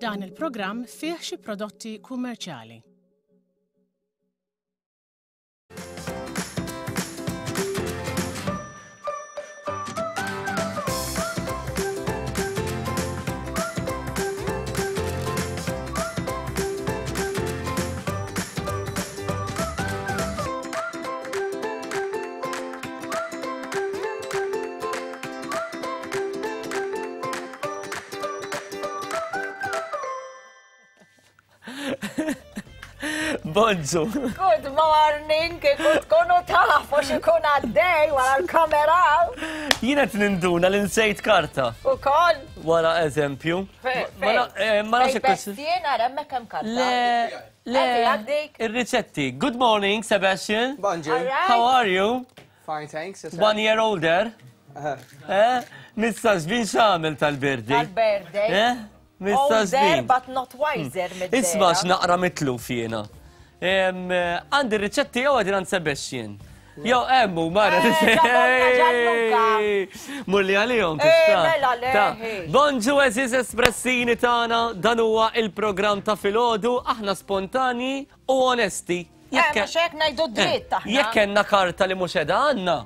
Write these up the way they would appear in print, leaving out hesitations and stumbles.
Dan il-programm fih xi prodotti kummerċjali. Bonġu. Good morning, kieku tkunu tafu x'ikun għaddej wara l-kamera. Jiena qed ninduna li nsejt karta. Ukoll. Wara eżempju. Ma eh, nafx hekk. Jien ara hemmhekk hemm karta. Le, le. Ir-riċetti. Good morning, Sebastian. Bonġu. How are you? Fine, thanks. One year older. Eh? Missa żbin x'għamel tal-birthday? Tal-birthday. Eh? Missa żbin. but not wiser mid Isma' x'naqra mitluf jiena. Eh, għandi r-riċetti jew għadin għand Sebastian. Jew hemm u mara. Eh, Mulli għalihom eh, tista'. Mela le. Bonġu eżiż espressini tagħna, dan huwa il-programm ta' filgħodu, aħna spontani u onesti. Jekk eh, mhux hekk ngħidu dritt aħna. Jekk kellna karta li mhux qiegħda għandna.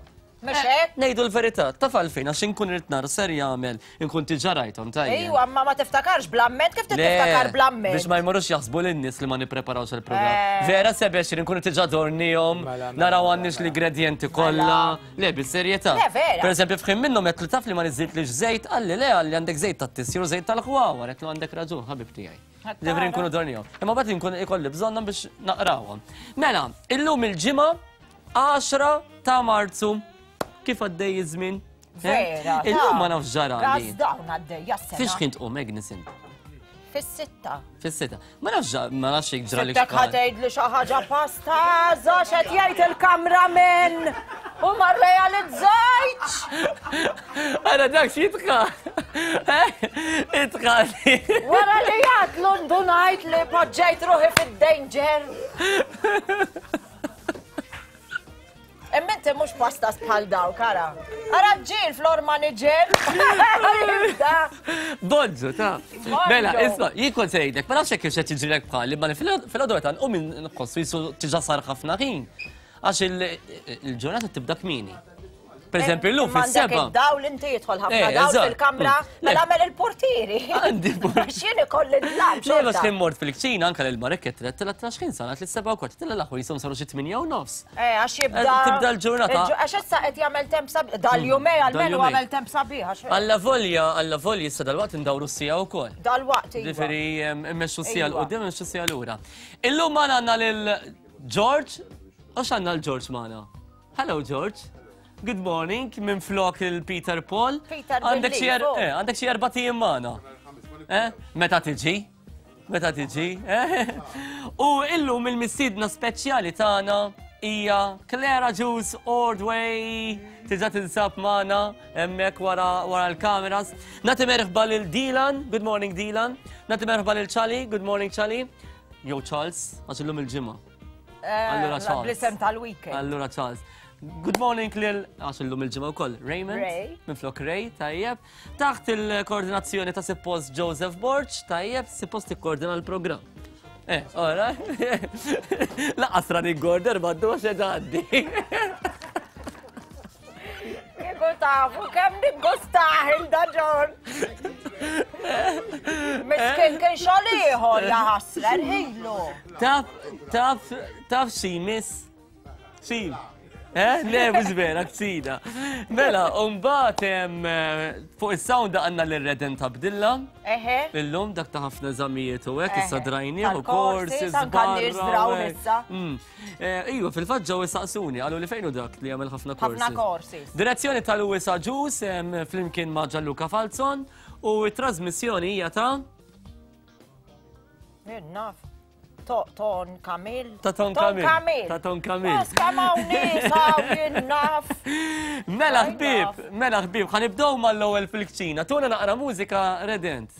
Mhux eh, hekk? Ngħidu l-verità, taf għalfejn għax inkun irid nara ser jagħmel, inkun diġà rajthom tajjeb. Ejwa, ma ma tiftakarx bl-amment, kif tiftakar bl-amment? Biex ma jmorrux jaħsbu lin-nies li ma nippreparawx il-programm. Eh. Vera sebex li nkunu diġà dornihom, Mela, mela, naraw mela, għandniex mela. l-ingredjenti kollha. Le, bis-serjetà. Le, vera. Per eżempju, f'ħin minnhom qed li taf li ma niżżitlix żejt, qalli le, qalli għandek żejt tat-tisjur u żejt tal-ħwawar, qed għandek raġun, ħabib tiegħi. Ġifieri nkunu dornihom. Imma bagħad inkun ikolli bżonnhom biex naqrawhom. Mela, illum il-ġimgħa 10 ta' Marzu. Kif għaddej iż-żmien? Eh? Vera. Illum ma nafx ġara. Ras dawn għaddej, jassena. Fiex kien tqum Agnes int? Fis-sitta. Fis-sitta. Ma nafx ma nafx jekk ġrali. Dak ħatejd li xi ħaġa pasta, żax qed jgħid il-kameraman. U ma rrealizzajtx. Ara dak x'jitqa. Itqa. Wara li jgħatlu ndunajt li poġġejt ruħi fid-danger. Imma inti mhux pastas bħal dawk, ara. Ara ġil flor manager. Bonġu, ta' Mela, isma, jien kont sejdek, ma nafx hekk qed jiġrilek bħali, ma fil-għodu meta nqum nħossu jisu tiġa sar ħafna ħin. Għax il-ġurnata tibda kmieni. Per eżempju, llum fis-seba. Dawl inti jidħol ħafna eh, dawl fil-kamra, mm. mela għamel il-portieri. Għandi portieri. X'jien ikolli dlam. Le, għax kien mort fil-kċina anke lil Marek qed tela xħin sanat li seba' u kwart, tela l-aħħar jisom saru xi 8 u nofs. Eh, għax jibda. Tibda l-ġurnata. Għax issa qed jagħmel temp sabiħ. Dal-jumej għalmenu għamel temp sabiħ. Alla volja, alla volja issa dal-waqt indawru s-sija wkoll. Dal-waqt. Iva. Ġifieri immexxu s-sija Iva. l-qudiem, immexxu s-sija lura. Illum ma għandna lil George, għax għandna l-George magħna. Hello George. Good morning, minn flok il-Peter Paul. Peter Għandek xi er- Bellifo. eh, għandek xi erba' tijiem magħna. Eh? Meta tiġi? Meta tiġi? Eh? U illum il-mistiedna speċjali tagħna hija Clara Juice Ordway. Tiġa tinsab magħna hemmhekk wara wara l-kameras. Nagħti merħba lil Dylan, good morning Dylan. Nagħti merħba lil Charlie, good morning Charlie. Jew Charles, għax illum il-ġimgħa. Eh, Allura Charles. Bl-isem tal-weekend. Allura Charles. Good morning lil, għax illum il-ġimgħa wkoll, Raymond. Ray. Minflok Ray, tajjeb. Taħt il-koordinazzjoni ta' suppost Joseph Borg, tajjeb, suppost tikkoordina l-programm. Eh, ora. Laqas running order maddu għax qed għaddi. Kieku tafu kemm niggustah il-da John. Miskin kien xogħol ieħor ja ħasra rħilu. Taf, taf, taf xi miss? Xi? Eh, le, mhux vera, ksida. Mela, mbagħad eh, fuq is-sound għandna lil Reden ta' Bdilla. Eħe. Illum dak ta' ħafna eżamijiet u hekk issa Eħe. drajnieh u Tal-courses, courses anka n-nies barra draw u hekk. issa. Mm. Eh, iva, fil-fatt ġew isaqsuni, qalu li fejn hu dak li jagħmel ħafna courses. Ħafna courses. Direzzjoni ta' Louis Agius flimkien ma' Gianluca Falzon u t-trasmissjoni hija ta' Jien naf. Ton Kamil. Ta' Ton Kamil. Ta' Ton Kamil. Mas kemm hawn nies hawn jien naf. Mela ħbieb, mela ħbieb, ħa nibdew mal-ewwel fil-kċina. Tuna naqra mużika redent.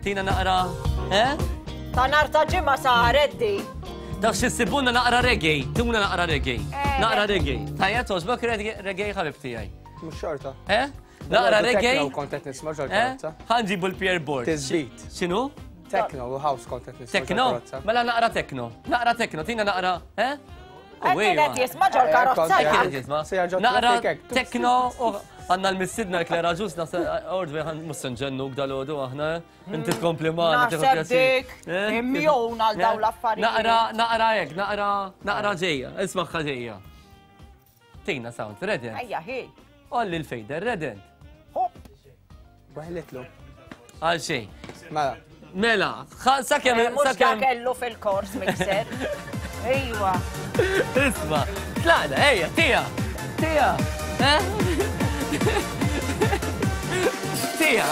Tina naqra, eh? Ta' nar ta' ġimgħa saret di. Taf xi sibuna naqra reggae, tuna naqra reggae. Eh, Naqra reggae. Tajja toġbok reggae ħabib tiegħi. Mhux xorta. Eh? Naqra reggae. Kont qed nisma' Eh? ġol-karozza. Ħanġibu l-Pierre Board. Tisbit. X'inhu? Techno u house kont qed nisma' Tekno? Mela naqra tekno. Naqra tekno, tina naqra, eh? Qed qed jisma' ġol karozza. Qed qed jisma'. Naqra tekno u għandna l-missidna l-Klera Ġus naħseb ordwi mhux se nġennuk dal-għodu aħna. Eh? Inti tkompli magħna. Naħseb dik eh? immune għal dawn l-affarijiet. Naqra, naqra hekk, naqra, naqra ġejja, ismaħħa ġejja. Tina sound, redent. Ejja, hi. Olli l-fejder, redent. Hop. Weħlitlu. Għal xejn. Mela. Mela, sakemm. Eh, mhux dak kellu fil-kors mixer. Ejwa. Isma, tlaqna, ejja, tija, tija. Eh? Tija.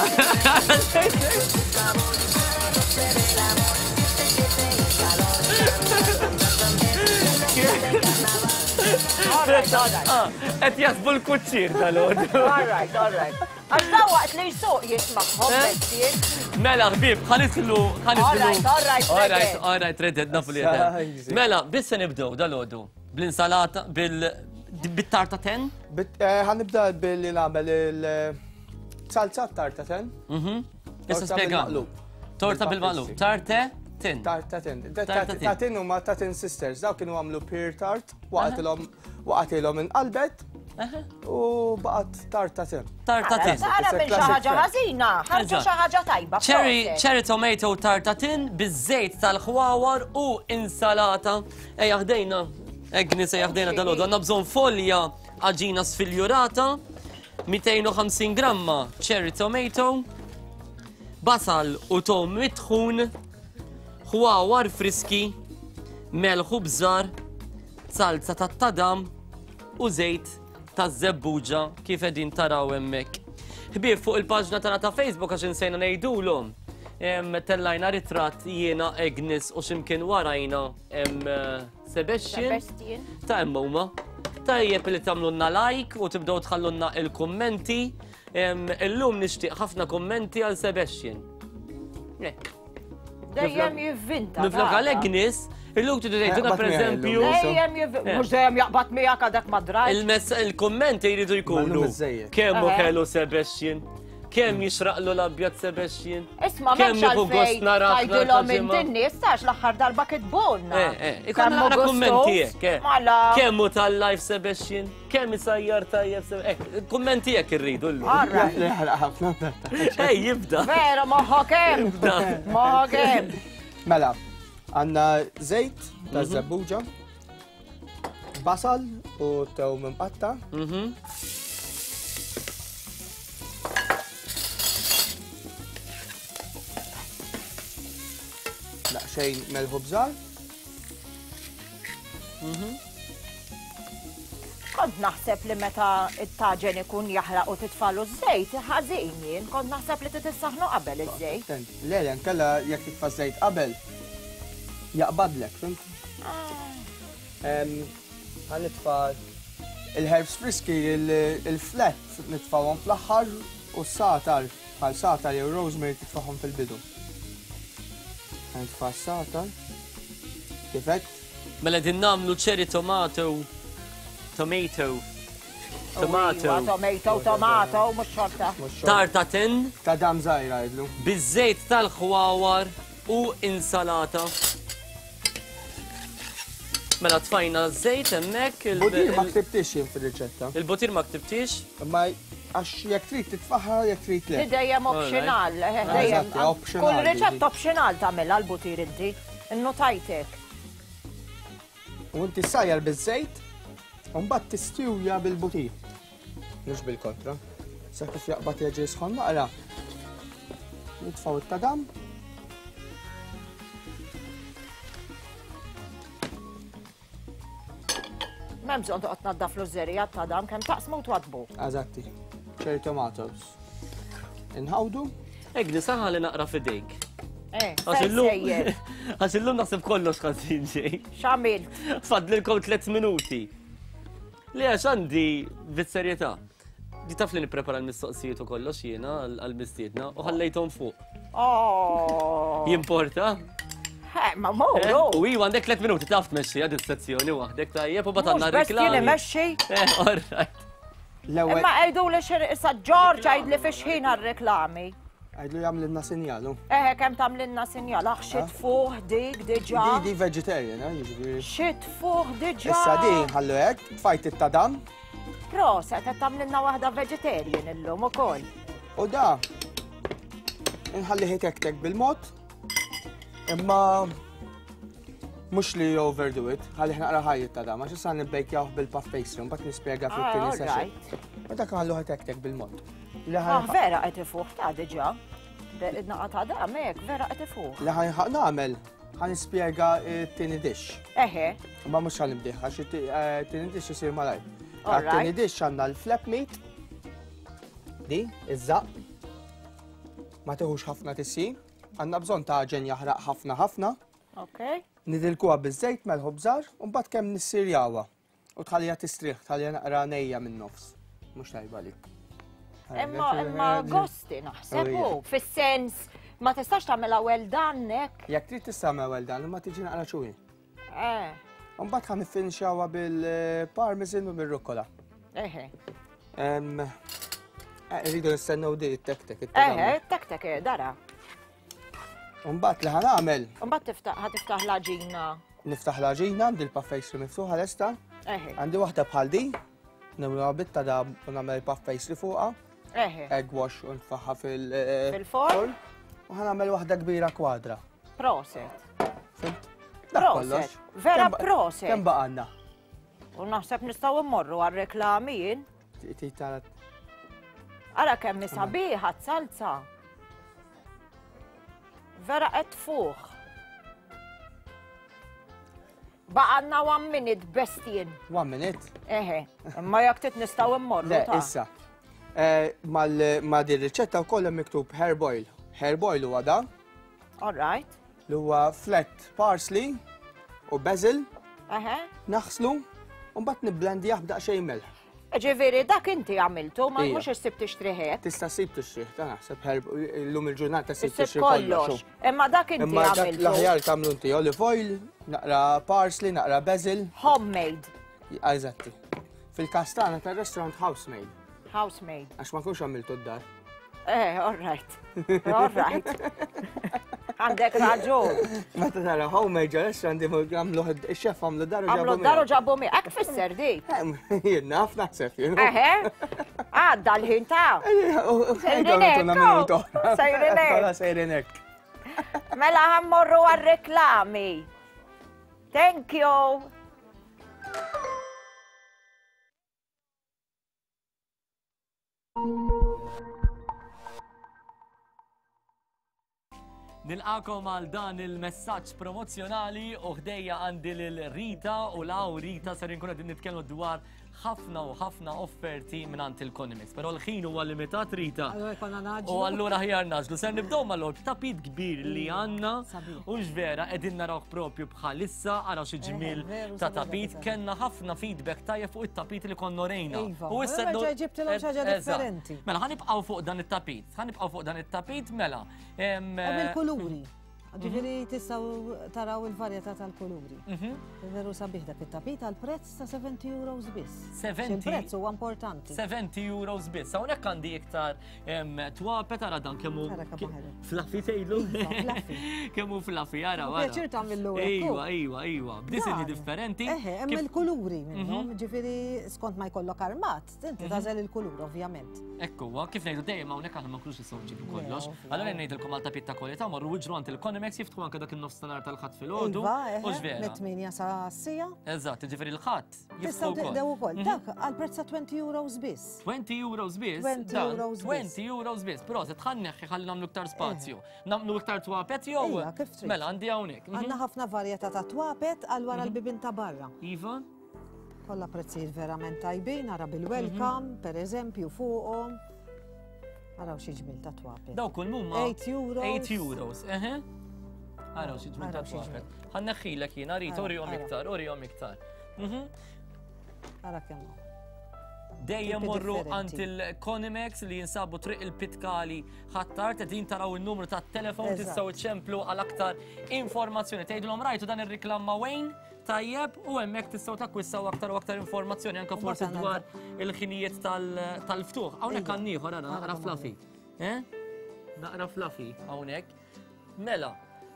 Qed jaħsbu l-kuċċir tal-għodu. All right, all right. Għax da waqt li jsuq jismagħhom eh? bestier. Mela, ħbib, ħanitlu, ħanitlu. All right, all right, all right, all right, redded, nafu li Mela, biss se nibdew dal-għodu. Bl-insalata, bil-tarta ten? Eh, ħanibda billi nagħmel il-salza tarta ten. Mhm. Issa spjega. Torta bil-maqlub. Tarte tin. Tarta tin. Ta' tin huma ta' tin sisters. Daw kienu għamlu pear tart, waqgħatilhom waqgħatilhom inqalbet u baqgħet tarta tin. Tarta tin. Ara minn xi ħaġa ħażina, ħarġu xi ħaġa tajba. Cherry, cherry tomato tarta tin biż-żejt tal-ħwawar u insalata. Ejja ħdejna, Agnes ejja ħdejna dal-għodu. Għandna bżonn folja għaġina sfiljurata, 250 gramma cherry tomato, basal u tom mitħun, ħwawar friski, melħ u bżar, salza tat-tadam u żejt taż-żebbuġa kif qegħdin taraw hemmhekk. Ħbieb fuq il-paġna tagħna ta' Facebook għax insejna ngħidulhom. Tellajna ritratt jiena Agnes u x'imkien warajna Sebastian. Sebastian. Ta' hemm huma. Tajjeb li tagħmlulna like u tibdew tħallulna il-kummenti. Illum nixtieq ħafna kummenti għal Sebastian. Dejjem jivvinta. Minflok għal Agnes, illum tridu tgħidulna pereżempju. Dejjem jivvinta. Mhux dejjem jaqbad miegħek għadek ma drajt. Il-kummenti jridu jkunu. Kemm hu ħelu Sebastian. Kemm jixraqlu l-abjad Sebastian? Isma' m'hemmx għalfejn tgħidilhom inti n-nies tax l-aħħar darba kitbulna. Eh, eh, ikollna naqra kummenti hekk, eh. Mela. Kemm hu tal-life Sebastian? Kemm isajjar tajjeb Sebastian? Eh, kummenti hekk irridu llum. Jaħraq ħafna. Ej, jibda. Vera, moħħok hemm. Moħħok hemm. Mela, għandna żejt ta' mhm. żebbuġa. Basal u tewm imqatta. Mhm. Daqsxejn melħu bżar. Mhm. Kont naħseb li meta it-taġen ikun jaħraq u titfalu ż-żejt, ħażin jien, kont naħseb li titissaħnu qabel iż-żejt. Le, le, nkella jekk titfa' żejt qabel, jaqbadlek, fhimt? Ħa nitfa' il-herbs friski, il-flat nitfawhom fl-aħħar u s-satar bħal satar jew rosemary titfagħhom fil-bidu. Ħa nitfa' s-satar. Kif hekk? Mela din nagħmlu cherry tomato tomato tomato Iva, tomato, tomato, mhux xorta. Tarta tin. Ta' dam żgħira jidlu. Biż-żejt tal-ħwawar u insalata. Mela tfajna żejt hemmhekk. Il-butir ma ktibtix jien fir-riċetta. Il-butir ma ktibtix? Imma għax jekk trid titfaħħa jekk trid le. Dejjem optional, eh, dejjem. Kull riċetta optional tagħmilha l-butir inti. Innotajtek. U inti sajjar biż-żejt, u mbagħad tistiwja bil-butir. Mhux bil-kontra. Sa kif jaqbad jerġa' jisħon naqra. Nitfgħu it-tadam. M'hemm bżonn toqgħod tnaddaf l-użerija tadam kemm taqsmu twadbu. Eżatti. Cherry tomatoes. Inħawdu. Egni saħa li naqra fidejk. Eh, għax illum naħseb kollox ħażin ġej. X'għamilt? Fadlilkom 3 minuti. Le għax għandi bis-serjetà. Di taf li nipprepara l-mistoqsijiet u kollox jiena għall-mistiedna u ħallejthom fuq. Oh. Jimporta? Eh, ma muru. Eh, u iwa għandek 3 minuti taf tmexxi għad is-sezzjoni waħdek tajjeb u batanna reklami. Jien imexxi. Eh, all right. Imma għajdu li xir issa George għajd li fix ħin għal-reklami. Għidlu jagħmlilna sinjalu. Eħe, kemm tagħmlilna sinjal, aħ xi tfuħ dik diġà. Di di vegetarian, eh, jiġifieri. Xi tfuħ diġà. Issa di ħallu hekk, tfajt it-tadam. Proset, qed tagħmlilna waħda vegetarian illum ukoll. U da inħallih itektek bil-mod, imma mhux li overdo it, ħallih naqra ħajjit ta' dam, għax issa nibbejkjawh bil-puff pastry, mbagħad nispjega fit-tieni ah, session. U dak ħalluh itektek bil-mod. Ah, vera qed ifuħ ta' diġà. Naqa ta' dam hekk, vera qed ifuħ. Li ħanħaq nagħmel, ħan nispjega t-tieni dish. Eħe. Ma mhux ħan nibdih, għax it-tieni eh, dish isir malajr. Għat-tieni dish għandna l-flap meat, di, iż-żaq. Ma teħux ħafna tissi. Għandna bżonn ta' ġen jaħraq ħafna ħafna. Ok. Nidilkuha biż-żejt melħu bżar u mbagħad kemm nissirjawha. U tħallija tistrieħ, tħallija naqra nejja minn nofs. Mhux tajba lik. Imma imma gosti naħseb u fis-sens ma tistax tagħmilha well done hekk. Jekk trid tista' tagħmel well done, imma tiġi naqra ċuwi. Eh. Mbagħad ħa niffinxawha bil-parmesan u bil-rukola. Eħe. Eh, rridu nistennew di t-tek-tek. Eħe, t-tek-tek, eh, dara. Mbagħad li ħanagħmel. Mbagħad tiftaħ tiftaħ l-għaġina. Niftaħ l-għaġina, għandi l-puff pastry miftuħa lesta. Eħe. Għandi waħda bħal di, nagħmluha bitta da u nagħmel puff pastry fuqha. Eħe. Egg wash u nfaħħa fil- eh, Fil-forn. U ħanagħmel waħda kbira kwadra. Proset. Fimt? Proset. Vera proset. Kemm baqanna? U naħseb nistgħu mmorru għar-reklami jien. Titara. Ara kemm sabiħa t-salza. Vera qed tfuħ. Baqanna one minute bestien. One minute? Eħe, imma jekk tit nistgħu mmorru. Le, issa. Eh, ma din riċetta wkoll hemm miktub herb oil. Herb oil huwa dan. All right. Li huwa flat parsley u basil. Eħe. Naħslu u mbagħad nibblendjah b'daqsxejn melħ. Ġifieri dak inti għamiltu, ma mhux issib tixtrih hekk. Tista' ssib tixtrih, ta' naħseb herb illum il-ġurnata ssib tixtrih kollox. Imma dak inti għamiltu. Imma l-aħjar tagħmlu inti olive oil, naqra parsley, naqra basil. Homemade. Eżatti. Fil-każ tagħna tar-restaurant house-made. House-made. Għax ma kunx għamiltu d-dar. Eh, all right. All right. Għandek raġun. Meta tara homemade ġo restaurant għamlu il-xef għamlu daru ġabu. Għamlu daru ġabu mi. Ek fisser di. Jien naf naħseb jien. Eħe. Għadda l-ħin ta' Sejrinek. Sejrinek. Sejrinek. Mela ħammorru għal-reklami. Thank you. Nilqakom għal dan il-messaġġ promozzjonali u ħdejja għandi lil Rita u law Rita ser inkun qegħdin nitkellmu dwar ħafna u ħafna offerti mingħand il-Conimix. Però l-ħin huwa limitat Rita. Allura jkollna naġlu. U allura ħjar naġlu. Ser nibdew mal-logħob tapit kbir li għandna u vera qegħdin narawh propju bħalissa araw xi ġmiel ta' tapit. Kellna ħafna feedback tajjeb fuq it-tapit li konna rejna. Iva, u issa ġibtilhom xi ħaġa differenti. Mela ħanibqgħu fuq dan it-tapit. Ħanibqgħu fuq dan it-tapit mela. Hemm il-kuluri. Ġifieri tistgħu taraw il-varjetà tal-kuluri. Mhm. Veru sabiħ dak it-tapit għal prezz ta' 70 euros biss. 70 Il-prezz huwa importanti. 70 euros biss. Hawnhekk għandi iktar twapet ara dan kemm hu fluffy tgħidlu. Iva, kemm hu fluffy ara. Pjaċir tagħmillu Iva, iva, iva. B'disinji differenti. Eħe, hemm il-kuluri minnhom, mhm. ġifieri skont ma jkollok armat, inti mhm. tagħżel il-kulur ovvjament. Ekku, kif ngħidu dejjem hawnhekk aħna ma nkunux nistgħu nġibu kollox. Allura ngħidilkom għal tapit ta' kwalità morru iġru għand il-Conimex jiftħu anke dak in-nofstanhar tal-ħadd filgħodu. Iva, eħe, mit-8 sa sija. Eżatt, ġifieri l-ħadd jiftħu wkoll. Tistgħu ukoll. Mhm. Dak għal prezz ta' 20 euros biss. 20 euros biss? 20 euros biss. 20 euros biss. Però se tħanneħħi ħalli nagħmlu iktar spazju. Nagħmlu iktar twapet jew? Mela għandi hawnhekk. Mhm. Għandna ħafna varjetà ta' twapet għal wara mhm. l-bibien ta' barra. Iva. Kollha prezzijiet verament tajbin, ara bil-welcome, mhm. per eżempju, fuqhom. Araw xi ġmil ta' twapet. Daw kull mumma. 8 euros. 8 euros, eħe. Araw xi ġmil ta' twapet. Ħanneħħilek jiena rrit, urihom iktar, urihom iktar. Mhm. Ara kemm Dejjem morru għand il-Conimex li jinsabu triq il-Pitkali ħattar, din taraw il-numru ta' telefon tistgħu iċċemplu għal aktar informazzjoni. Tgħidulhom rajtu dan ir-riklam ma' Wayne? Tajjeb, u hemmhekk tistgħu takkwissaw aktar u aktar informazzjoni anke forsi dwar il-ħinijiet tal-ftuħ. Hawnhekk għandna ieħor ara naqra fluffy. Eh? Naqra fluffy hawnhekk. Mela,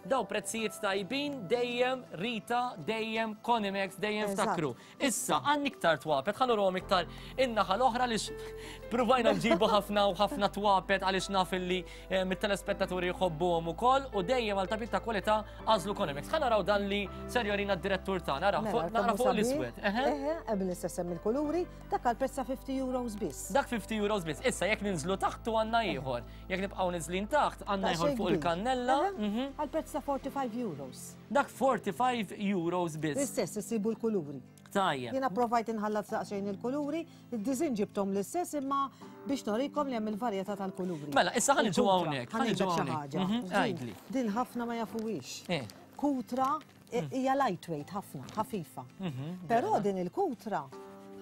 daw prezzijiet tajbin dejjem Rita, dejjem Conimex, dejjem ftakru. Issa, għan iktar twapet, ħallu rom iktar in-naħa l-oħra li provajna nġibu ħafna u ħafna twapet għaliex naf illi eh, mit-telespettaturi jħobbuhom ukoll u dejjem għal tapit ta' kwalità għażlu Conimex. Ħa naraw dan li ser jorina d-direttur tagħna, nara mela, nara fuq l-iswed. Eħe, hemm l-istess hemm il-kuluri, dak għal prezz ta' 50 euros biss. Dak 50 euros biss. Issa jekk ninżlu taħtu għandna ieħor. Jekk nibqgħu niżlin taħt għandna ieħor fuq il-kannella. Mhm. Għal prezz ta' 45 euros. Dak 45 euros biss. L-istess isibu l-kuluri. Tajjeb. Jiena provajt inħallat daqsxejn il-kuluri, id-diżin ġibthom l-istess imma biex norikom li hemm il-varjetà tal-kuluri. Mela, issa ħa niġu hawnhekk, ħa niġu hawnhekk. Mhm, għidli. Din ħafna ma jafuhiex. Eh. Kutra eh, hija lightweight ħafna, ħafifa. Mhm, Però din il-kutra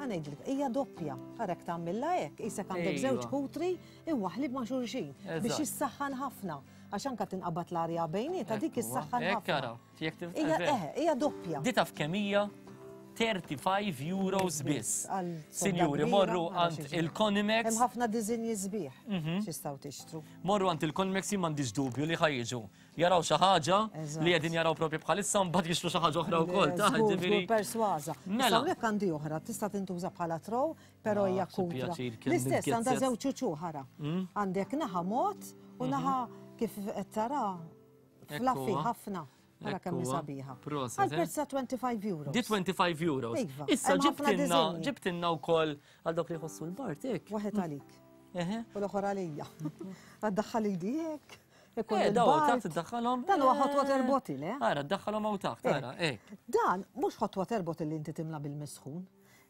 ħa ngħidlek, hija doppja. Għarek tagħmilha hekk, isek għandek żewġ kutri imwaħħlin ma' xulxin biex jissaħħan ħafna. Għax anka tinqabad l-arja bejnietha dik issaħħan ħafna. Hija eħe, hija doppja. Di taf kemm hija? 35 euros biss. Sinjuri, morru għand il-Conimex. Hemm ħafna diżinji sbieħ mhm. x'istgħu tixtru. Morru għand il-Conimex jien m'għandix dubju li ħajġu. Jaraw xi ħaġa li qegħdin jaraw propju bħalissa mbagħad jixtru xi ħaġa oħra wkoll. Ta' ġifieri. Persważa. Mela. Hawnhekk għandi oħra tista' tintuża bħala trow, però ah, hija kutra. L-istess għandha żewġ uċuħ ara. Mm. Għandek naħa mod u mhm. naħa kif qed tara Fluffy ħafna. Ara kemm sabiħa. Proset. Għal eh? prezz ta' 25 euros. Di 25 euros. Iva. Issa ġibtinna, ġibtinna wkoll għal dawk li jħossu l-bart hekk. Waħed għalik. U l-oħra għalija. Għaddaħħal idi hekk. Eh, daw taħt iddaħħalhom. Dan huwa hot water eh. bottle, eh? Ara, ddaħħalhom hawn taħt, eh. ara, eh. Dan mhux hot water bottle li inti timla bil-misħun.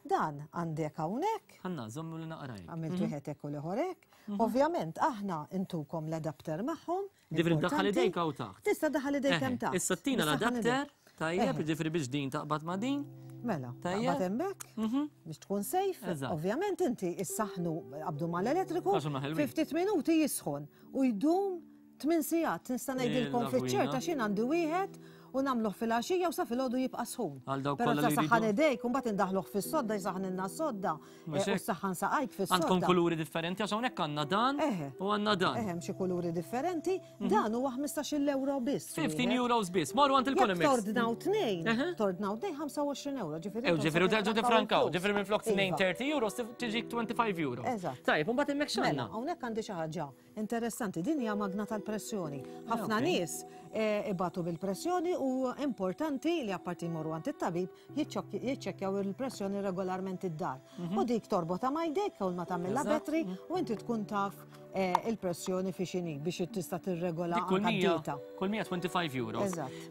Dan għandek hawnhekk. Ħanna, żommu li naqraj. Għamilt mhm. wieħed hekk u l-ieħor hekk. Mhm. Ovvjament aħna intukom l-adapter magħhom. Ġifri daħħal idejk hawn taħt. Tista' daħħal idejk hemm taħt. Issa tina l-adapter, tajjeb, ġifri biex din taqbad ma' din. Mela, taqbad hemmhekk mhm. biex tkun safe. Ovvjament inti issaħnu qabdu mal-elettriku, 50 minuti jisħon u jdum 8 sigħat nista' ngħidilkom fiċ-ċerta x'in għandi wieħed u nagħmluh filgħaxija u sa filgħodu jibqa' sħun. Però ta' saħħan idejk u mbagħad indaħluh fis-sodda jsaħħnilna s-sodda eh, u saħħan saqajk fis-sodda. Għandkom kuluri differenti għax hawnhekk għandna dan u għandna dan. Eħe, xi kuluri differenti, mhm. dan huwa 15 euro biss. 15 euros biss. Morru għand il-Economics. Tordnaw tnejn, tordnaw tnejn 25 euro, ġifieri. Ew, ġifieri terġgħu tifrankaw, ġifieri minn flok 30 euros tiġik 25 euro. Eżatt. Tajjeb, u mbagħad hemmhekk x'għandna? Mela, hawnhekk għandi xi ħaġa Interessanti, din hija magna tal-pressjoni. Ħafna nies eh, ibatu bil-pressjoni u importanti li apparti jmorru għand it-tabib jiċċekkjaw il-pressjoni regolarment id-dar. Mhm. U dik torbota ma' jdejk u ma tagħmilha battery mhm. u inti tkun taf eh, il-pressjoni fi xini biex tista' tirregola kull 125 euro.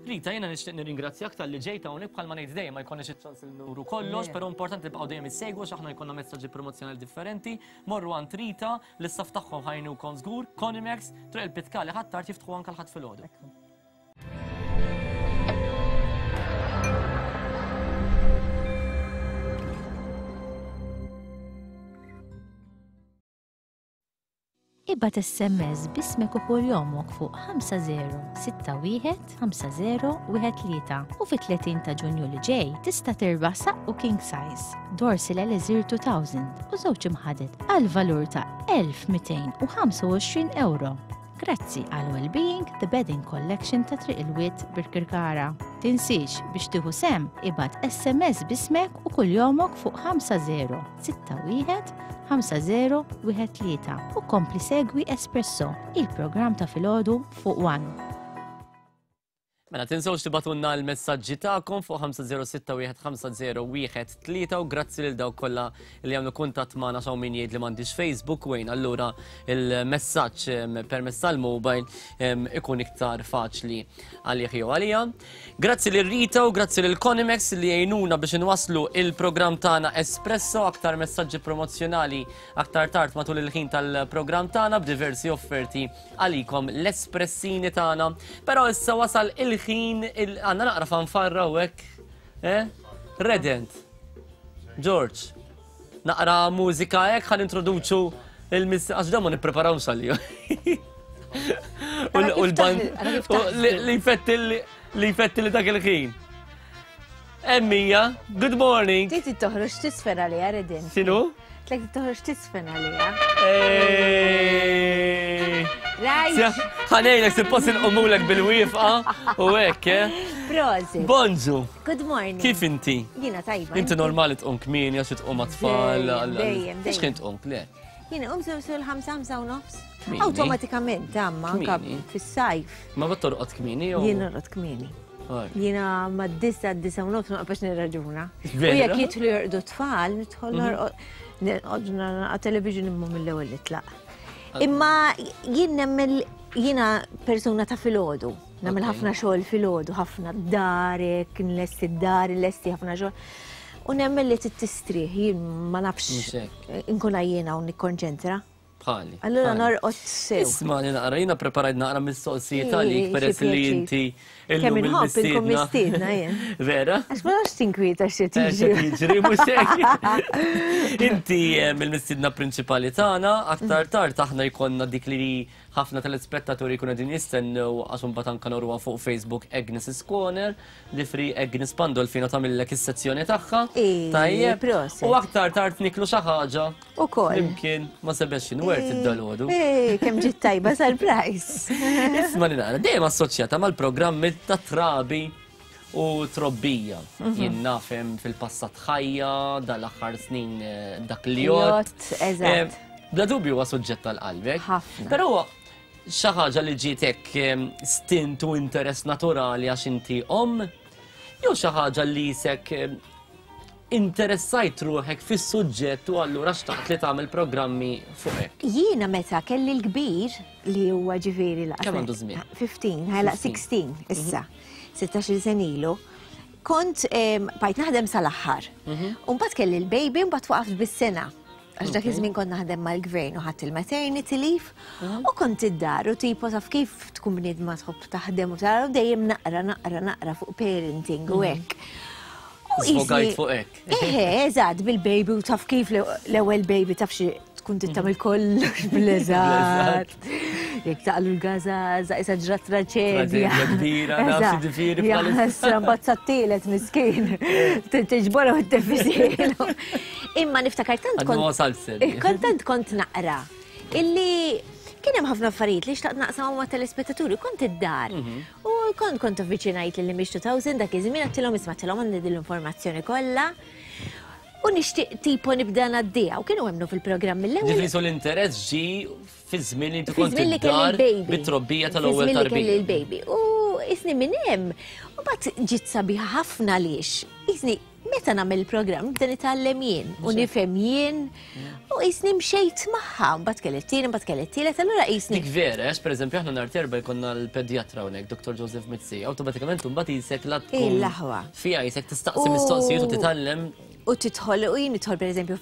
Rita, jiena nixtieq nirringrazzjak tal-li ġejta hawnhekk bħalma ngħid dejjem ma jkollniex iċ-ċans li nuru kollox, però importanti tibqgħu dejjem issegwu x'aħna jkollna messaġġi promozzjonali differenti. Morru għand Rita, L-istaff tagħhom ħa jgħinukom żgur, Conimex, Triq il-Pitkali Ħ'Attard jiftħu anke l-Ħadd filgħodu. Ibgħat SMS b'ismek u kuljomok fuq 5061 5013 u fit-30 ta' Ġunju li ġej tista' tirbaħ saqqu king size, Dorsil Elixir 2000 u żewġ imħaded għal valur ta' 1225 euro. Grazzi għal Wellbeing The Bedding Collection ta' Triq il-Wied Birkirkara. Tinsiex biex tieħu sehem ibgħat SMS b'ismek u kuljomok fuq 5061 5013 u kompli segwi Espresso, il-programm ta' filgħodu fuq One. Mela tinsewx tibatunna l-messaġġi tagħkom fuq 50615013 u grazzi lil dawk kollha li jagħmlu kuntatt magħna x'hawn min jgħid li m'għandix Facebook wejn allura il-messaġġ permezz tal-mobile ikun iktar faċli għalih jew għalija. Grazzi lil Rita u grazzi lil Conimex li jgħinuna biex inwasslu il-programm tagħna Espresso aktar messaġġi promozzjonali aktar tard matul il-ħin tal-programm tagħna b'diversi offerti għalikom l-espressini tagħna. Però issa wasal il-ħin għandna naqra fanfarra u hekk. Eh? Redent. George. Naqra mużika hekk ħan introduċu il-miss għax dan ma nippreparawx għaliju. U l-band li jfetti li jfetti li dak il-ħin. Emmija, good morning. Titi toħroġ tisfera li Redent. Sinu? Tlek toħroġ tisfen għalija. Rajt. Ħanejlek suppost inqumulek bil-wifqa u hekk, eh? Prosit. Bonġu. Good morning. Kif inti? Jiena tajba. Inti normali tqum kmieni għax tqum għat-tfal. Dejjem, Biex kien tqum, le? Jiena qum sew sew il-ħamsa ħamsa u nofs. Awtomatikament, amma anka fis-sajf. Ma bat torqod kmieni jew? Jien norqod kmieni. Jiena ma disa disa u nofs ma nqabax nirraġuna. U jekk jidħlu jorqdu tfal, nidħol mhm. norqod nqod nara television imma mill-ewwel nitlaq. Imma jien nemmel jiena persuna ta' filgħodu. Nagħmel ħafna xogħol filgħodu, ħafna darek, nlesti d-dar, nlesti ħafna xogħol. U nemmen li tistrieħ, jien ma nafx inkun għajjena u nikkonċentra. Bħali. Allura norqod sew. Isma' li naqra, jiena preparajt naqra mistoqsijiet għalik peress li inti illum inħobb inkun mistiedna jien. Vera? Għax ma nafx tinkwieta xi eh, tiġri. Tiġri mhux hekk. Inti eh, mill-mistiedna prinċipali tagħna, aktar tard aħna jkollna dik li ħafna telespettaturi jkunu qegħdin jistennew għax imbagħad anke noruha fuq Facebook Agnes' Corner. li free Agnes Pandolfino tagħmillek is-sezzjoni tagħha. Tajjeb. U aktar tard niklu xi ħaġa. Ukoll. Imkien ma Sebastian Wert id-dalodu. Kemm ġiet tajba surprise. Isma' li nara, dejjem assoċjata mal-programmi ta' trabi u trobbija. Mhm. Jien nafhem fil-passat ħajja, dal-aħħar snin eh, dak li jott. Eżatt. Eh, bla dubju huwa suġġett tal-qalbek. Ħafna. Però Xi ħaġa li ġietek stint u interess naturali għax inti omm, jew xi ħaġa li jisek interessajt ruħek fis-suġġett u allura xtaqt li tagħmel programmi fuq hekk? Jiena meta kelli l-kbir li huwa ġifieri laqas. Kemm għandu żmien? 15, ħajlaq 16 issa. 16 sen ilu. Kont bajt naħdem sal-aħħar. Mhm. U mbagħad kelli l-baby mbagħad waqaft bis-sena. Għax dak iż-żmien kont naħdem mal-gvern u ħadd il-maternity leave mhm. u kont id-dar u tipo taf kif tkun bniedma tħobb taħdem u tara u dejjem naqra naqra naqra fuq parenting u mhm. hekk. U Sfogajt fuq hekk. Eħe, eżatt, bil-baby u taf kif l-ewwel baby taf xi tkun tittamil mhm. kollox bl-eżatt. Jek taqlu l-gazaza, isa ġrat traċedja. Traġedja kbira, naf ġifieri bħalissa. Mbagħad sattilet miskin. Tiġbora u t-tefisilu. Imma niftakar tant kont. Eh, kont tant kont naqra. Illi kien hemm ħafna affarijiet li xtaqt naqsam ma' telespettaturi, kont id-dar. Mhm. U kont kont avviċinajt lil Image 2000 dak iż-żmien għattilhom isma' tilhom għandi din l-informazzjoni kollha. U nixtieq tipo nibda ngħaddiha u kienu emmnu fil-programm mill-ewwel. Ġifieri so l-interess ġi fi żmien li inti kont id-dar bit-trobbija tal-ewwel tarbija. Fi żmien li kelli l-baby. U isni minn hemm, u mbagħad ġiet sabiħa ħafna għaliex. Isni meta nagħmel il-programm nibda nitgħallem jien u nifhem jien u qisni mxejt magħha, mbagħad kelli t-tieni, mbagħad kelli t-tielet, allura qisni. Dik vera, għax pereżempju aħna nhar terba jkollna l-pedjatra hawnhekk, Dr. Joseph Mizzi, awtomatikament imbagħad qisek la tkun. Il-aħwa. Fija qisek tistaqsi mistoqsijiet u titgħallem. U tidħol u jien nidħol pereżempju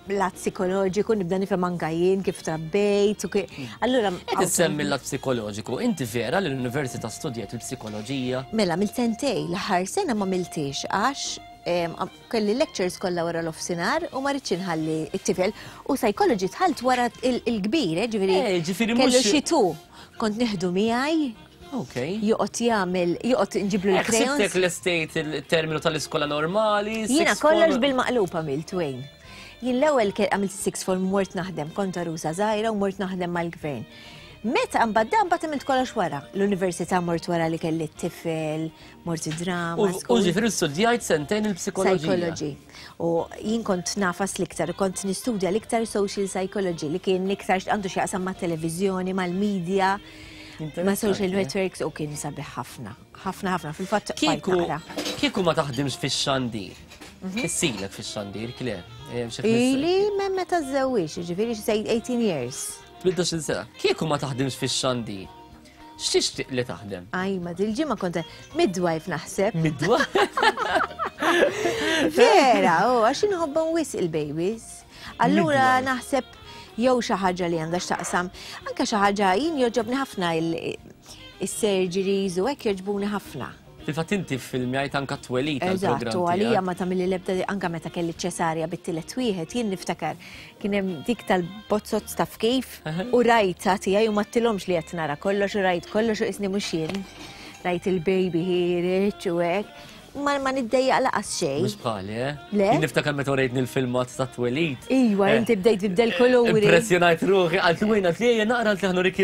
lat psikoloġiku, nibda nifhem anka jien kif trabbejt u kif. Allura. Qed issemmi l-lat psikoloġiku, inti vera li l-università studjajt il-psikoloġija? Mela, mill sentej, l-aħħar sena ma miltix għax kelli lectures kollha wara l-ofsinhar u ma rridx inħalli t-tifel u psychology dħalt wara il-kbir, eh, ġifieri. Eh, ġifieri kellu xi tu. Kont nieħdu miegħi. Ok. Joqgħod jagħmel, joqgħod nġiblu eh, l-crayons. Ħsibtek l-estate il-terminu tal-iskola normali. Jiena kollox bil-maqlub għamilt Wayne. Jien l-ewwel għamilt six form mort naħdem, kont arusa żgħira u mort naħdem mal-gvern. Meta mbagħad dan mbagħad għamilt kollox wara. L-università mort wara li kelli t-tifel, mort id-drama. U ġifieri studjajt sentejn il-psikoloġija. Psychology. U jien kont nafas l-iktar, kont nistudja l-iktar social psychology li kien l-iktar għandu x'jaqsam ma' televiżjoni, mal-media, ma' social networks u kien sabiħ ħafna. Ħafna ħafna fil-fatt. Kieku kieku ma taħdimx fix-xandir. Mhm. Issilek fix-xandir, Claire. Eh, Ili minn meta żewwix, ġifieri xi 18 years. 18 sena. Kieku ma taħdimx fix-xandir. X'tixtieq li taħdem? Aj, ma dil-ġimgħa kont midwife naħseb. Midwife? Vera, oh, għax inħobbhom wisq il-babies. Allura naħseb jew xi ħaġa li għandha x'taqsam, anke xi ħaġa jien jogħġobni ħafna il-surgeries u hekk jogħġbuni ħafna. Fil-fatt inti ffilmjajt anka t-twelid tal-programm. Eżatt, u għalija ma tagħmilli l-ebda anka meta kelli ċesarja bit-tielet wieħed, jien niftakar kien hemm dik tal-bozzot taf kif u rajta tiegħi u ma tilhomx li qed nara kollox u rajt kollox u isni mhux jien. Rajt il-baby ħireġ u hekk. ma niddejjaq laqas xejn. Mhux bħali, eh? Le? Jien niftakar meta urejtni l-filmat ta' twelid. Iwa, eh, inti bdejt tibdel kuluri. Impressjonajt ruħi, għalt wejn għalt li naqra għalt li rik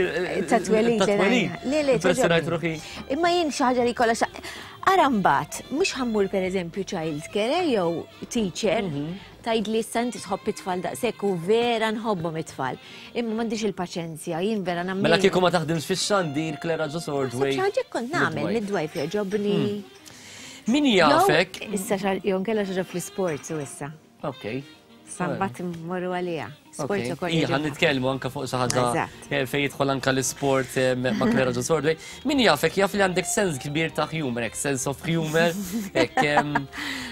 Ta' twelid. Ta' twelid. Le, le, Impressjonajt ruħi. Imma jien xi ħaġa li kollha Ara mbagħad, mhux ħammur pereżempju child care eh, jew teacher, mhm. Tgħidli issa inti tħobb it-tfal daqshekk u vera nħobbhom it-tfal. Imma m'għandix il-paċenzja, jien vera nagħmel. Mela kieku ma taħdimx fix-xandir Clara Ġo Sordway. Xi ħaġa kont nagħmel midwife jogħġobni. Hmm. Min jafek? Issa jew nkella xi ħaġa fl-isports u issa. Ok. Sambat mmorru għaliha. Sport ukoll. Ija, nitkellmu anka fuq xi ħaġa eh, fejn jidħol anka l-isport eh, ma' Clara Ġo Sordway. Min jafek jaf li għandek sens kbir ta' humor, sense of humor.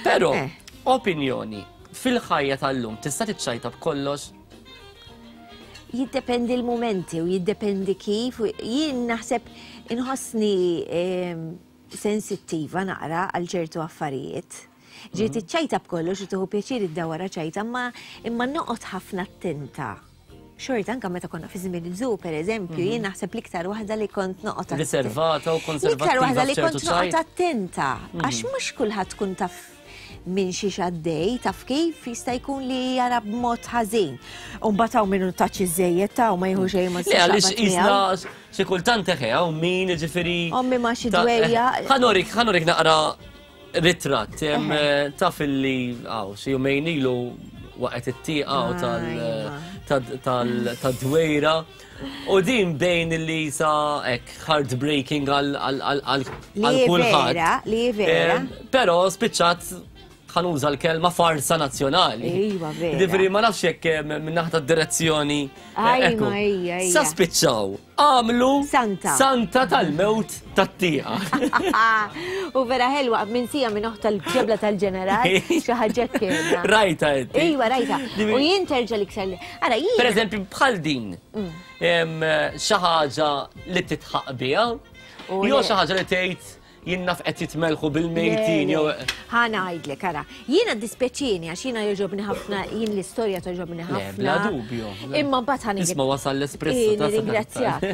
Però eh. Opinjoni, Fil-ħajja tal-lum tista' tiċċajta b'kollox? Jiddependi l-mumenti u jiddependi kif. Jien naħseb inħossni ehm, sensittiva naqra għal ċertu affarijiet. Ġi mhm. tiċċajta b'kollox u tieħu pjaċir iddawara ċajta, imma imma noqgħod ħafna attenta xorta anka meta konna fi żmien il-żu, per eżempju, mhm. jien naħseb l-iktar waħda li kont noqgħod riservata u konservativa. L-iktar waħda li kont noqgħod attenta, mhm. għax mhux kulħadd tkun taf minn xiex għaddej, taf kif jista' jkun li jara b'mod ħażin. U mbagħad hawn minnu taċ iżejjed ta' u ma jieħu xejn ma Le għaliex isna xi kultant eħe hawn min jiġifieri. Ommi ma xi dwejja. Ħanorik, ħanorik naqra ritratt eh, taf illi għaw xi jumejn ilu waqgħet it-tieqa tal-dwejra. U din bejn li sa ek heartbreaking għal kulħadd. Li vera. Però spiċċat ħanuża l-kelma farsa nazzjonali. Iva, vera. Ġifieri ma nafx jekk minn naħa tad-direzzjoni. Ajma, ija, ija. Sa spiċċaw għamlu Santa. Santa tal-mewt tat-tieqa. U vera ħelwa minn sija minn oħta l-ġebla tal-ġeneral, xi ħaġa kien. Rajta inti. Iva, rajta. U jien terġa' l-iktar. Ara, jien. Per eżempju, bħal din, mm. xi ħaġa li titħaq biha, jew xi ħaġa li tgħid jien naf qed jitmelħu bil-mejtin jew. Ħa ngħidlek, ara, jiena dispjaċini għax jiena jogħġobni ħafna, jien l-istorja togħġobni ħafna. Bla dubju. Imma mbagħad ħa Isma' wasal l-espresso. Nirringrazzjak,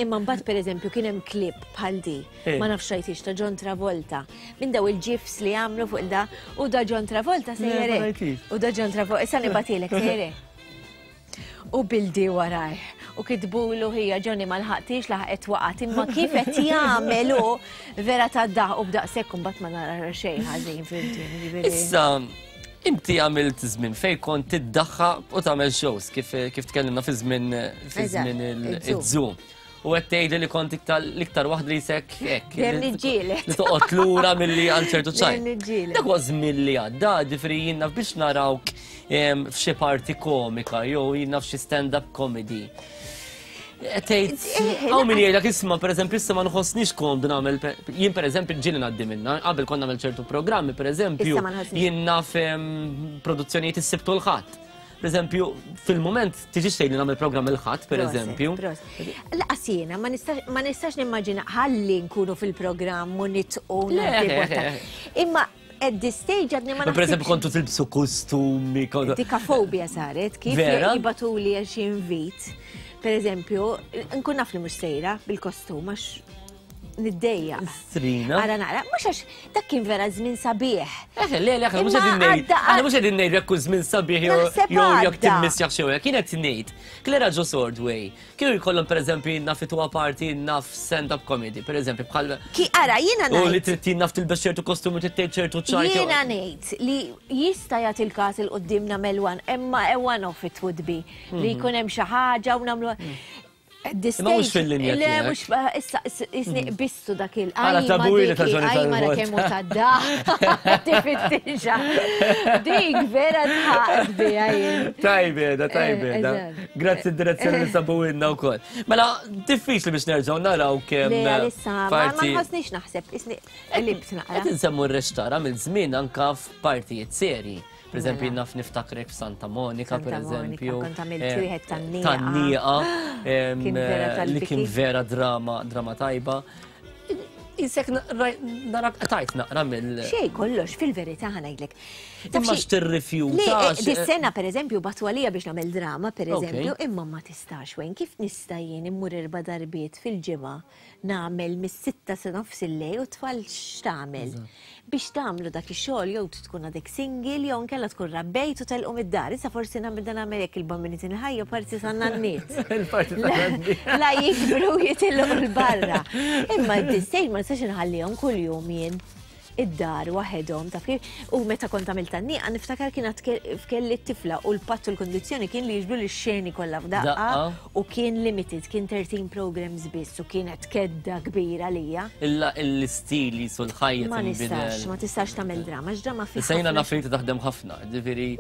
imma mbagħad pereżempju kien hemm klip bħal di, ma nafx rajtix ta' John Travolta, minn daw il-ġifs li għamlu fuq da, u da John Travolta sejjerek. U da John Travolta, issa nibatilek sejjerek. U bildi warajh. U kitbulu ħija Johnny ma lħaqtix laħqet waqgħet imma kif qed jagħmel hu vera ta' daħ u b'daqshekk imbagħad ma nara xejn ħażin fimtni. Issa inti għamilt żmien fejn kont tiddaħħa u tagħmel shows kif kif tkellimna fi żmien fi żmien iż-Zoom. U qed tgħidli li kont l-iktar waħda li jsek hekk. Dejjem niġġieled. Li toqgħod lura milli għal ċertu ċajt. Dejjem niġġieled. Dak huwa żmien li għadda, ġifieri jien naf biex narawk f'xi parti komika jew jien naf xi stand-up comedy. Tgħid, Eh, hawn min jgħidlek isma' pereżempju issa ma nħossnix komdu nagħmel jien pereżempju ġieli ngħaddi minnha, qabel kont nagħmel ċertu programmi pereżempju Issa ma nħossnix. jien naf produzzjonijiet is-Sibt u l-Ħadd. Per eżempju, fil-moment tiġi xejn li nagħmel programm il-ħadd, per eżempju. Laqas jiena ma nistax nimmaġina ħalli nkunu fil-programm u nitqu. Imma at this stage għadni ma Per eżempju, kontu tilbsu kostumi. Dika fobia saret, kif jibatuli għax invit. Per eżempju, nkun naf li mhux sejra bil-kostum għax niddejja. Strina. Ara nara, mhux għax dak kien vera żmien sabiħ. Eħe, le, le, mhux qegħdin ngħid. Aħna mhux qegħdin ngħid jekk żmien sabiħ jew jekk timmissjax xew hekk. Kien qed ngħid, Clara Jo Swordway, kienu jkollhom pereżempju naf ituha parti naf stand-up comedy, pereżempju bħal. Ki ara jiena ngħid. U li trid naf tilbes ċertu kostumi trid tgħid ċertu ċajt. Jiena ngħid li jista' jagħti l-każ il quddiem nagħmel one, imma one off it would be li mhm. jkun hemm xi ħaġa u nagħmlu. Imma mhux fil-linja Le, mhux issa isni mhm. qbistu dak il Għala tabujli ta' ġoni tal mara kemm hu tadda. Tifittixa. Dik vera tħaqt biha jien. Tajbeda, tajbeda. Eh, Grazzi d-direzzjoni li sabu inna wkoll. Mela, diffiċli biex nerġgħu naraw kemm. Le, issa, ma nħossniex naħseb, isni qlibt naqra. Qed insemmu r-rextara mill-żmien anka f'partijiet serji. Per eżempju, naf niftakrek f'Santa Monica, per eżempju. Kont għamilt eh, wieħed tan-nieqa. Tan-nieqa. Eh, li kien vera drama, drama tajba. Isek narak tajt naqra mill. Xej kollox, fil-verità ħanajdlek. Imma x'tirrifjuta. Eh, dis-sena pereżempju batu għalija biex nagħmel drama pereżempju, imma ma tistax wejn kif nista' jien immur erba' darbiet fil-ġimgħa nagħmel mis-sitta sa nofs il-lejl u t-tfal x'tagħmel? Biex tagħmlu dak ix-xogħol jew tkun għadek single jew inkella tkun rabbejt u telqu mid-dar. Issa forsi nagħmel dan nagħmel hekk il-bambini il-ħajja parti sa nanniet. Il-parti ta' nanniet. La jikbru jitilqu l-barra. Imma d-dissejn ma nistax inħallihom kuljum jien id-dar waħedhom taf kif. U meta kont għamilt tan-nieqa niftakar kien għad kelli t-tifla u l-patt u l-kondizzjoni kien li jiġbru l-xeni kollha f'daqqa u kien limited, kien 13 programs biss u kienet kedda kbira lija. Illa l-istil jisu l-ħajja Ma nistax, ma tistax tagħmel drama, x'drama fi. Issa jiena naf li taħdem ħafna, ġifieri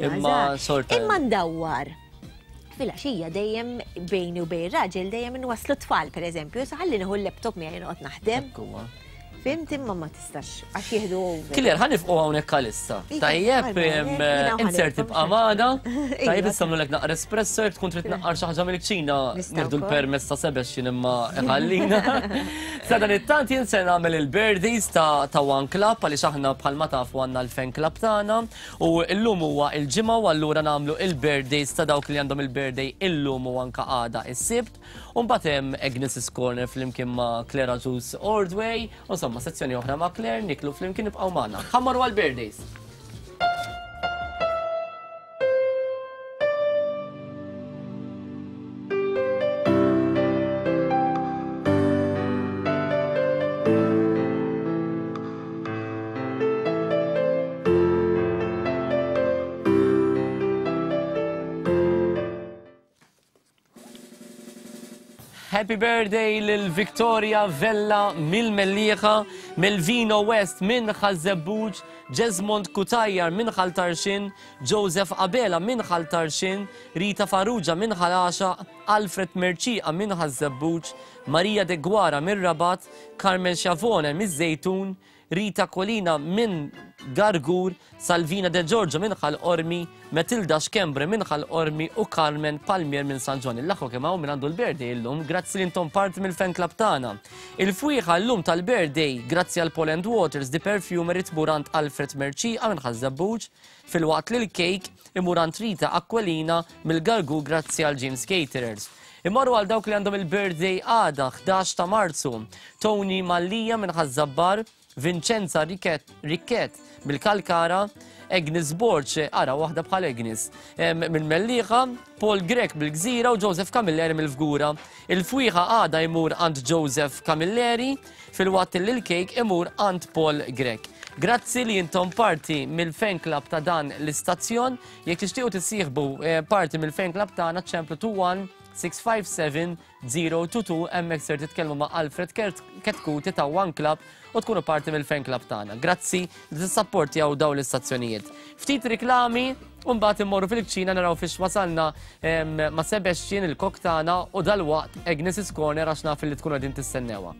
imma xorta. Imma ndawwar filgħaxija dejjem bejni u bejn raġel dejjem inwasslu tfal pereżempju, sa ħalli nieħu l-laptop miegħi noqgħod naħdem. Fimt imma ma tistax għax jieħdu over. Killer, ħa nifqu hawnhekk għalissa. Tajjeb, insert tibqa' magħna. Tajjeb issa nagħmlulek naqra espresso jekk tkun trid tnaqqar xi ħaġa mill-kċina nieħdu l-permess ta' Sebastian imma iħallina. Sa dan it-tant jien se nagħmel il-birthdays ta' One Club għaliex aħna bħalma tafu għandna l-fan club tagħna u llum huwa il-ġimgħa u allura nagħmlu il-birthdays ta' dawk li għandhom il-birthday illum u anka għada is-Sibt. U mbagħad hemm Agnes's Corner flimkien ma' Claire Agius Ordway, u insomma sezzjoni oħra ma' Claire niklu flimkien ibqgħu magħna. Ħa mmorru għall-birthdays. Happy birthday lil Victoria Vella mill-Mellieħa, Melvino West minn Ħaż-Żebbuġ, Jesmond Cutajar minn Ħal Tarxien, Joseph Abela minn Ħal Tarxien, Rita Farrugia minn Ħal Għaxaq, Alfred Mercieqa minn Ħaż-Żebbuġ, Maria Deguara mir-Rabat, Carmen Schiavone miż-Żejtun, Rita Colina minn Gargur, Salvina De Giorgio minn Ħal Qormi, Matilda Schembre minn Ħal Qormi u Carmen Palmier minn San Ġwann. Il-aħwa kemm hawn min għandu l-birthday illum, grazzi li intom parti mill-fan club tagħna. Il-fwieħa llum tal-birthday, grazzi għal Paul and Waters, The Perfumery tmur għand Alfred Mercieqa minn Ħaż-Żebbuġ, filwaqt li l-cake imur għand Rita Aquilina mill-Gargur grazzi għal James Caterers. Immorru għal dawk li għandhom il-birthday għada, 11 ta' Marzu. Tony Mallia minn Ħaż-Żabbar, Vincenza Rikket mill-Kalkara, Agnes Borg, ara waħda bħal Agnes, mill-Mellieħa, Paul Grech mill-Gżira u Joseph Camilleri mill-Fgura. Il-fwieħa għada jmur għand Joseph Camilleri filwaqt li l-kejk imur għand Paul Grech. Grazzi li intom parti mill-fan club ta' dan l-istazzjon. Jekk tixtiequ tissieħbu eh, parti mill-fan club tagħna ċemplu 21 657 022 hemmhekk ser titkellmu ma' Alfred Ketkuti ta' One Club u tkunu parti mill-fan club tagħna. Grazzi li tissapportjaw dawn l-istazzjonijiet. Ftit riklami u mbagħad immorru fil-kċina naraw fiex wasalna ma' Sebastian il-kok tagħna u dalwaqt Agnes's Corner għax naf li tkunu qegħdin tistennewha.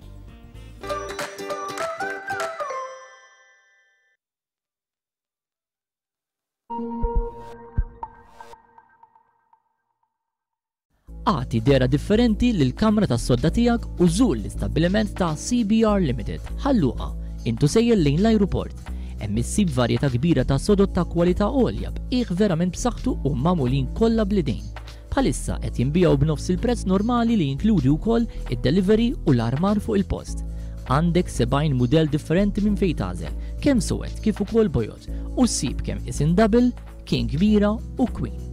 Agħti dehra differenti lill-kamra tas-sodda tiegħek u żur l-istabbiliment ta' CBR Limited, Ħal Luqa, int u sejjer lejn l-ajruport. Hemm issib varjetà kbira ta' sodod ta' kwalità għolja b'qiegħ verament b'saħħtu u magħmulin kollha bl-idejn. Bħalissa qed jinbiegħu b'nofs il-prezz normali li jinkludi wkoll id-delivery u l-armar fuq il-post. Għandek 70 mudell differenti minn fejn tagħżel, kemm suwed kif ukoll bojod, u ssib kemm qisien double, King kbira u Queen.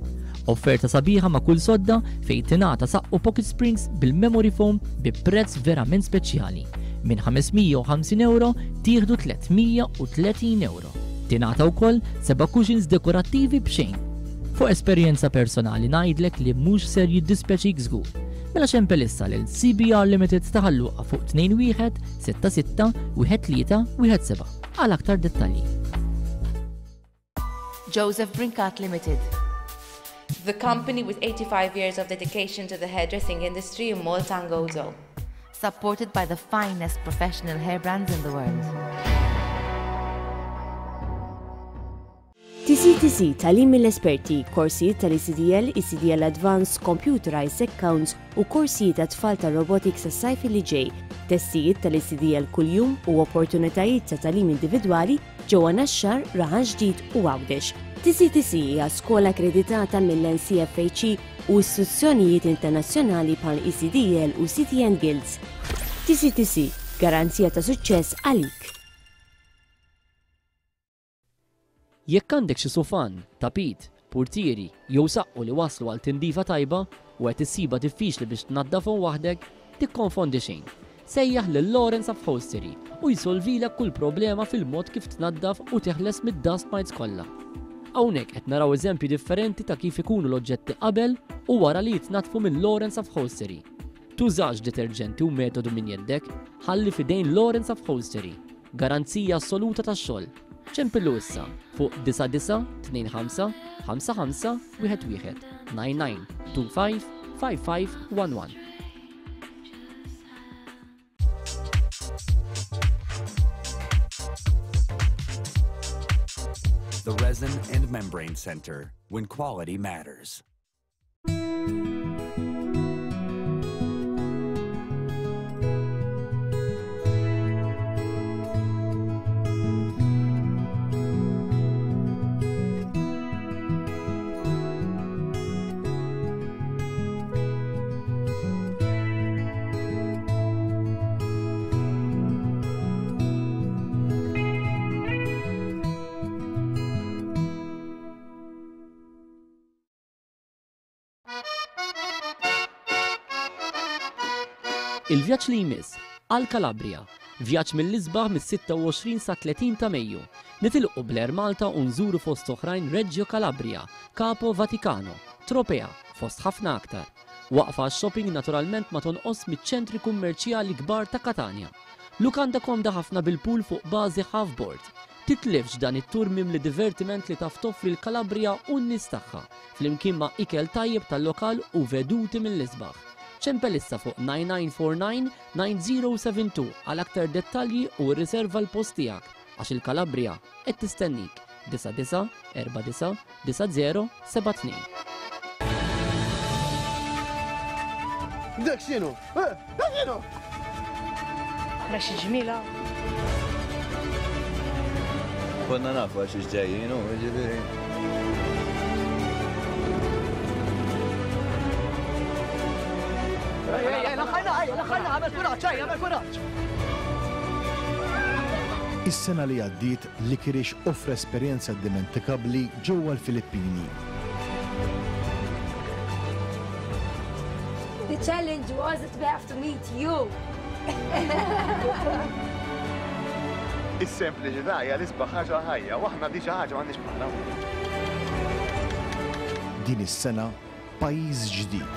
Offerta sabiħa ma' kull sodda fejn tingħata saqqu pocket springs bil-memory foam bi prezz verament speċjali. Minn 550 ewro tieħdu 330 ewro. Tingħata wkoll seba' cushions dekorattivi b'xejn. Fuq esperjenza personali ngħidlek li mhux ser jiddispjaċik żgur. Mela ċempel issa lil CBR Limited ta' Ħal Luqa fuq 21 66 13 17 għal aktar dettalji. Joseph Brincat Limited. The company with 85 years of dedication to the hairdressing industry in Malta and Gozo. Supported by the finest professional hair brands in the world. TCTC, Tagħlim mill-esperti, korsijiet tal-ECDL, ECDL Advanced, Computerized Accounts u korsijiet għat-tfal tar-robotics għas-sajf li ġej. Testijiet tal-ECDL kuljum u opportunitajiet ta' tagħlim individwali ġewwa Naxxar, Raħal Ġdid u Għawdex. TCTC hija skola akkreditata mill-NCFHE u istituzzjonijiet internazzjonali bħal ECDL u CTN Guilds. TCTC, garanzija ta' suċċess għalik. Jekk għandek xi sufan, tapit, purtieri jew saqqu li waslu għal tindifa tajba u qed issibha diffiċli biex tnaddafhom waħdek, tikkonfondi xejn. Sejjaħ lil Lawrence Upholstery u jsolvilek kull problema fil-mod kif tnaddaf u teħles mid-dust mites kollha. Hawnhekk qed naraw eżempji differenti ta' kif ikunu l-oġġetti qabel u wara li jitnaddfu minn Lawrence Upholstery. Tużax deterġenti u metodu minn jeddek, ħalli f'idejn Lawrence Upholstery. Garanzija assoluta tax-xogħol. Ċempillu issa fuq 9925 55 11 99 25 55 11. The Resin and Membrane Center, when quality matters. Il-vjaġġ li jmiss għal Calabria, vjaġġ mill-isbaħ mis-26 sa 30 ta' Mejju. Nitilqu bl-Air Malta u nżuru fost oħrajn Reggio Calabria, Capo Vaticano, Tropea, fost ħafna aktar. Waqfa għax-shopping naturalment ma tonqos miċ-ċentri kummerċjali kbar ta' Katanja. Lukanda komda ħafna bil-pool fuq bażi half board. Titlifx dan it-tour mimli divertiment li taf toffri l-Calabria u n-nies tagħha, flimkien ma' ikel tajjeb tal-lokal u veduti mill-isbaħ. Ċempel issa fuq 9949 9072 għal aktar dettalji u rriserva l-post tiegħek għax il-Calabria qed tistennik. 99 49 90 72. Dak x'inhu? Eh, dak x'inhu? Ra xi ġmiela. Konna nafu għax ġejjin, u ġifieri. Is-sena li għaddiet Licorice offra esperjenza dimentikabbli ġewwa l-Filippini. The challenge was that we have to meet you. Is-sempliċità hija l-isbaħ ħaġa ħajja u aħna di xi ħaġa m'għandniex bħalha. Din is-sena pajjiż ġdid.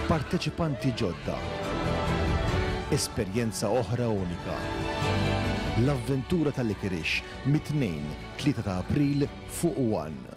Parteċipanti ġodda. Esperjenza oħra unika. L-avventura tal-Licorice mit-Tnejn, 3 ta' April fuq One.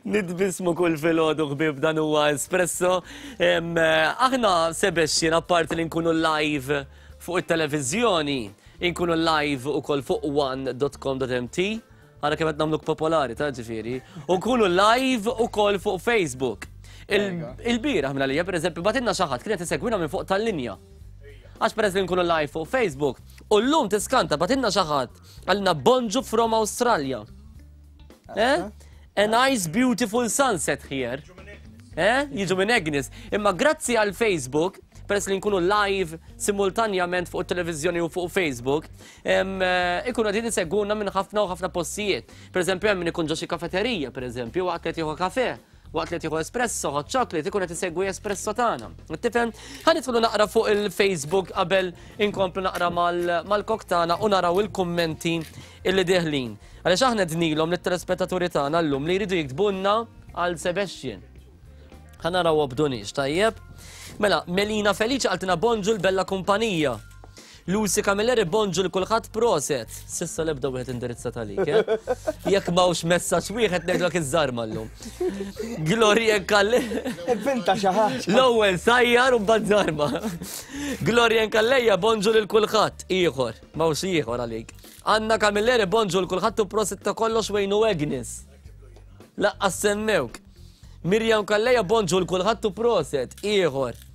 Nitbismu kull filgħodu ħbieb dan huwa espresso. Aħna Sebastian apparti li nkunu live fuq it-televiżjoni, inkunu live ukoll fuq one.com.mt. Ara kemm qed nagħmluk popolari ta' ġifieri. U nkunu live ukoll fuq Facebook. Il-bieraħ minn għalija pereżempju batinna xi ħadd kien qed isegwina minn fuq tal-linja. Għax peress li nkunu live fuq Facebook, u llum tiskanta batinna xi ħadd għalina bonġu from Australia. Eh? A nice beautiful sunset here. Eh? Jiġu minn Agnes. Imma grazzi għal Facebook, peress li nkunu live simultanjament fuq televizjoni u fuq Facebook, eh, ikunu għadin isegwuna minn ħafna u ħafna postijiet. Per eżempju, hemm min ikun ġo xi kafeterija, per eżempju, waqt li jieħu kafe. Waqt li tieħu espresso, hot chocolate, ikun qed isegwi espresso tagħna. Tifhem? Ħa nidħlu naqra fuq il-Facebook qabel inkomplu naqra mal-kok tagħna u naraw il-kummenti illi deħlin. Għaliex aħna dnilhom lit-telespettaturi tagħna llum li jridu jiktbulna għal Sebastian. Ħa naraw obdunix, tajjeb? Mela, Melina Felice qaltina bonġu l-bella kumpanija. Lucy Camilleri bonġu l kulħadd proset. Sissa l-ebda wieħed indirizza talik, eh? Jekk m'hawnx messaġġ wieħed ngħidlek iż-żarma llum. Gloria Kalli. Ivvinta xi ħaġa. L-ewwel sajjar u mbagħad żarma. Gloria Kalleja bonġu lil kulħadd ieħor, m'hawnx ieħor għalik. Anna Camilleri bonġu l kulħadd u proset ta' kollox Wayne u Agnes. Laqqas semmewk. Mirjam Kalleja bonġu l kulħadd u proset ieħor.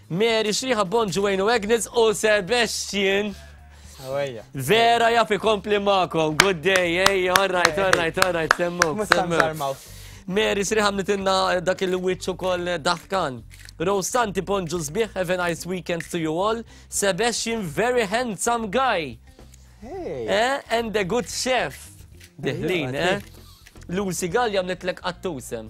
Mary Xriħa Bonġu Wayne u Agnes u Sebastian. Vera jaf ikompli magħkom. Good day, ej, all right, all right, all right, semmuk. Semmuk. Mary Xriħa mnitinna dak il-wiċċ ukoll daħkan. Rose Santi Bonġu sbieħ, have a nice weekend to you all. Sebastian, very handsome guy. Hey. Eh, and a good chef. Diħlin, eh? Lucy Gallia mnitlek qattusem.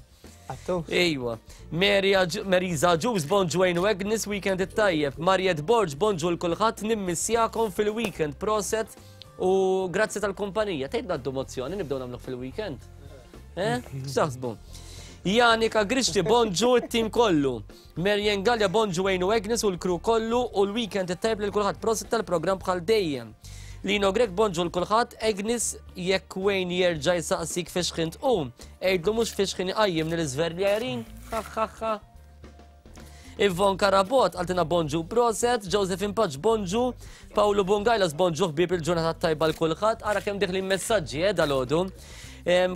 Ejwa. Marisa Ġus, bonġu Wayne u Agnes, weekend it-tajjeb. Mariet Borg, bonġu l-kulħadd, nimmissjakom fil-weekend. Proset u grazzi tal-kumpanija. Tgħid ngħaddu mozzjoni nibdew nagħmluh fil-weekend. Eh? X'taħsbu? Janika Grixti, bonġu t-tim kollu. Marian Gallia, bonġu Wayne u Agnes u l-kru kollu u l-weekend it-tajb lil kulħadd. Prosit tal-programm bħal dejjem. Lino Grech, bonġu l kulħadd. Agnes, jekk Wayne jerġa' jsaqsik fiex ħin tqum, għidlu mhux fiex ħin iqajjimni l-iżverljerin. Ha ha ha. Ivon Karabot għaltina bonġu proset, Josephine Paċ bonġu, Paolo Bungajlas bonġu ħbieb il-ġurnata tajba l kulħadd, ara kemm diħlin messaġġi eh dalodu.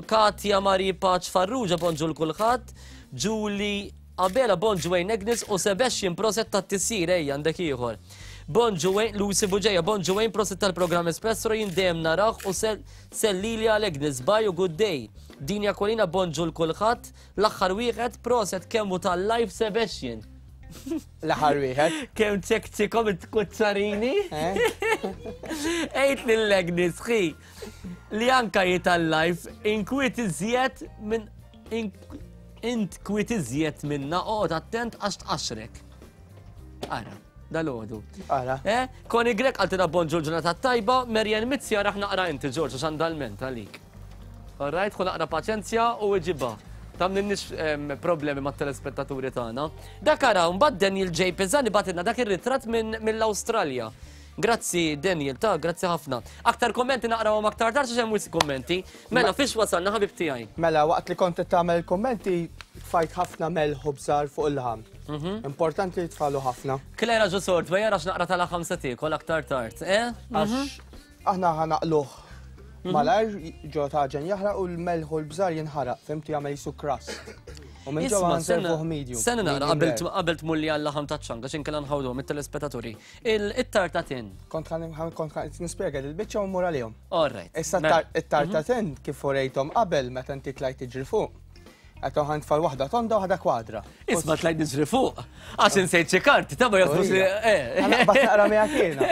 Katja Mari Paċ Farrugia bonġu l kulħadd, Julie Abela bonġu Wayne Agnes u Sebastian proset tat-tisjir ejja għandek ieħor. Bonġu Wayne Lucy Buġeja bonġu Wayne proset tal-programm Espresso jien dejjem narah u sellili għal Agnes bye u good day. Dinja Kolina bonġu l kulħadd l-aħħar wieħed proset kemm hu tal-live Sebastian. L-aħħar wieħed. Kemm ċekċikom it-kuċċarini? Eh? Għid lil Agnes ħi li anka hi tal-live inkwiet iżjed minn Int kwiet iżjed minna, oqgħod attent għax tqaxxrek. Ara, dal-għodu. Ara. Eh? Koni Grek għaltina bonġu l-ġurnata tajba, Marian Mizzi araħ naqra inti Ġorġ għax għandha l-ment għalik. All right, ħu naqra paċenzja u iġibha. Tamninniex problemi mat-telespettaturi tagħna. Dak ara, mbagħad Daniel J. Pisani bagħtilna dak ir-ritratt mill-Awstralja. Grazzi Daniel, ta' grazzi ħafna. Aktar kommenti naqrawhom aktar tard għax hemm wisq kummenti. Mela fiex wasalna ħabib tiegħi? Mela waqt li kont qed tagħmel kummenti tfajt ħafna melħ u bżar fuq il-laħam. Mhm. Importanti li tfalu ħafna. Klera ġo sort, ma jarax naqra tal-laħam se tiekol aktar tard, eh? Għax mhm. aħna ħanaqluh mhm. malajr ġo taġen jaħraq u l-melħ u l-bżar jinħaraq, fimti jagħmel jisu crust. U minn ġewwa nservuh medium. Sena naqra qabel tmulli għal-laħam taċ-ċanga x'inkella nħawduhom it-telespettaturi. Il-tarta tin. Kont kont nispjega il-biċċa u mmur għalihom. All right. Issa mela. it-tarta mhm. tin kif urejthom qabel meta inti tlajt tiġri fuq. Għetom ħan tfal waħda tonda waħda kwadra. Isma tlajt niġri fuq. Għax insejt xi karti, ta' ma jaħsbux li. Eh. Naqbad naqra miegħek jiena.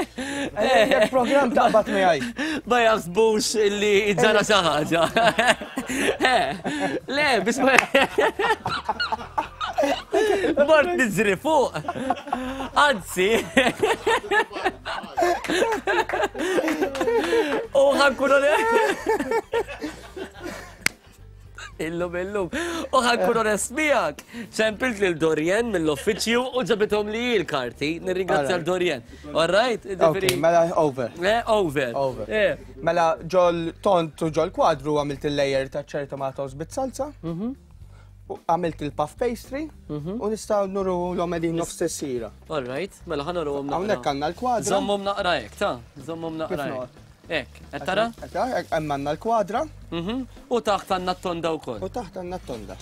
Eh. Program taqbad miegħi. Ma jaħsbux li ġara xi ħaġa. Eh. Le, biex ma. Mort niġri fuq. Anzi. U ħankun Illum illum. U ħankun onest miegħek. Ċempilt lil Dorien mill-uffiċċju u ġabithom li l-karti. Nirringrazzja l Dorien. All right? Okay, mela over. Eh, over. Over. Eh. Mela ġol tont u ġol kwadru għamilt il-layer ta' ċerta tomatoes bit-salsa. Mhm. Għamilt il-puff pastry mhm. u nistgħu nuru l-om qegħdin nofs tessira. All right, mela ħa nuruhom naqra. Hawnhekk għandna l-kwadra. Żommhom naqra hekk, ta' żommhom naqra hekk. Hekk, qed tara? Hemm għandna l-kwadra. Mhm. U taħt għandna t-tonda wkoll. U taħt għandna t-tonda.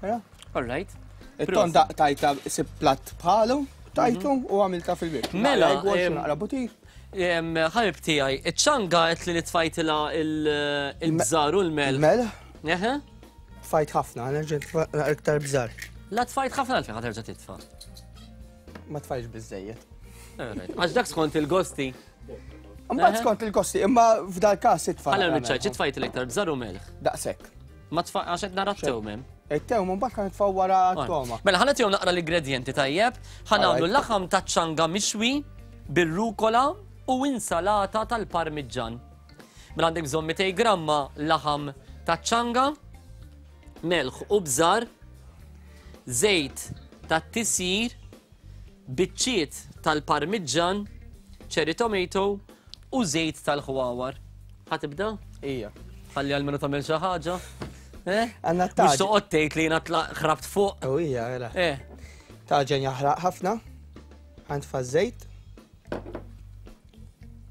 All right. It-tonda tajta sib platt bħalu, tajtu mhm. u għamilta fil-bib. Mela, naqra butir. Ħabib tiegħi, iċ-ċanga qed li tfajtilha il-bżar u l-melħ. Il-melħ? Eħe. Tfajt ħafna, nerġa' iktar bżar. La tfajt ħafna għalfejn ħa terġa' titfa'. Ma tfajx biżejjed. Għax dak skont il-gosti. Mbagħad skont il-gosti, imma f'dal każ itfa'. Għala miċċajt, tfajt l-iktar bżar u melħ. Daqshekk. Ma tfa' għax qed nara t-tewm hemm. It-tewm mbagħad ħa nitfgħu wara t-toma. Mela ħa nagħtihom naqra l-ingredjenti tajjeb, ħa nagħmlu laħam ta' ċanga mixwi bir-rukola u insalata tal-parmiġġan. Mela għandek bżonn 200 gramma laħam ta' ċanga, melħ u bżar, żejt tat-tisjir, biċċiet tal-parmiġġan, cherry tomato u żejt tal-ħwawar. Ħa tibda? Ija. Ħalli għalmenu tagħmel xi ħaġa. Eh? Għandna t-taġen. Mhux toqgħod tgħid li jiena ħrabt fuq. U hija, mela. Eh. Taġen jaħraq ħafna. Għandfa żejt.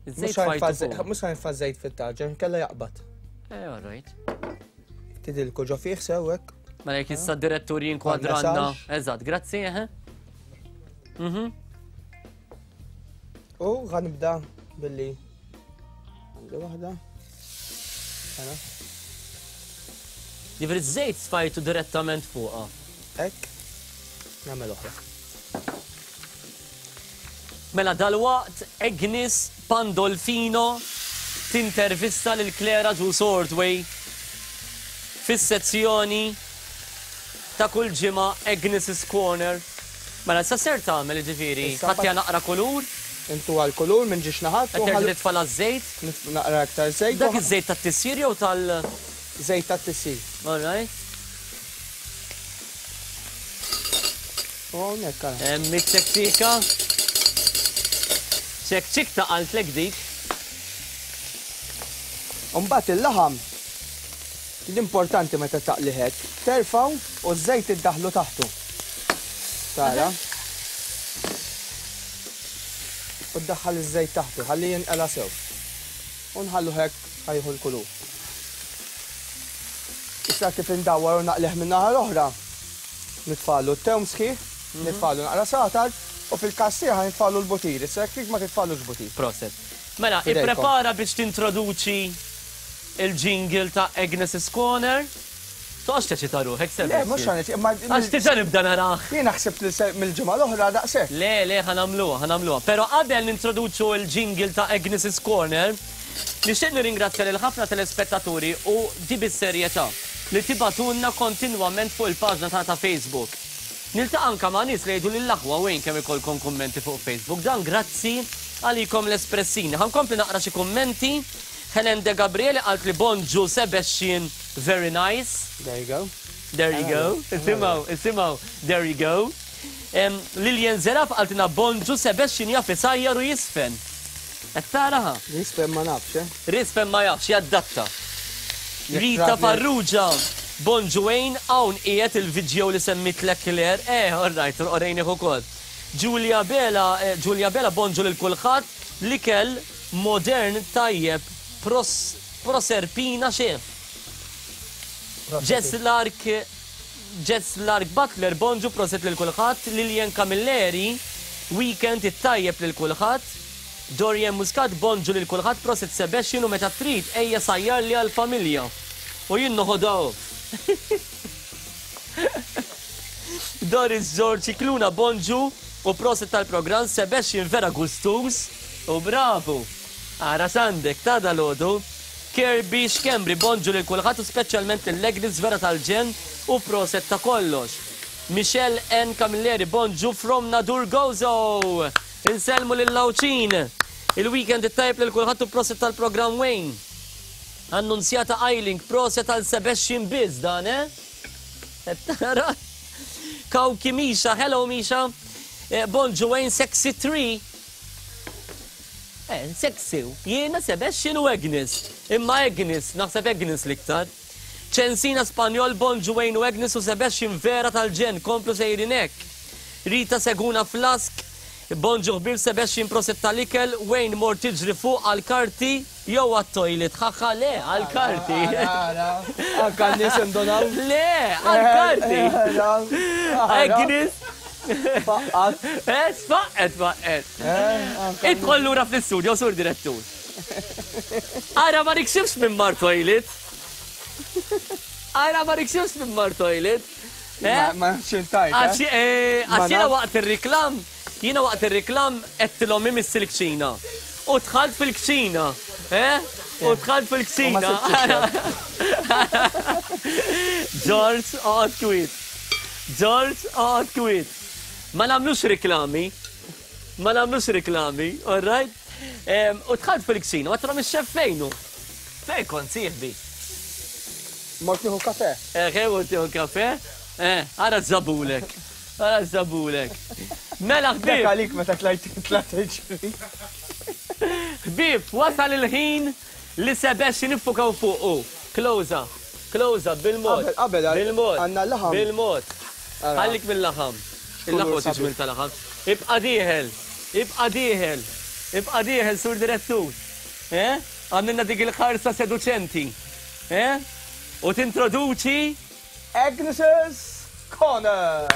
Iż-żejt fajtu. Mhux ħanfa żejt fit-taġen, kella jaqbad. Eh, all right. Tidilku ġo fih sewwek. Mela jekk issa d-direttur jinkwadranna. Eżatt, grazzi, eh. U ħanibda billi għandi waħda. Mela. Ġifieri żejt sfajtu direttament fuqha. Hekk. Nagħmel oħra. Mela dalwaqt Agnes Pandolfino tintervista lil Claire Agius Ordway fis-sezzjoni ta' kull ġimgħa Agnes's Corner. Mela issa ser tagħmel jiġifieri? Ħadd naqra kulur? Intu għal kulur minn ġiex naħat. Qed terġa' titfalha ż-żejt? Naqra aktar żejt. Dak iż-żejt tat-tisjir jew tal? Żejt tat-tisjir. All right. U hawnhekk ara. Hemm iċ-ċekċika. Ċekċikta qaltlek dik. U mbagħad il-laħam l-importanti meta taqli hekk, terfgħu u ż-żejt iddaħħlu taħtu. Tara? U ddaħħal iż-żejt taħtu ħalli jinqela sew. U nħalluh hekk ħa jieħu l-kulur. Issa kif indawwar u naqlih min-naħa l-oħra, nitfagħlu t-tewm sħiħ, nitfagħlu naqra satar u fil-każ tiegħi ħa nitfagħlu l-butir. Issa jekk trid ma titfagħlux butir. Proset. Mela, F'idejkom. ipprepara biex tintroduċi il-jingle ta' Agnes's Corner. Toqgħodx teċita ruħek, Le, mhux Sebastian. ħa nit- imma Għax diġà nibda narah. Jiena ħsibt li se mill-ġimgħa l-oħra daqshekk. Le, le, ħa nagħmluha, ħa nagħmluha. Però qabel nintroduċu l-jingle ta' Agnes's Corner, Nixtieq nirringrazzja lil ħafna telespettaturi u di bis-serjetà, li tibagħtulna kontinwament fuq il-paġna tagħna ta' Facebook. Niltaqa' anke ma' nies li jgħiduli l-aħwa Wayne kemm ikollkom kummenti fuq Facebook. Dan grazzi għalikom l-espressini. Ħa nkompli naqra xi kummenti. Helen De Gabriele qaltli bonġu Sebestien very nice. There you go. There you go. Isimgħu, isimgħu, there you go. Lilian Zeraf qaltilna bonġu Sebestien jaf isajjar u jiżfen. Qed taraha? Rispen ma nafx, eh? Rispen ma jafx, jaddatta. Rita Farrugia, Bonġu Wayne, hawn qiegħed il-vidjow li semmitlek Claire. Eh, all right, orejnih ukoll. Julia Bela, Julia Bela, bonġu lil kulħadd, l-ikel modern tajjeb, pros, proserpina chef. Jess Lark, Jess Lark Butler, bonġu proset lil kulħadd, Lilian Camilleri, weekend it-tajjeb lil kulħadd. Dorian Muscat, Bonġu lil kulħadd prosit Sebastian u meta trid ejja sajjarli għall familja u jien noħodha off. Doris George Scicluna, Bonġu u prosit tal-programm Sebastian vera gustuż u bravu. Ara x'għandek ta' dalgħodu. Kirby Schembri, Bonġu lil kulħadd u speċjalment lil Agnes vera tal-ġenn u proset ta' kollox. Michelle Ann Camilleri, Bonġu from Nadur Gozo! Insellmu lill-Għawdxin! Il-weekend it-tajjeb lil kulħadd u proset tal-programm Wayne. Annunzjata Eiling, proset għal Sebastian biss dan, eh? Qed tara? Kawki Misha, hello Misha. Eh, bonġu Wayne, sexy 3. Eh, sexy. Jiena Sebastian u Agnes. Imma Agnes, naħseb Agnes l-iktar. Ċensina Spanjol, bonġu Wayne u Agnes u Sebastian vera tal-ġenn, komplu sejrin hekk. Rita Seguna Flask, Bonġu ħbieb Sebastian proset tal-ikel, Wayne mort tiġri fuq għall-karti jew għat-toilet? Ħaħa le, għall-karti. Ara, anka n-nies indonaw. Le, għall-karti. Agnes. Faqqat. Eh, sfaqqet, faqqet. Idħol lura fl-istudio, sur direttur. Ara ma niksibx minn mar toilet. Ara ma niksibx minn mar toilet. Eh? Ma nafx intajt. Għax eh, jiena waqt ir-riklam, jiena waqt ir-riklam għedtilhom imiss il-kċina. U dħalt fil-kċina. Eh? U dħalt fil-kċina. George, oqgħod kwiet. George, oqgħod kwiet. Ma nagħmlux riklami. Ma nagħmlux riklami, all right? U dħalt fil-kċina, ma trom ix-xef fejnu. Fejn kont sieħbi? Mort nieħu kafe. Eħe, mort nieħu kafe. Eh, ara żabulek. Ara żabulek. Mela ħbieb. Dak għalik meta tlajt tlajt tiġri. Ħbieb, wasal il-ħin li Sebastian niffukaw fuqu. Close up, close up, bil-mod. Qabel, qabel, bil-mod. Għandna l-laħam. Bil-mod. Ħallik mill-laħam. Il-laħam huwa tiġmil tal-laħam. Ibqa' dieħel, ibqa' dieħel, ibqa' dieħel, sur direttur. Eh? Għamilna dik il-ħarsa seduċenti. Eh? U tintroduċi Agnes's Corner!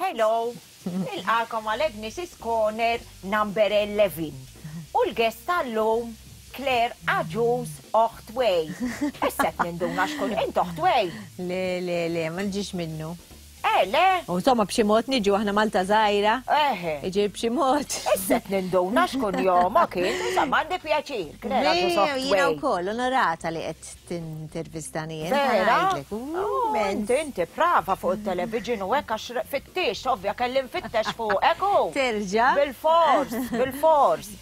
Hello, nilqakom għal Agnes's Corner number 11. U l-guest tal-lum Claire Agius oħt Way. Issa qed ninduna x'kun int oħt Way. Le, le, le, ma nġix minnu. Eh, le. U insomma b'xi mod niġu aħna Malta żgħira. Eħe. Iġi b'xi mod. Issa qed ninduna x'kun jomok int, insomma għandi pjaċir. Claire Agius oħt Way. Jiena wkoll onorata li qed tintervistani jien. Vera? Oh, inti inti prava fuq it-television u hekk għax fittix, ovvja kelli nfittex fuqek u. Terġa'. Bil-fors, bil-fors.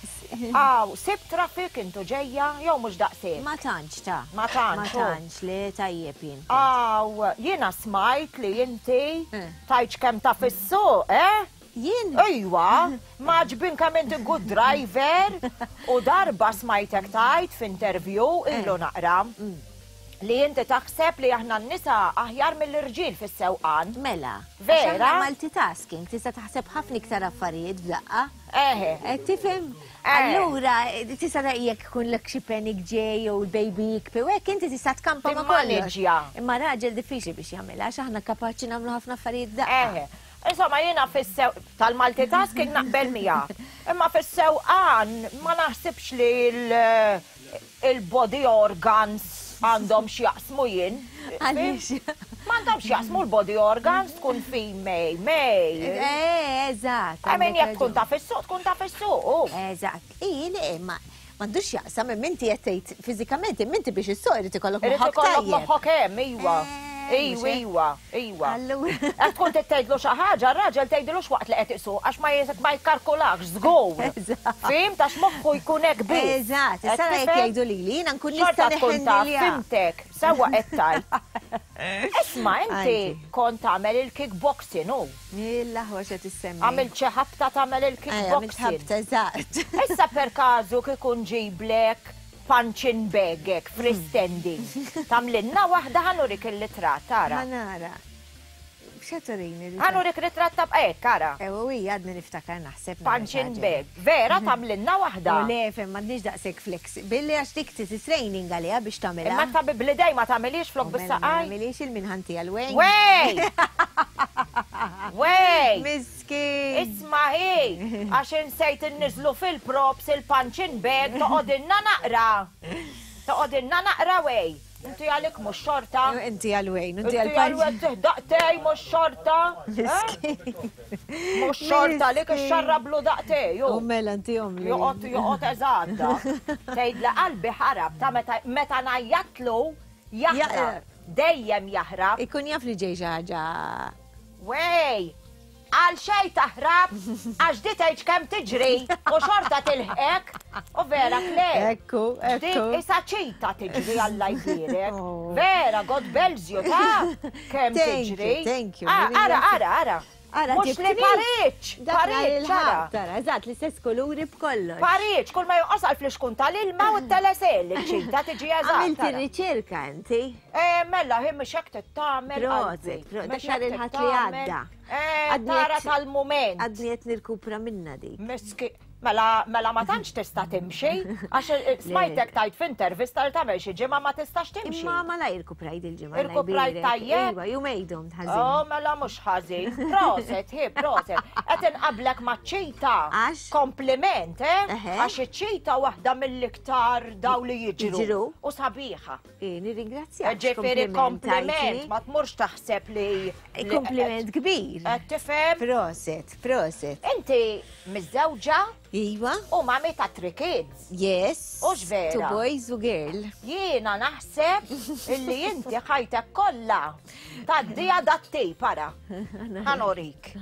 Aw, sib traffic intu ġejja jew mhux daqshekk? Ma tantx ta. Ma tantx. Ma tantx le tajjeb jien. Aw, jiena smajt li inti eh. tajċ kemm ta' fis-suq, eh? Jien? Ejwa, m'għaġbin kemm inti good driver u darba smajtek tgħid f'interview eh. ilu naqra mm. li inti taħseb li aħna n-nisa aħjar mill-irġiel fis-sewqan. Mela. Vera? Multitasking, tista' taħseb ħafna iktar affarijiet f'daqqa. Eħe. Eh, tifhem? Eh. Allura, tista' jekk ikun lek xi panic ġej jew il-baby jikpi u hekk inti tista' tkampa ma' kollox. Imma raġel diffiċli biex jagħmilha għax aħna kapaċi nagħmlu ħafna affarijiet f'daqqa. Eħe. Insomma jiena fis-sew tal-multitasking naqbel miegħek. Imma fis-sewqan ma naħsibx li l-body organs għandhom x'jaqsmu jien. Għaliex? M'għandhomx x'jaqsmu l-body organs tkun female, male. Eh, eżatt. I mean jekk tkun taf issuq, tkun taf issuq. Eżatt. Ii, le, ma m'għandux x'jaqsam imma inti qed tgħid fiżikament imma inti biex issuq irid ikollok Irid moħħok ikollok tajjeb. moħħok hemm, iwa. Eh, Iwa, iwa, iwa. Allura. Qed tkun trid tgħidlu xi ħaġa, r-raġel tgħidilux waqt li qed isuq għax ma ma jikkalkulax żgur. Eżatt. Fhimt għax moħħu jkun hekk biss. Eżatt, Qed issa jekk tifhem? jgħidu lili, jiena nkun nista' Xorta tkun taf, neħendilja. fhimtek, sewwa qed tgħid. Isma' inti Għajdi. kont tagħmel il-kickboxing hu. Mill-aħwa x'qed issemmi. Għamilt xi ħabta tagħmel Eh, għamilt il-kickboxing. ħabta, eżatt. Issa per każu kieku nġiblek punching bag hekk freestanding. Tagħmlilna waħda ħa nurik il-litratt, ara. Ħa nara. X'qed turini? Ħa nurik ritratt ta' hekk, ara. Ewa, u hija għadni niftakar naħseb. Punching bag. Vera tagħmlilna waħda? U le, fem, m'għandniex daqshekk flexi. Billi għax dik trid training għaliha biex tagħmilha. Imma ta' bl-idej ma tagħmilhiex flok Mela, ma bis-saqaj? nagħmilhiex il-minħanti għal Wayne. Wey! Wey! Miskin! Isma' hi, għax insejt inniżlu fil-props il-punching bag toqgħodilna naqra. Toqgħodilna naqra Wey. Inti għalik mhux xorta. Inti għal Wayne, inti għal Inti għal Wayne daqtej mhux xorta. Miskin. Mhux xorta li ixxarrablu daqtej. U mela inti omli. Joqgħod joqgħod eżatt. Tgħid li qalbi ħarab ta' meta meta ngħajjatlu jaħrab. Dejjem jaħrab. Ikun jaf li ġej xi ħaġa. Wey! Għal xej taħrab, għax di tgħidx kemm tiġri u xorta tilħqek. U vera Claire. Ekku, Di ekku. isa ċita tiġri Alla jbierek. Oh. Vera, God bless you, ta' kemm Thank you, tiġri. thank you. Ah, Ara, ara, ara. Ara, Mhux li ġibtni. pariċ, Dak nhar pariċ, ara. il-ħadd, ara, eżatt, l-istess kuluri b'kollox. Pariċ, kull ma jonqos għal flixkun tal-ilma u t-telesel, iċ-ċita tiġi eżatt. Għamilt ara. ir-riċerka inti. Eh, mela, hi mhux hekk tittamel. Proset, qalbi. proset, Mhux dak nhar hekk il-ħadd li tittamel. għadda. Eh, Għadni tara qed- tal-mument. Għadni qed nirkupra minna dik. Miski, mela, mela ma tantx tista' timxi, għax eh, smajtek tajt f'intervista li tagħmel xi ġimgħa ma tistax timxi. Imma ma la irkuprajt il-ġimgħa. Irkuprajt tajjeb? Iva, jumejn domt ħażin. Oh, mela mhux ħażin. Proset, hi, proset. Qed inqablek maċ-ċita. Għax? Kompliment, eh? Għax iċ-ċita waħda mill-iktar daw li jiġru. U sabiħa. Eh, nirringrazzjak. Ġifieri kompliment, ma tmurx taħseb li. Kompliment kbir. Tifhem? Proset, proset. Inti miżżewġa? Iva. U mami ta' three kids. Yes. U vera. Two boys u girl. Jiena naħseb illi inti ħajtek kollha tgħaddiha dat-tip ara. Ħanorik.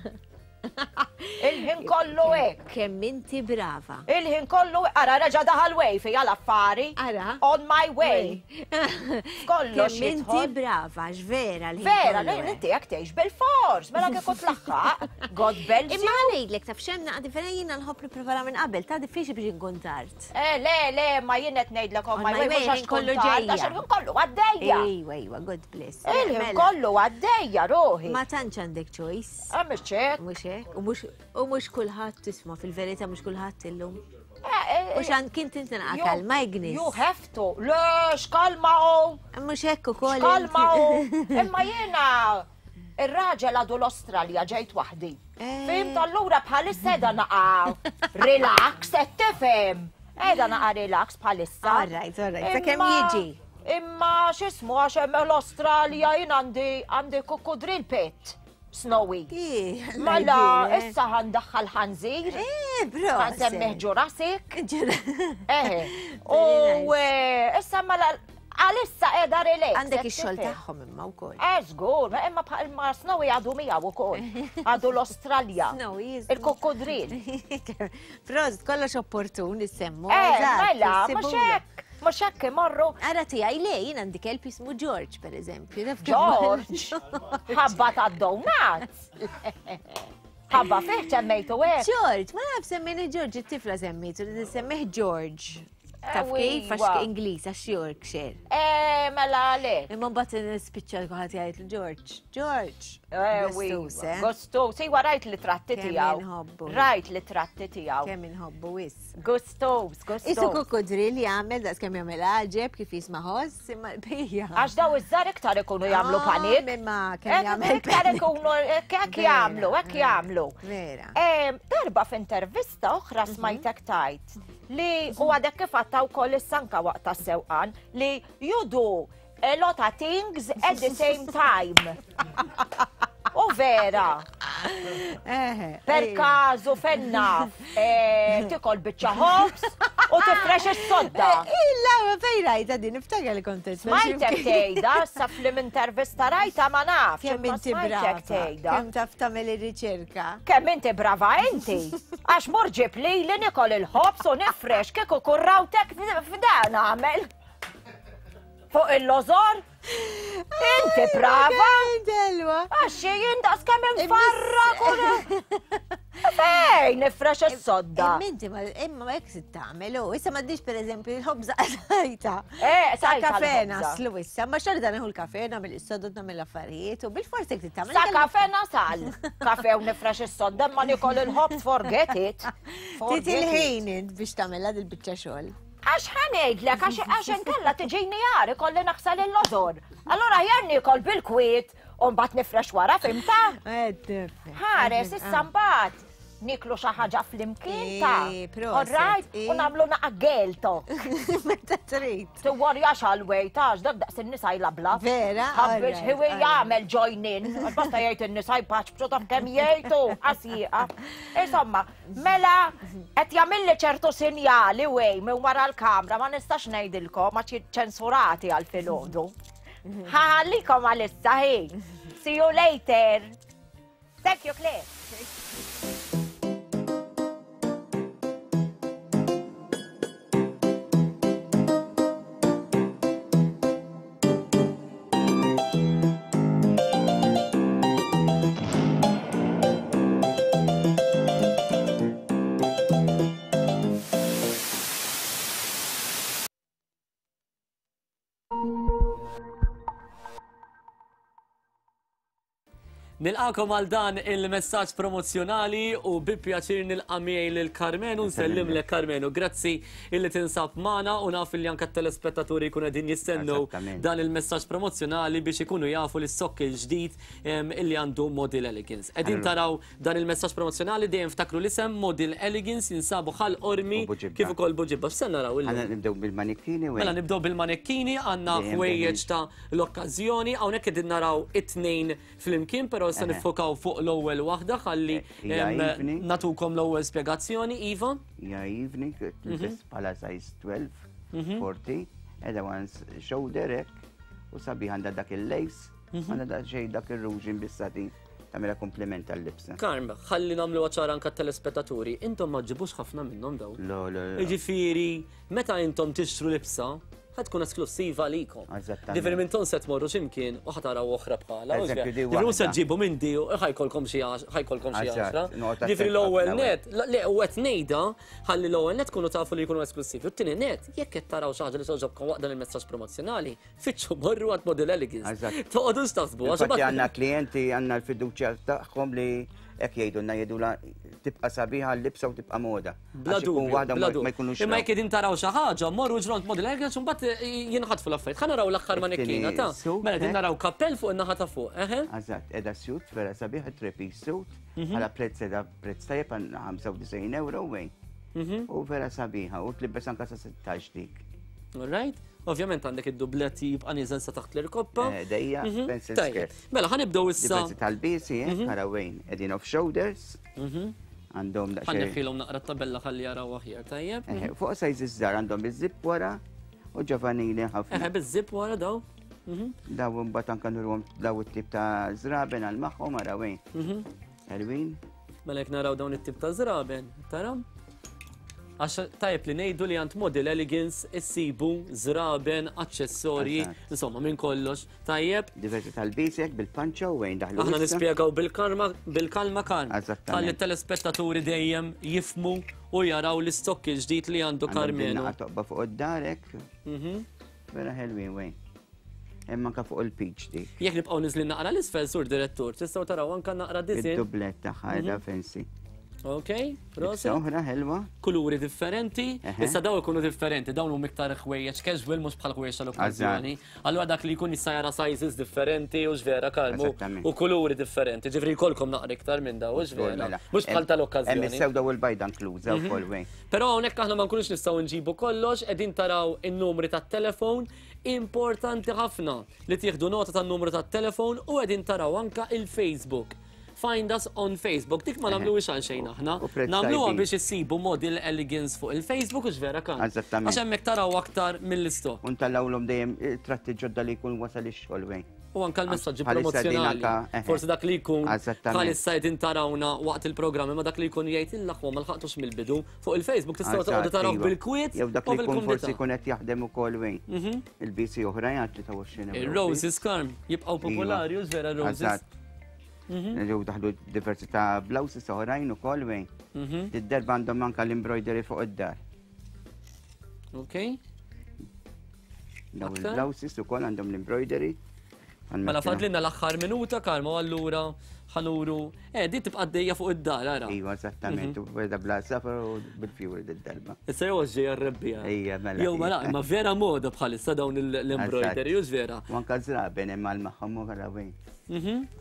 Il-ħin kollu hekk. Kemm inti brava. Il-ħin kollu ara reġa' daħal way fija l-affari. Ara. On my way. Kollox. Kemm inti brava, x'vera l Vera, inti jekk tgħix bil-fors, mela kieku tlaħħaq. God bless you. Imma ngħidlek taf x'hemm naqa' differenti jiena nħobb nipprepara minn qabel, ta' diffiċli biex inkun tard. Eh, le, le, ma jien qed ngħidlek on my way mhux għax kollu ġejja. Għax il-ħin kollu għaddejja. Ejwa, ejwa, God bless. Il-ħin mela. kollu għaddejja ruħi. Ma tantx għandek choice. Ah, mhux hekk. Mhux hekk, u mhux u mhux kulħadd tisma' fil-verità mhux kulħadd illum. Eh, eh, U xan kien tinti naqa' kalma Ignis. You have to. Le, x'kalma hu. Mhux hekk ukoll. X'kalma hu. Imma jiena Ir-raġel għadu l-Australja ġejt waħdi. Eh. Fimt allura bħalissa edha naqa relax, qed tifhem. Edha naqa relax bħalissa. All right, all right. Sakemm jiġi. Imma x'ismu għax hemm l-Australja jien għandi għandi kukudril pet. Snowy. Mela, issa ħandaħħal ħanżir. Eh, bro. Ħansemmih Jurassic. Eh. U eh, issa mela Għalissa qiegħda relax. Għandek ix-xogħol tagħhom imma wkoll. Eh żgur, imma bħal ma Snowy għadu miegħu wkoll. Għadu l-Awstralja. Snowy. Il-kukkudril. Prost, kollox opportun issemmu. Eh, mela, mhux hekk. Mhux hekk imorru. Ara tiegħi le, jien għandi kelb jismu George, pereżempju. George? Ħabba tad-donuts. Ħabba fih semmejtu hekk. George, ma naf semmejni George, it-tifla semmejtu, semmih George. Taf kif, għax Ingliż, għax Yorkshire. Eh, mela le. Imma mbagħad nispiċċa kulħadd jgħid George, George. Eh, gostus, eh. Gostus, iwa rajt li tratti tiegħu. Rajt li tratti tiegħu. Kemm inħobbu wis. Gostus, gostus. Isu kukudril jagħmel daqs kemm jagħmel għaġeb kif jisma' ħoss, imma l-bejja. Għax daw iż-żar iktar ikunu jagħmlu ah, panik. Imma kemm eh, jagħmel. Iktar ikunu hekk jagħmlu, hekk jagħmlu. Vera. Darba f'intervista oħra mhm. smajtek tajt li u għadek kif għatta wkoll is-sanka waqt tas-sewqan li you do a lot of things at the same time. U vera. Per kazu fenna eh, tikol biċċa ħobs u tifrex is-sodda. Eh, illa, ma fej rajta din, niftakar li kontet. Smajtek tgħidha, sa flim intervista rajta ma nafx. Kemm inti brava. Kemm taf tagħmel ir-riċerka. Kemm inti brava inti. Għax mur ġib li li nikol il-ħobs u nifrex kieku kurrawtek f'dan għamel. Fuq il-lożor? Inti brava! Delwa. Għax jien daqs kemm infarrak Fejn nifrex is-sodda. Imma ma imma hekk se tagħmel u issa m'għandix pereżempju l-ħobża sajta. Eh, sa kafe naslu issa, ma xorta nieħu l-kafe nagħmel is-sodda nagħmel l-affarijiet u bil-forsi jekk tagħmel. Sa kafe nasal. Kafe u nifrex is-sodda ma nikol il-ħobż forget it. Titi l-ħin int biex tagħmilha dil-biċċa xogħol. Għax ħa ngħidlek, għax inkella tiġini għar ikolli naħsel il-lożor. Allura aħjar niekol bil-kwiet u mbagħad nifrex wara fimta? Ħares issa mbagħad niklu xi ħaġa flimkien ta' All right, u nagħmlu naqa' gelto. Meta trid. Tiworjax għal wejt għax dak daqs in-nisa jlabla. Vera? Ħabbiex ħiwi jagħmel join in. Basta jgħid in-nisa jpaċbċu taf kemm jgħidu qasieqa. Insomma, Mela, qed jagħmilli ċertu sinjali wej minn wara l-kamra ma nistax ngħidilkom għax ċensurati għal filgħodu. Ħallikom għalissa hi. See you later. Thank you, Claire. Nilqakom għal dan il-messaġġ promozzjonali u bi pjaċir nilqa' miegħi lil Karmenu nsellimlek Karmenu. Grazzi illi tinsab magħna u naf illi anke t-telespettaturi jkunu qegħdin jistennew dan il-messaġġ promozzjonali biex ikunu jafu li s-sokk il-ġdid illi għandu Model Elegance. Qegħdin taraw dan il-messaġġ promozzjonali dejjem ftakru l-isem Model Elegance jinsabu Ħal Qormi kif ukoll Buġibba. X'se naraw illum? Ħa nibdew bil-manikkini. Mela nibdew bil-manikkini għandna ħwejjeġ ta' l-okkażjoni hawnhekk qegħdin naraw it-tnejn flimkien, però issa niffokaw fuq l-ewwel waħda ħalli natukom l-ewwel spjegazzjoni, Iva. Ja evening, tilbes bħala size 12, 40, edha one shoulder hekk, u sabiħ għandha dak il-lace, għandha dak xejn dak ir-ruġin bis-satin tagħmilha kompliment tal-libsa. Karm, ħalli nagħmlu ċara anke telespettaturi, intom ma ġibux ħafna minnhom dawn. Lo, lo, lo. Jiġifieri, meta intom tixtru libsa, ħa tkun esklussiva għalikom. Eżattament. Ġifieri minn ton se tmorru x'imkien u ħa taraw oħra bħala. Eżempju, di Ġifieri mhux se waħda. ġġibu minn di u ħa jkollkom xi għax- ħa jkollkom xi Eżatt, għaxra. noqgħod Ġifieri attent l-ewwel ħafna, net, le u qed ngħidha ħalli l-ewwel net tkunu tafu li jkunu esklussivi. U t-tieni net, jekk qed taraw xi ħaġa li togħġobkom waqt dan il-messaġġ promozzjonali, fittxu morru għand Model Elegance. Eżatt. Toqgħodux taħsbu għax Infatti imbagħad- għandna klijenti għandna l-fiduċja tagħhom li hekk jgħidulna jgħidula tibqa' sabiħa l-libsa u tibqa' moda. Bla Għax ikun dubju, waħda bla ma dubju. ma jkunux Imma raw. jekk qegħdin taraw xi ħaġa, morru ġront Model Elegance u mbagħad jinħatfu l-affarijiet. Ħa naraw l-aħħar manekkina ta' suit, Mela qegħdin eh? naraw kappell fuq in-naħa ta' fuq, eħe. Eżatt, edha suit vera sabiħ three-piece suit, bħala prezz edha prezz tajjeb għal 95 euro wejn. U vera sabiħa, u tlibbes anka sa 16 dik. All right. Ovvjament għandek id-dublet jibqa' nieżel sa taħt l-irkoppa. Eh, Dejja, pencil Tajjeb. skirt. Mela ħa nibdew issa. Diversi tal-bisi, eh, ara wejn, edin off shoulders, għandhom Ħa daqsxejn. neħħilhom naqra t-tabella ħalli jaraw aħjar, tajjeb. Eh, Fuq size iż-żgħar għandhom iż-zip wara u ġovanili ħafna. Eħe biż-zip wara daw. Daw mbagħad anke nurhom daw it-tip ta' żraben għal magħhom ara wejn. Elwin. Mela jekk naraw dawn it-tip ta' żraben, tara? Għax tajjeb li ngħidu li għand Model Elegance issibu żraben, aċċessorji, Eżatt. insomma minn kollox. Tajjeb. Diversi tal-bisek bil-panċa u wejn daħlu. Aħna issa. nispjegaw bil-karma, bil-kalma kalm. Eżattament. Ħalli t-telespettaturi dejjem jifmu u jaraw l-istokk il-ġdid li għandu Għandhom din Karmenu. naqa toqba fuq id-darek. Vera ħelwin wejn. Hemm anke fuq il-peach dik. Jekk nibqgħu niżlin naqra l-isfel sur direttur, tistgħu taraw anke naqra disin. Id-dublet tagħha qiegħda fancy. Ok, Libsa proset. oħra ħelwa. Kuluri differenti, Eħe. issa daw ikunu differenti, dawn huma iktar ħwejjeġ casual mhux bħal ħwejjeġ tal-okkażjoni. Allura dak li jkun jista' jara sizes differenti u x'vera kalmu Eżattament. u kuluri differenti. Ġifri jkollkom naqra iktar minn daw, u x'vera. Mela. Mhux bħal Hemm tal-okkażjoni. is-sewda u l-bajda inkluża wkoll wejn. Però hawnhekk aħna ma nkunux nistgħu nġibu kollox, qegħdin taraw in-numri tat-telefon, importanti ħafna li tieħdu nota tan-numru tat-telefon u qegħdin taraw anka il-Facebook. Find us on Facebook. Dik ma nagħmluhiex għal xejn aħna. U prezz Nagħmluha tajbin. biex issibu Model Elegance fuq il-Facebook u x'vera kan. Eżattament. Għax hemmhekk taraw aktar mill-istokk. U ntellgħulhom dejjem tratti ġodda li jkun wasal ix-xogħol wejn. U anka l-messaġġi Bħalissa din promozzjonali. anka, eħe. Forsi dak li jkun Eżattament. bħalissa qegħdin tarawna waqt il-programmi, ma dak li jkun jgħid il-aħwa ma lħaqtux mill-bidu. Fuq il-Facebook tistgħu Eżatt, toqgħodu taraw iva. bil-kwiet Jew dak u li jkun forsi bil-kumdità. jkun qed jaħdem ukoll wejn. Il-BC oħra jgħid 23 euro. Il-Roses Karm jibqgħu popolari u vera Roses. Eżatt. Ġew daħlu diversi ta' blouses oħrajn ukoll wejn. Id-darba għandhom anka l-embroidery fuq id-dar. Ok. Daw Aktar? il-blouses ukoll għandhom l-embroidery. Mela fadlilna l-aħħar minuta Karma u allura ħanuru. Eh, di tibqa' għaddejja fuq id-dar ara. Iva, eżattament, u beda bla safar u bil-fjuri d-darba. Issa jew ġejja r-rebbija. Ija, mela. Jew mela, imma vera moda bħalissa dawn l-embroidery, u vera. U anka żraben hemm għal magħhom u għala wejn.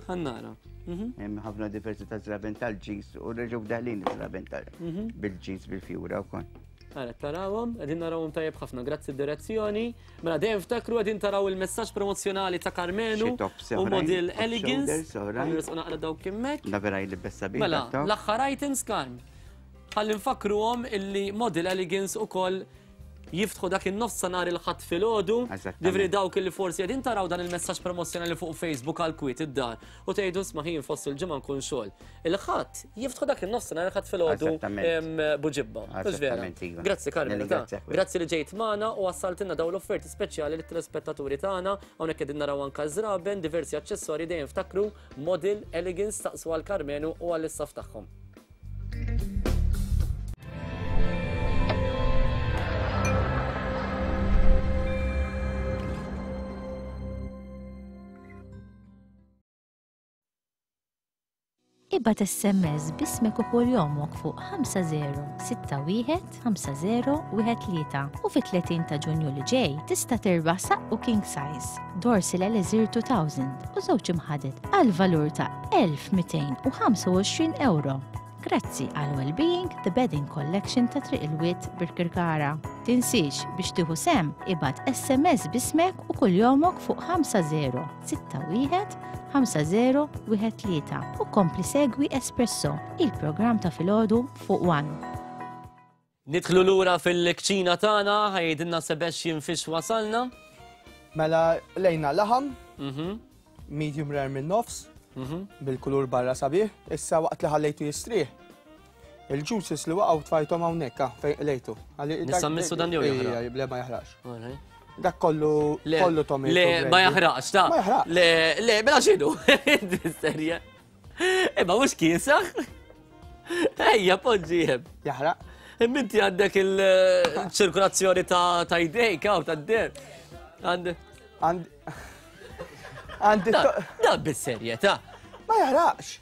Ħannara. Hemm ħafna diversi ta' żraben tal-ġis u reġgħu daħlin żraben tal bil-ġis bil-fjura wkoll. Ara, tarawhom, qegħdin narawhom tajjeb ħafna, grazzi d-direzzjoni. Mela dejjem ftakru qegħdin taraw il-messaġġ promozzjonali ta' Karmenu Xi tops u oħrajn, Model off Elegance. shoulders oħrajn. Ħa nresqu naqra dawk hemmhekk. Da vera jlibbes sabiħ. Mela, dak top. l-aħħar items Karm. Ħalli nfakruhom illi Model Elegance ukoll jiftħu dak in-nofs sa nhar il-Ħadd filgħodu. Eżattament. Ġifieri dawk illi forsi qegħdin taraw dan il-messaġġ promozzjonali fuq Facebook għal kwiet id-dar u tgħidu isma' ħin fost il-ġimgħa nkun xogħol. Il-Ħadd jiftħu dak in-nofs sa nhar il-Ħadd filgħodu Eżattament. Buġibba. Mhux vera? Eżattament, iva. Grazzi Carmelo. ta. Nirringrazzjak. Grazzi li ġejt magħna u wassaltilna dawn l-offerti speċjali lit-telespettaturi tagħna. Hawnhekk qegħdin naraw anke żraben, diversi aċċessorji dejjem ftakru Model Elegance staqsu għal Karmenu u għall-istaff tagħhom. Ibgħat SMS b'ismek u kuljomok fuq 5061 5013 u fit-30 ta' Ġunju li ġej tista' tirbaħ saqqu king size, Dorsil Elixir 2000 u żewġ imħaded għal valur ta' 1225 ewro. Grazzi għal Wellbeing The Bedding Collection ta' Triq il-Wied Birkirkara. Tinsiex biex tieħu sehem ibgħat SMS b'ismek u kuljomok fuq 5061 5013 u kompli segwi Espresso, il-programm ta' filgħodu fuq One. Nidħlu lura fil-kċina tagħna, ħajdilna Sebastian fiex wasalna. Mela lejna laħam, medium rare minn nofs, bil-kulur barra sabiħ, issa waqt li ħallejtu jistrieħ. Il-juices li waqgħu tfajthom hawnhekk ah, fejn qlejtu. Nista' mmissu dan jew jaħraq? Le ma jaħraqx. Dak kollu kollu tomato. Le ma jaħraqx, ta. Ma jaħraqx. Le, le, mela x'inhu? Serja. Imma mhux kiesaħ. Ejja, poġġi hemm. Jaħraq. Imma inti għandek il-ċirkolazzjoni ta' jdejk hawn ta' der. Għand. Għandi. Da bis-serjetà. Ma jaħraqx.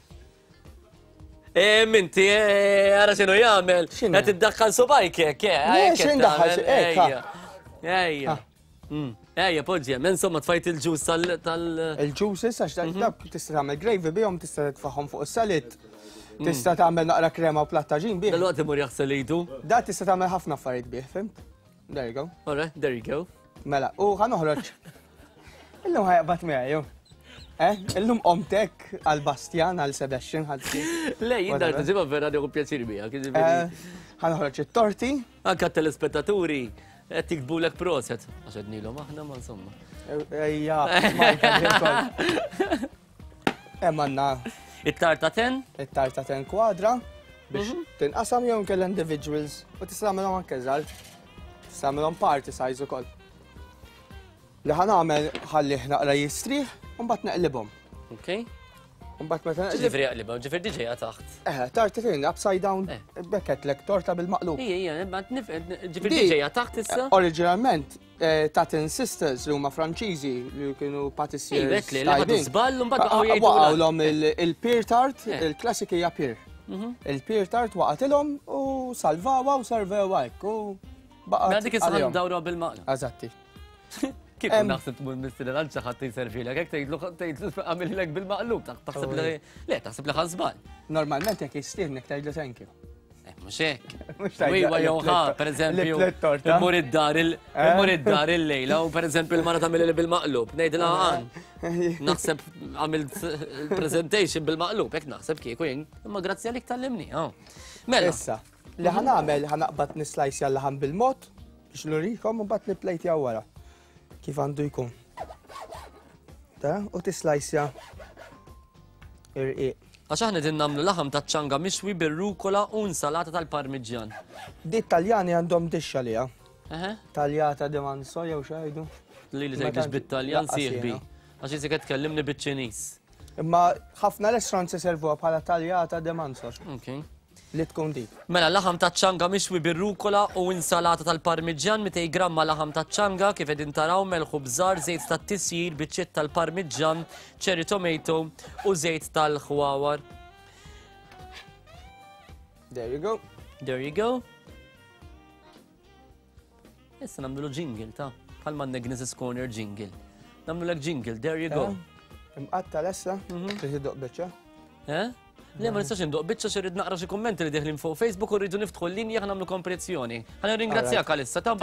Eh, minti, eh, ara xinu jagħmel. Qed iddaħħal subajk hekk, eh. Le, x'in daħħal, hekk. Ejja. Ejja, poġġi, hemm insomma tfajt il-ġus tal. Il-ġuses għax dak tista' tagħmel gravy bihom, tista' titfagħhom fuq is-salad. Tista' tagħmel naqra krema u plattaġin bih. Dal-waqt imur jaħsel idu. Da tista' tagħmel ħafna affarijiet bih, fimt? There you go. All right, there you go. Mela, u ħa noħroġ. Illum ħajqbad miegħi, jew. Eh, illum qomtek għal Bastian, għal Sebastian, ħalti. Le, jien dar ġimgħa vera nieħu pjaċir miegħek, jiġifieri. Eh, ħa noħroġ it-torti. Anka telespettaturi qed jiktbulek proset. Għax qednilhom aħna ma insomma. Ejja, Hemm għandna. It-tarta ten? It-tarta ten kwadra biex mhm. tinqasam jew inkella individuals u tista' tagħmelhom anke żgħar. Tista' tagħmelhom party size ukoll. Li ħa nagħmel ħallih naqra jistrieħ u mbagħad neqlibhom. Okay. Mbagħad meta Ġifieri jaqlibhom, ġifieri diġejja taħt. Eh, tarta tin upside down, eh. bekketlek torta bil-maqlub. Ija, ija, ġifieri diġejja taħt issa. Oriġinalment Eh, Tatin Sisters li huma Franċiżi li kienu patissiers. Ejwek li ħadu żball u mbagħad baqgħu jgħidu. Waqgħulhom il-pear tart, eh. il-klassik hija pear. Mhm. Il-pear tart waqgħatilhom u salvawa u servewa hekk u baqgħet. Mela dik issa dawra bil-maqla. Eżatti. Kif naħseb tmur mistieden għal xi ħadd jservilek, hekk tgħidlu tgħidlu għamilek bil-maqlub, taħseb li le taħseb li ħażbal. Normalment jekk jistiednek tgħidlu thank you. Eh, mhux hekk. Iwa jew ħa, pereżempju, immur id-dar immur id-dar il-lejla u pereżempju l-mara tagħmel bil-maqlub, ngħidilha għan. Naħseb għamilt presentation bil-maqlub, hekk naħseb kieku jien, imma grazzi għalik tallimni. Mela. Issa, li ħanagħmel ħanaqbad nislajsja l-laħam bil-mod biex nurikom u mbagħad nipplejtja wara kif għandu jkun. Ta' u tislajsja irqiq. Għax aħna qegħdin nagħmlu laħam taċ-ċanga mixwi bir-rukola u insalata tal-Parmiġġjan. Di t-Taljani għandhom dixxa għaliha. Taljata di manso jew x'għidu. Lili tgħidlix bit-Taljan sieħbi. Għax isek qed tkellimni biċ-Ċiniż. Imma ħafna restaurants iservuha bħala taljata di manso. Okay. Li tkun dik. Mela, laħam taċ-ċanga mixwi bir-rukola u insalata tal-Parmiġġjan, 200 gramma laħam taċ-ċanga, kif qegħdin taraw, melħ u bżar, żejt tat-tisjir, biċċiet tal-Parmiġġan, cherry tomato u żejt tal-ħwawar. There you go. There you go. Issa nagħmlu jingle ta' bħalma għandek Gnis's Corner jingle. Nagħmlu lek jingle, there you go. Eh, imqatta l-essa, mhm. trid iddoq biċċa. Eh? Le, ma nistax indoq biċċa xi naqra xi kummenti li deħlin fuq Facebook u rridu niftħu l-linja ħa nagħmlu kompetizzjoni. Ħa nirringrazzjak għalissa, ta'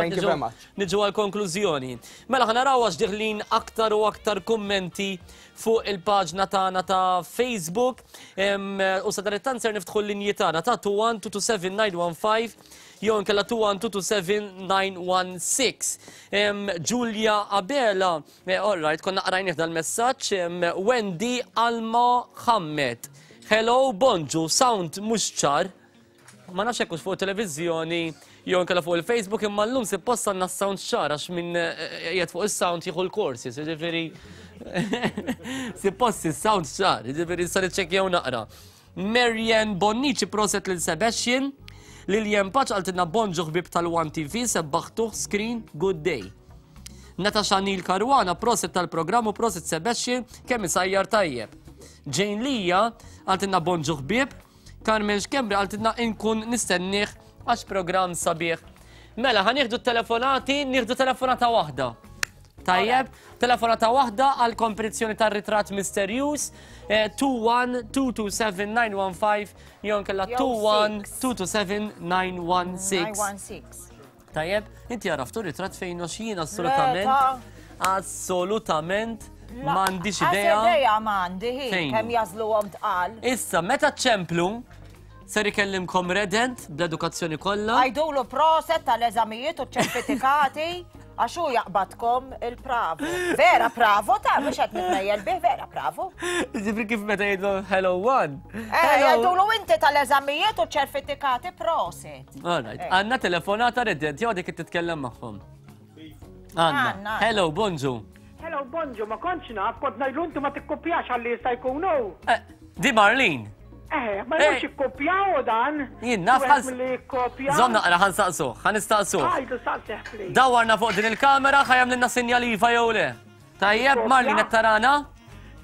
niġu għal konklużjoni. Mela ħa naraw għax deħlin aktar u aktar kummenti fuq il-paġna tagħna ta' Facebook. U sa dan it-tant ser niftħu l-linji tagħna ta' 21 227 915 jew inkella 2127916. Giulia Abela, eh, all right, konna qrajnih dal-messaġġ, Wendy Alma Hammed. Hello, bonġu, sound mhux ċar. Ma nafx hekk fuq televiżjoni jew inkella fuq il-Facebook imma llum suppost għandna s-sound ċar għax min eh, qiegħed fuq is-sound jieħu l-korsi, jiġifieri suppost is-sound ċar, jiġifieri sa niċċekkjaw naqra. Marianne Bonnici proset lil Sebastian. Lilian Paċ qaltilna bonġu ħbieb tal-One TV sebbaħtuh screen good day. Natasha Neil Caruana proset tal-programm u proset Sebastian kemm isajjar tajjeb. Jane Lija għaltinna bonġu ħbieb, Carmen Xkembri għaltinna inkun nistennieh għax programm sabiħ. Mela, ħa nieħdu telefonati, nieħdu telefonata waħda. Tajjeb, telefonata waħda għal kompetizzjoni tar-ritratt misterjuż 21-227-915 jew kella 21-227-916. 916. Tajjeb, inti għaraftu ritratt fejn għax jien assolutament assolutament m'għandix idea. Idea m'għandi hi kemm jażluhom tqal. Issa meta ċemplu ser ikellimkom redent bl-edukazzjoni kollha. Għajdulu proset tal-eżamijiet u ċertifikati għax hu jaqbadkom il-pravo. Vera pravo ta' mhux qed nitmejjel bih, vera pravo. Ġifri kif meta jgħidu hello one. Eh, jgħidulu inti tal-eżamijiet u ċertifikati proset. All right. Eh. Għanna telefonata redent, jew dik titkellem magħhom. Għanna. Hello, bonġu. Hello, bonġu, ma kontx naf, kont ngħidlu inti ma tikkopjax għalli jista' jkunu. Eh, di Marlene. Eh, ma jmux eh. jikkopjaw dan. Jien naf ħas. Zom naqra ħan saqsu, ħan nistaqsu. Għajdu saqsih, please. Dawarna fuq din il-kamera ħajam lilna sinjal iva jew le. Tajjeb, Marlene qed tarana?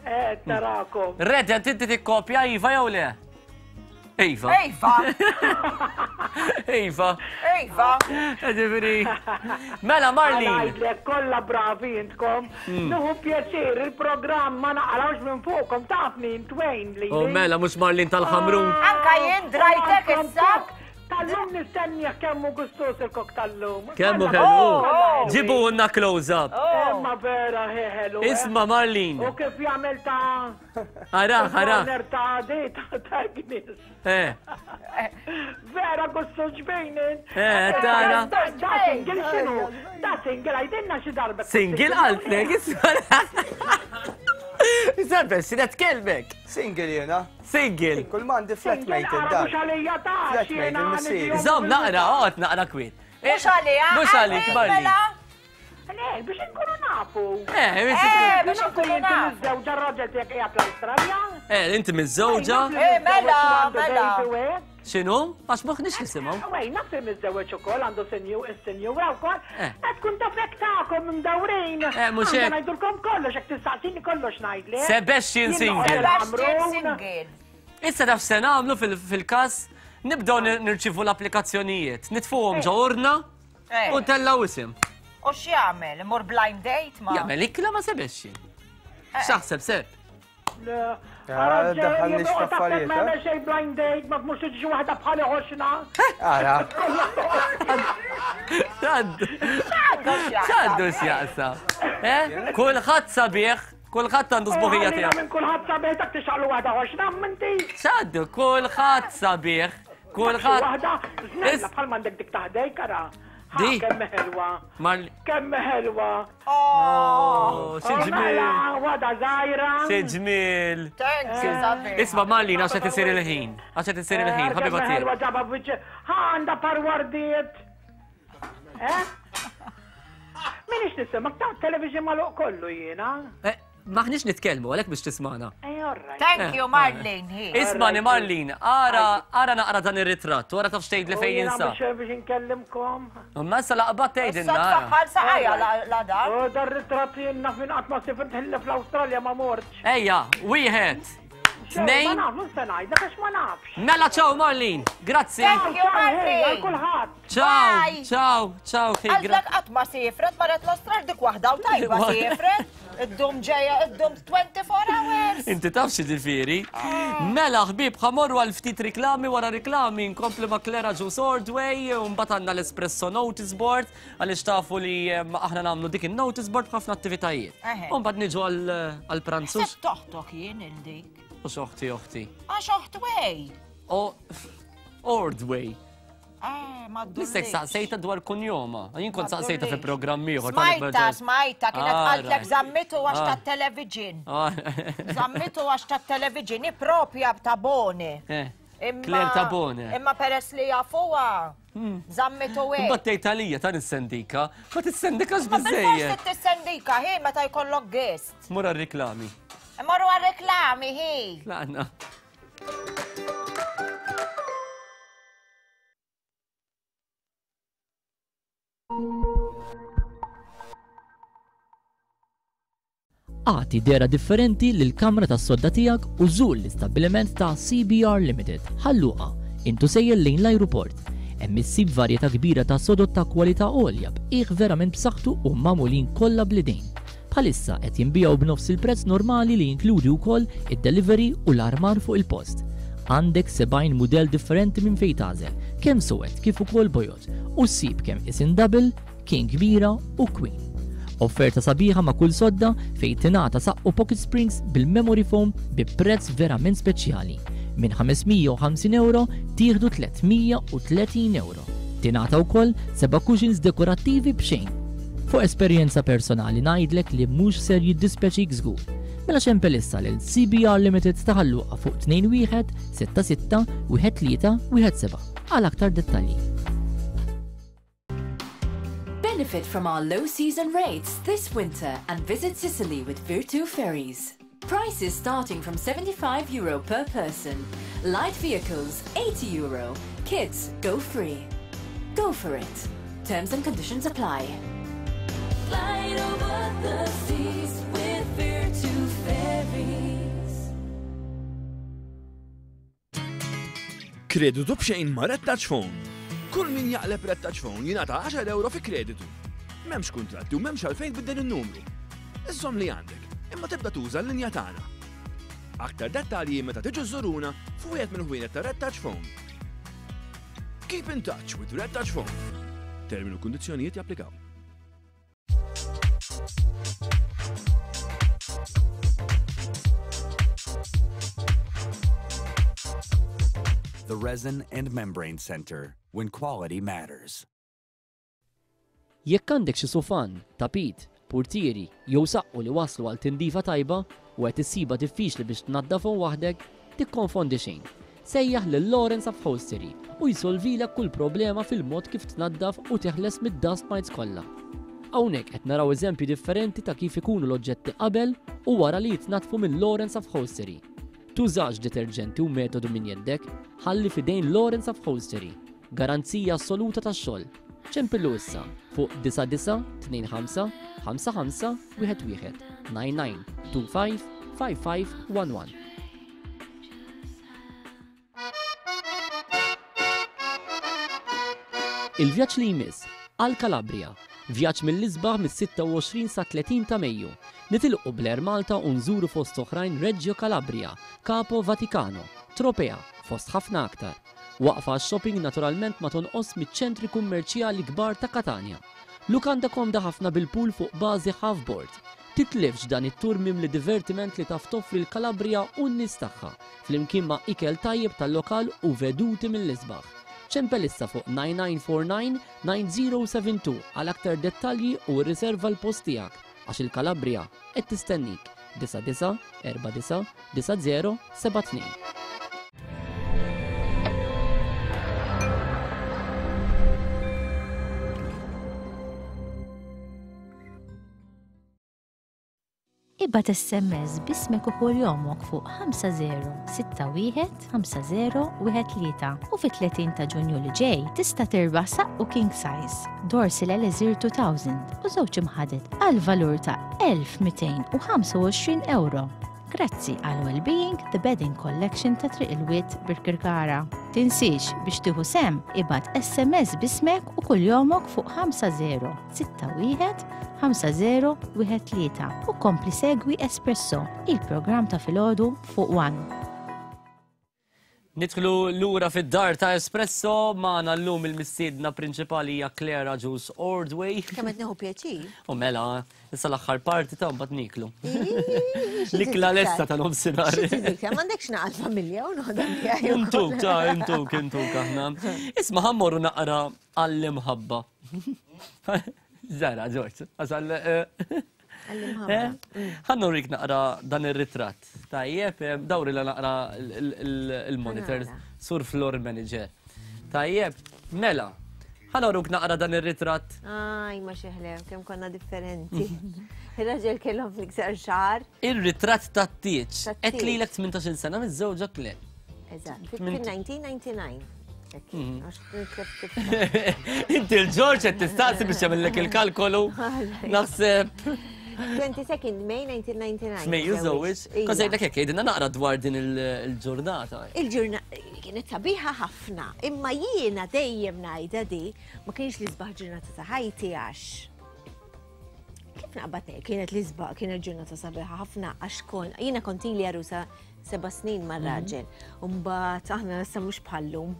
Eh, tarakom. Redent inti tikkopja iva jew le? Iva. Iva. Iva. Iva. Ġifieri. Mela Marlene. Ngħidlek kollha bravi intkom. Hmm. Nuhu pjaċir il-programm ma naqrawx minn fuqkom tafni intwejn li. Oh mela mhux Marlene tal-Ħamrun. Anka jien drajtek issa. Tal-lum nistennieh kemmu gustus il-kok tal-lum. Kemmu kellu. Oh, oh. Ġibu unna close up. Oh. Imma vera ħelu. Eh. Isma Marlene. U kif jagħmel ta' Ara, ara. Ta' di, ta' Agnes. Eh. Vera gussu ġbejnin. Eh, tara. Da single xinu? Da single għajdinna xi darba. Single għaltlek, isma. Isabel, sinet kelmek. Single jena. Single. Kull mandi flatmate id-dar. Mux għalija ta' Flatmate il-missier. Zom, naqra, għot naqra kwit. Mux għalija. Mux għalik, Marli. Le, biex inkunu nafu. Eh, biex eh, biex inkunu nafu. Miżżewġa r-raġel tiegħek qiegħed l-Awstralja? Eh, inti miżżewġa? Eh, mela, mela. X'inhu? Għax m'aħniex nisimgħu. Wej, naf li miżżewġ ukoll għandu senju is-senjura wkoll. Eh. Qed tkun taf hekk tagħkom imdawrin. Eh, mhux hekk. Ngħidulkom kollox hekk tistaqsini kollox ngħidlek. Sebastian single. Sebastian single. Issa taf se nagħmlu fil-każ nibdew nirċivu l-applikazzjonijiet, nitfuhom ġo urna. Eh. U tellaw isim. U x'jagħmel? Imur blind date ma? Jagħmel ikla ma sebexxi. Eh. X'taħseb seb? Ah, daħalni x'affarijiet. Ma eh? xejn blind date, ma mhux tiġi waħda bħali ħoxna. Ara. X'għandu? X'għandu x'jaqsa? Eh? Kulħadd sabiħ, kulħadd għandu sbuħija tiegħu. Minn kulħadd sabiħ dak tixaqlu waħda ħoxna minti. X'għandu? Kulħadd sabiħ. Kulħadd. Waħda, żnella bħal m'għandek dik taħdejk ara. Di. Kemm ħelwa. Kemm ħelwa. Oh, xi ġmiel. Mela, waħda żgħira. Xi ġmiel. Thanks, Isabel. Isma' Marlin għax qed isir il-ħin. Għax qed isir il-ħin, ħabiba tiegħi. Ħelwa ġaba biċ. Ħa għandha parwardiet. Eh? Minix nisimak ta' television maluq kollu jiena. Eh, Maħniex nitkellmu għalhekk biex tismana. Eh, Thank you, Marlene. Ismani, Marlene, ara, ara naqra dan ir-ritratt, wara taf xtejt li fejn jinsa. Biex inkellimkom. Ma issa laqbat tgħidilna. Bħal saqajja la dan. Oh, dar ritratt jien naf minn qatt ma sifirt ħilla fl-Awstralja ma mortx. Ejja, wieħed. Tnejn. Ma naf, mhux se ngħidlek għax ma nafx. Mela ciao Marlene, grazzi. Thank you Marlene. Kulħadd. Ciao, ciao, ciao. Għalek qatt ma sifret, marret l-Awstralja dik waħda u tajba sifret. Iddum ġeja, iddum 24 hours. Inti taf xi ġifieri. Mela ħbieb ħamorru għal ftit riklami wara riklami nkompli ma' Clara Juice Ordway u mbagħad għandna l-Espresso Notice Board għaliex tafu li aħna nagħmlu dik in-notice board b'ħafna attivitajiet. U mbagħad niġu għal pranzu. Sebt toħtok jien il-dik. U xoħti oħti. Għax oħt way. Ordway. Eh, ma Nistek saqsejta dwar kunjoma. Jien kont saqsejta fi programm ieħor. Smajta, smajta, kienet ah, qaltlek zammitu għax ah. tat-televiġin. Ah. Zammitu għax tat-televiġin, propja ta' boni. Eh, Claire Tabone. Imma peress li jafuha, hmm. zammitu hekk. Imbagħad tgħid għalija ta' nissendika, ma tissendikax biżejjed. Ma tissendika hi meta jkollok guest. Mur għar-reklami. Morru għar-reklami hi. Tlaqna. Agħti dehra differenti lill-kamra tas-sodda tiegħek u żur l-istabbiliment ta' CBR Limited, Ħal Luqa, int u sejjer lejn l-ajruport. Hemm issib varjetà kbira ta' sodod ta' kwalità għolja b'qiegħ verament b'saħħtu u magħmulin kollha bl-idejn. Bħalissa qed jinbiegħu b'nofs il-prezz normali li jinkludi wkoll id-delivery u l-armar fuq il-post. Għandek 70 mudell differenti minn fejn tagħżel, kemm suwed kif ukoll bojod, u ssib kemm isin double, King kbira u Queen. Offerta sabiħa ma' kull sodda fejn tingħata saqqu pocket springs bil-memory foam bi prezz verament speċjali. Minn 550 euro tieħdu 330 euro. Tingħata wkoll seba' cushions dekorattivi b'xejn. Fuq esperjenza personali ngħidlek li mhux ser jiddispjaċik żgur. Mela xempel issa lil CBR Limited ta' Ħal Luqa fuq 21 66 13 17 għal aktar dettalji. Benefit from our low season rates this winter and visit Sicily with Virtu Ferries. Prices starting from 75 euro per person. Light vehicles, 80 euro. Kids, go free. Go for it. Terms and conditions apply. Flight over the seas with Virtu Ferries. Kreditu b'xejn ma' Red Touch Phone. Kull min jaqleb Red Touch Phone jingħata 10 euro fi kreditu. M'hemmx kuntratti u m'hemmx għalfejn tbiddel in-numru. Iżżomm li għandek, imma tibda tuża l-linja tagħna. Aktar dettalji meta tiġu żżuruna f'wieħed mill-ħwienet ta' Red Touch Phone. Keep in touch with Red Touch Phone. Termini u kundizzjonijiet japplikaw. The Resin and Membrane Center, when quality matters. Jekk għandek xi sufan, tapit, purtieri jew saqqu li waslu għal tindifa tajba u qed issibha diffiċli biex tnaddafhom waħdek, Tikkonfondi xejn. Sejjaħ lil Lawrence Upholstery u jsolvilek kull problema fil-mod kif tnaddaf u teħles mid-dust mites kollha. Hawnhekk qed naraw eżempji differenti ta' kif ikunu l-oġġetti qabel u wara li jitnaddfu minn Lawrence Upholstery. Tużax deterġenti u metodu minn jeddek, ħalli f'idejn Lawrence Upholstery. Garanzija assoluta tax-xogħol. Ċempillu issa fuq 9925 55 11 99 25 55 11. Il-vjaġġ li jmiss għal Calabria, vjaġġ mill-isbaħ mis-26 sa 30 ta' Mejju. Nitilqu bl-Air Malta u nżuru fost oħrajn Reggio Calabria, Capo Vaticano, Tropea, fost ħafna aktar. Waqfa għax-shopping naturalment ma tonqosx miċ-ċentri kummerċjali kbar ta' Katanja. Lukanda komda ħafna bil-pool fuq bażi half board. Titlifx dan it-tour mimli divertiment li taf toffri l-Calabria u n-nies tagħha, flimkien ma' ikel tajjeb tal-lokal u veduti mill-isbaħ. Ċempel issa fuq 9949 9072 għal aktar dettalji u rriserva l-post tiegħek għax il-Calabria qed tistennik 99 49 90 72. Ibgħat SMS b'ismek u kuljomok fuq 5061 5013 u fit-30 ta' Ġunju li ġej tista' tirbaħ saqqu king size, Dorsil Elixir 2000 u żewġ imħaded għal valur ta' 1225 euro. Grazzi għal Wellbeing The Bedding Collection ta' Triq il-Wied Birkirkara. Tinsiex biex tieħu sehem ibgħat SMS b'ismek u kuljomok fuq 50 61 5013 u kompli segwi Espresso, il-programm ta' filgħodu fuq One. Nidħlu lura fid-dar ta' Espresso magħna llum il-mistiedna prinċipali hija Claire Agius Ordway. Kemm qed nieħu pjaċir. U mela, issa l-aħħar parti ta' mbagħad niklu. L-ikla lesta ta' nofsinhar. M'għandekx naqal familja u noħodha miegħi. Intuk ta' intuk intuk aħna. Isma' ħammorru naqra għall-imħabba. Zara, George, għasal. Eh, eh? Ħannu rik naqra dan ir-ritratt. Tajjeb, eh, dawri la naqra il-monitor, sur floor manager. Tajjeb, mela, ħanoruk naqra dan ir-ritratt. Aj, ma xeħlew, kemm konna differenti. Il-raġel kellhom fl-iktar xahar. Ir-ritratt tat-tieġ. Qed lilek 18 sena miż-żewġa le. Eżatt, fil-1999. Mhm. Inti l-Ġorġ qed tistaqsi biex jagħmellek il-kalkolu. Naħseb. 22nd May 1999. F'Mejju żewġ. Kont ngħidlek hekk, jgħidilna naqra dwar din il-ġurnata. Il-ġurnata kienet sabiħa ħafna, imma jiena dejjem ngħidha di ma kienx l-isbaħ ġurnata ta' ħajti għax kif naqbad ngħid kienet l-isbaħ kienet ġurnata sabiħa ħafna għax kon jiena kont ili għarusa seba' snin mar-raġel. Mhm. Mbagħad aħna issa mhux bħallum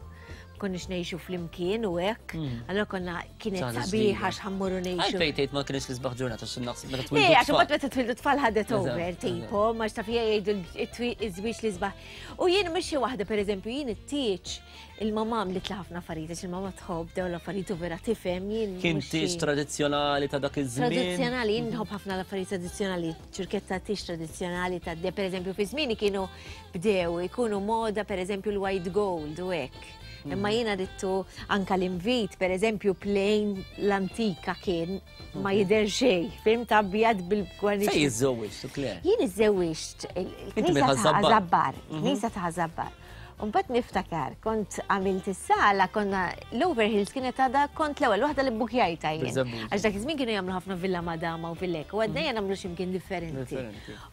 konniex ngħixu flimkien u hekk, mm. allora konna kienet sabiħa x'ħammuru ngħixu. Għalfejn tgħid ma kienx l-isbaħ ġurnata xi naqs meta twildu. Eh, għax imbagħad meta twildu tfal ħadet over tipo, ma x'taf jgħidu iż-żwieġ l-isbaħ. U jien mhux xi waħda pereżempju jien it-tieġ il-mamma għamlet li ħafna affarijiet għax il-mamma tħobb dawn l-affarijiet u vera tifhem jien. Kien tieġ tradizzjonali ta' dak iż-żmien. Tradizzjonali, jien nħobb ħafna l-affarijiet tradizzjonali, ċurketta tieġ tradizzjonali ta' de pereżempju fi żmieni kienu bdew ikunu moda pereżempju l-white gold u hekk. Mm. Imma jiena rittu anka l-invit, pereżempju plain l-antika kien ma mm. jidher xejn, fim ta' abjad bil-gwarniċ. Fej iżżewwiġt, Claire? Jien iżżewwiġt il-Knisa ta' Ħażabbar, mhm. Knisa ta' Ħażabbar. Mbagħad niftakar, kont għamilt is-sala, konna l-Overhills kienet għadha kont l-ewwel waħda li bbukjajta jien. Għax dak iż-żmien kienu jagħmlu ħafna Villa Madama u Villek, u għadna mm. nagħmlu x'imkien differenti.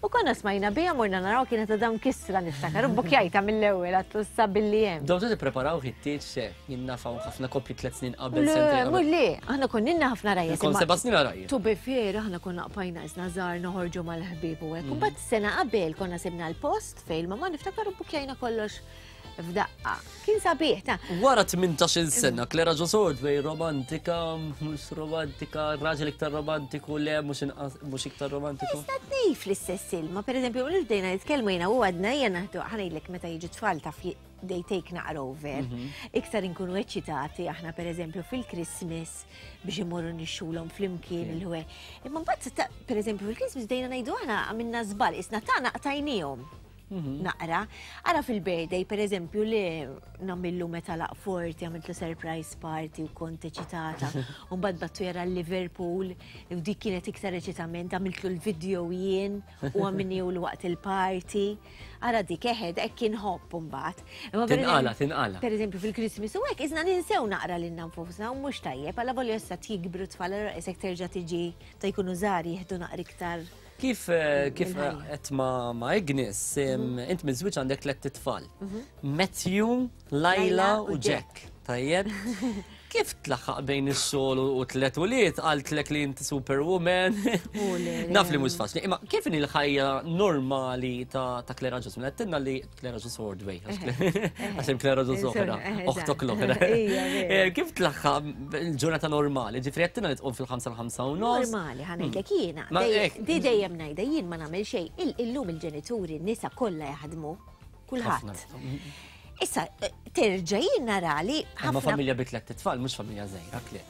U konna smajna biha morna naraw kienet għadha mkissra niftakar u bbukjajta mill-ewwel għatlu issa billi hemm. Domtu tippreparaw ħittiet xe, jien naf hawn ħafna koppji tliet snin qabel Le, sentejn mhux le, aħna konna ħafna rajja. Kont seba' snin rajja. To be fair, aħna konna qpajna isna żgħar noħorġu mal-ħbieb u hekk. Mbagħad sena qabel konna sibna l-post fejn ma niftakar u bbukjajna kollox f'daqqa. Kien sabiħ ta' Wara 18-il sena, Clara Jo Sordway romantika, mhux romantika, raġel iktar romantiku, le mhux inqas mhux iktar romantiku. Tista' tnejn fl-istess ilma, pereżempju, mhux bdejna nitkellmu jiena u għadna hija naħdu ħanejlek meta jiġu tfal taf they take naqra over. Mhm. Iktar inkunu eċċitati aħna pereżempju fil-Christmas biex imorru nixxulhom flimkien il-ħwe. Imma mbagħad pereżempju fil-Christmas bdejna ngħidu aħna għamilna żball, isna tagħna qtajniehom. Mhm. Naqra. Ara fil-birthday, per eżempju, li namillu meta laq forti, għamiltlu surprise party u kont eċitata. U mbagħad battu jara Liverpool, u dik kienet iktar eċitament, għamiltlu l-video jien u għamilni u l-waqt il-party. Ara dik eħed, hekk kien ħobb mbagħad. Tinqala, tinqala. Per eżempju, fil-Christmas u hekk, iżna ninsew naqra lil nfusna u mhux tajjeb, għalla volja issa jikbru tfal, allura isek terġa' tiġi ta' jkunu żgħar jieħdu naqra iktar Kif eh, kif qed ma' ma' Ignis, mhm. int miżwiġ għandek tlett itfal. Mhm. Matthew, Laila u Jack. Tajjeb. Kif tlaħħaq bejn ix-xogħol u tlet ulied qaltlek li inti superwoman? Naf li mhux faċli. Imma kif inhi l-ħajja normali ta' Clara Ġus? Mela għedtilna li Clara Ġus Ordway, għax hemm Clara Ġus oħra, oħtok l-oħra. Eh, kif tlaħħaq il-ġurnata normali? Ġifri għedtilna li tqum fil-5 l-5 u nofs. Normali, ħanejdlek hmm. jiena. Di dejjem ngħidha jien ma nagħmel xejn. Illum il-ġenituri, n-nisa kollha jaħdmu. Kulħadd. Issa, eh, terġa' jien nara li. Ma familja bi tlet tfal, mhux familja żgħira, kle.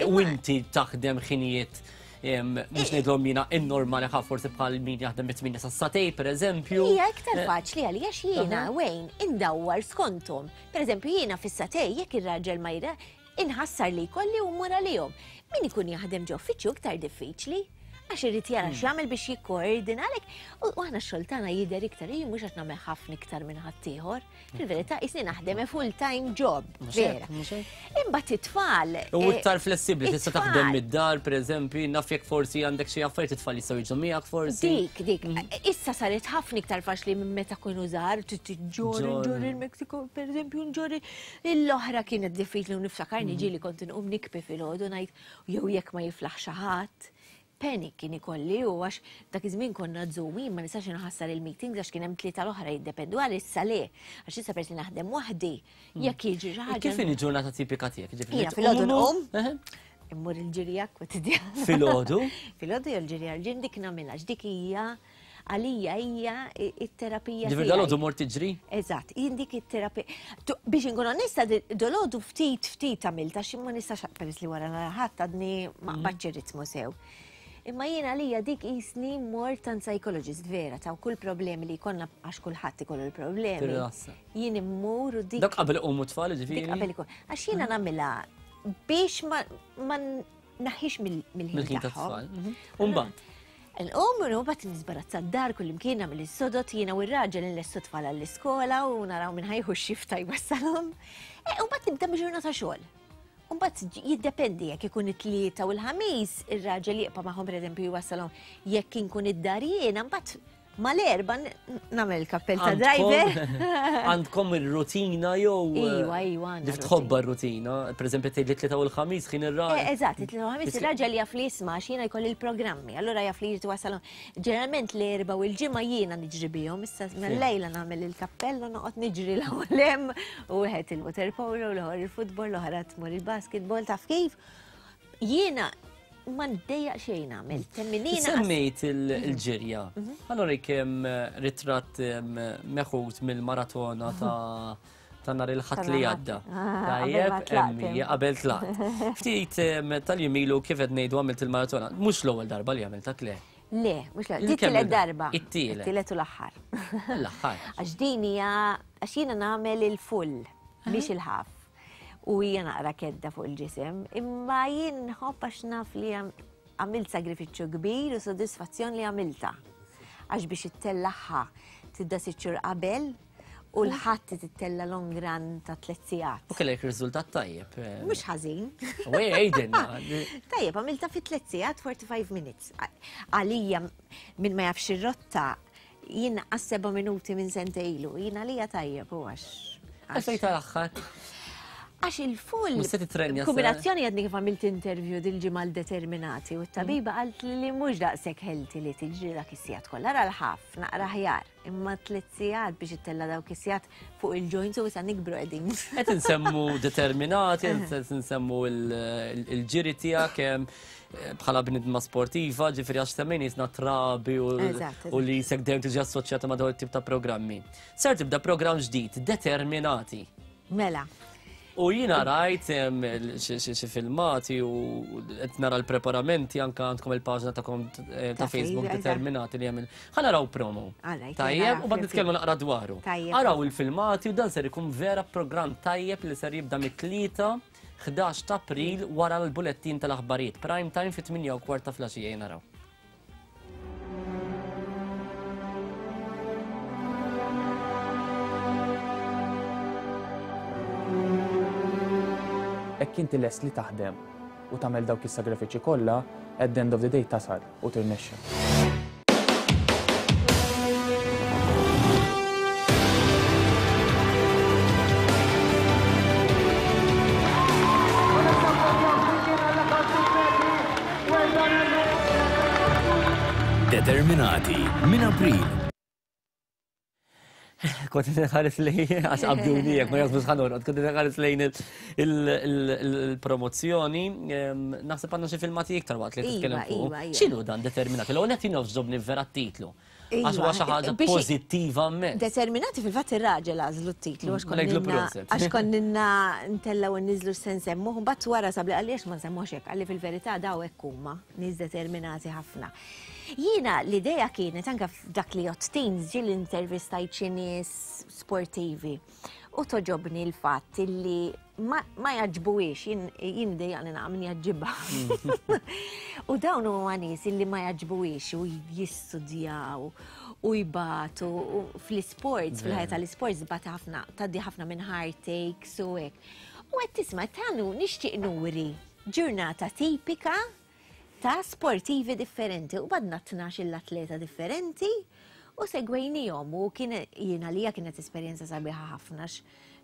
U inti taħdem ħinijiet mhux ngħidlhom jiena innormali ħa forsi bħal min jaħdem mit-8 sa satej pereżempju. Hija iktar eh. faċli għalija jiena wejn indawwar skontom. Pereżempju jiena fis-satej jekk ir-raġel ma jra inħassar li jkolli u mmur għalihom. Min ikun jaħdem ġo uffiċċju iktar diffiċli għax irid jara hmm. x'jagħmel biex jikkoordina għalhekk u aħna x-xogħol tagħna jidher iktar jien mhux għax nagħmel ħafna iktar minn ħaddieħor. Fil-verità, jisni naħdem a full-time job, vera. Imbagħad it-tfal. U eh, iktar flessibbli, tista' taħdem mid-dar, pereżempju, naf jekk forsi għandek xi affarijiet it-tfal jistgħu jiġu miegħek forsi. Dik, dik. Mm. Issa saret ħafna iktar faċli minn meta kienu żgħar, ġorri, ġorri il-Meksiko, pereżempju, nġorri. L-oħra kienet diffiċli u niftakar mm. niġi li kont inqum nikbi filgħodu ngħid jew jekk ma jiflaħ xi ħadd Panic kien ikolli u għax dak iż-żmien konna Zoom, jien ma nistax inħassar il-meetings għax kien hemm tlieta l-oħra jiddependu għal issa le. Għax issa peress li naħdem waħdi, hmm. jekk jiġri xi ħaġa. Kif inhi ġurnata tipika tiegħek? Jiena filgħodu nqum. Immur il-ġirja kwotidjan. Filgħodu? Filgħodu jew l-ġirja l-ġin dik nagħmilha dik hija għalija hija it-terapija. Ġifier dalodu mort tiġri? Eżatt, jien dik it-terapija. Biex inkun onesta, dolodu ftit ftit għamilt għax ma nistax peress li wara nhar ħadd għadni ma mhm. qbadx ir-ritmu sew. Imma jien għalija dik jisni mort tant psychologist vera ta' kull problemi li jkollna għax kulħadd ikollu l-problemi. Jien immur u dik. Dak qabel iqumu tfal ġifieri. Dik qabel ikun. Għax jiena mhm. nagħmilha biex ma naħħix mill-ħin tagħhom. Mhm. Umbagħad. Nqum u mbagħad nisbarazza d-dar kullimkien nagħmel is-sodod jiena u r-raġel inlessu tfal għall-iskola u naraw minn ħajħu x-xifta jwassalhom. E, u mbagħad nibda ġurnata xogħol. Mbagħad jiddependi jekk ikun it-tlieta u l-ħamis, ir-raġel jibqa' magħhom pereżempju jwassalhom jekk inkun id-dar jiena, mbagħad mal-erba nagħmel kappell ta' driver. Għandkom ir-rutina jew. Eh, iva, iva. Dif tħobba r-rutina, pereżempju tgħid li tlieta u l-ħamis ħin ir-raġel. Eh, eżatt, it-tlieta u l-ħamis ir-raġel jaf li jisma' għax jiena jkolli l-programmi, allura jaf li jrid wasalhom. Ġeneralment l-erba u l-ġimgħa jiena niġri bihom, issa mill-lejla nagħmel il-kappell u noqgħod niġri l-ewwel hemm u wieħed il-water polo, l-oħor il-futbol, l-oħra tmur il-basketball, taf kif? Jiena ma ndejjaq xejn nagħmel. Temminina. Semmejt il-ġirja. Mhm. Allora kemm eh, ritratt eh, meħud mill-maratona ta' ta' nhar il-ħadd li għadda. Ah, Tajjeb, emmi, qabel tlaqt. Ftit eh, tal-jemilu kif qed ngħidu għamilt il-maratona. Mhux l-ewwel darba li għamilta kle. Le, mhux l Di darba. It-tielet. It-tielet u l-aħħar. L-aħħar. Għax din hija għax jiena nagħmel il-full, mhix il-ħaf. U hija naqra kedda fuq il-ġisem, imma jien nħobb għax naf li għamilt sagrifiċċju kbir u sodisfazzjon li għamilta. Għax biex ittellaħħa tibda sitt xhur qabel u l-ħadd tittella long run ta' tliet sigħat. U kellek riżultat tajjeb. Eh. Mhux ħażin. Wej għidilna. Tajjeb, għamilta fi tliet sigħat 45 minutes. Għalija min ma jafx ir-rotta Jien għas seba' minuti minn sente ilu, jien għalija tajjeb u għax. Għalfejn tal-aħħar? Għax il-full. Mhux se titrenja. Kombinazzjoni għadni kif għamilt interview dil-ġimgħa l-determinati u t-tabiba qalt li mhux daqshekk healthy li tiġri dak is-sigħat kollha ra l-ħaf naqra ħjar imma tliet sigħat biex ittella dawk is-sigħat fuq il-joints u issa nikbru qegħdin. Qed insemmu determinati, qed insemmu l-ġiri tiegħek bħala bnidma sportiva, ġifieri għax semmejn jisna trabi u li jisek dejjem tiġi assoċjata ma' dawn it-tip ta' programmi. Ser tibda programm ġdid, determinati. Mela. U jina rajt xi filmati u qed nara l-preparamenti anke għandkom il-paġna ta' eh, ta' Facebook determinati li jagħmel. Ħa naraw promo. Tajjeb, u bad nitkellmu naqra dwaru. Araw il-filmati u dan ser ikun vera programm tajjeb li ser jibda mit-tlieta 11 ta' April wara l-bulettin tal-aħbarijiet. Prime time fit-8 u kwart ta' flaxija naraw. Hekk inti lest li taħdem u tagħmel dawk is-sagrifiċċji kollha, at the end of the day tasal u tirnexxi. Determinati minn April. Kont nħares lejn, għax qabduni jek, ma jasbux ħanorqod, kont nħares lejn il-promozzjoni, naħseb għandna xi filmati iktar waqt li iva, titkellem fuq. Iva, iva. X'inhu dan determinati? L-ewwel qed jogħġobni vera t-titlu. Għax huwa xi ħaġa pożittiva mmens. Determinati fil-fatt ir-raġel għażlu t-titlu għax għax konninna ntellgħu nniżlu se nsemmuh, mbagħad wara sabli qalli għax ma nsemmuhx hekk, qalli fil-verità daw hekk huma, nies determinati ħafna. Jiena l-idea kienet anke f'dak li jgħodd teens ġieli intervistajt xi nies sportivi u toġobni l-fatt illi ma, ma jaġbuhiex, jien, jien dejjaqni naqa' min jaġġibha. U dawn huma nies illi ma jaġbuhiex u jistudjaw u jbatu u fl-isports, fil-ħajja tal-isports tbati ħafna, tgħaddi ħafna minn heartaches u hekk. U qed tisma' tanu nixtieq nuri ġurnata tipika ta' sportivi differenti u badna 12 atleta differenti u segwejnihom u kien jien għalija kienet esperjenza sabiħa ħafna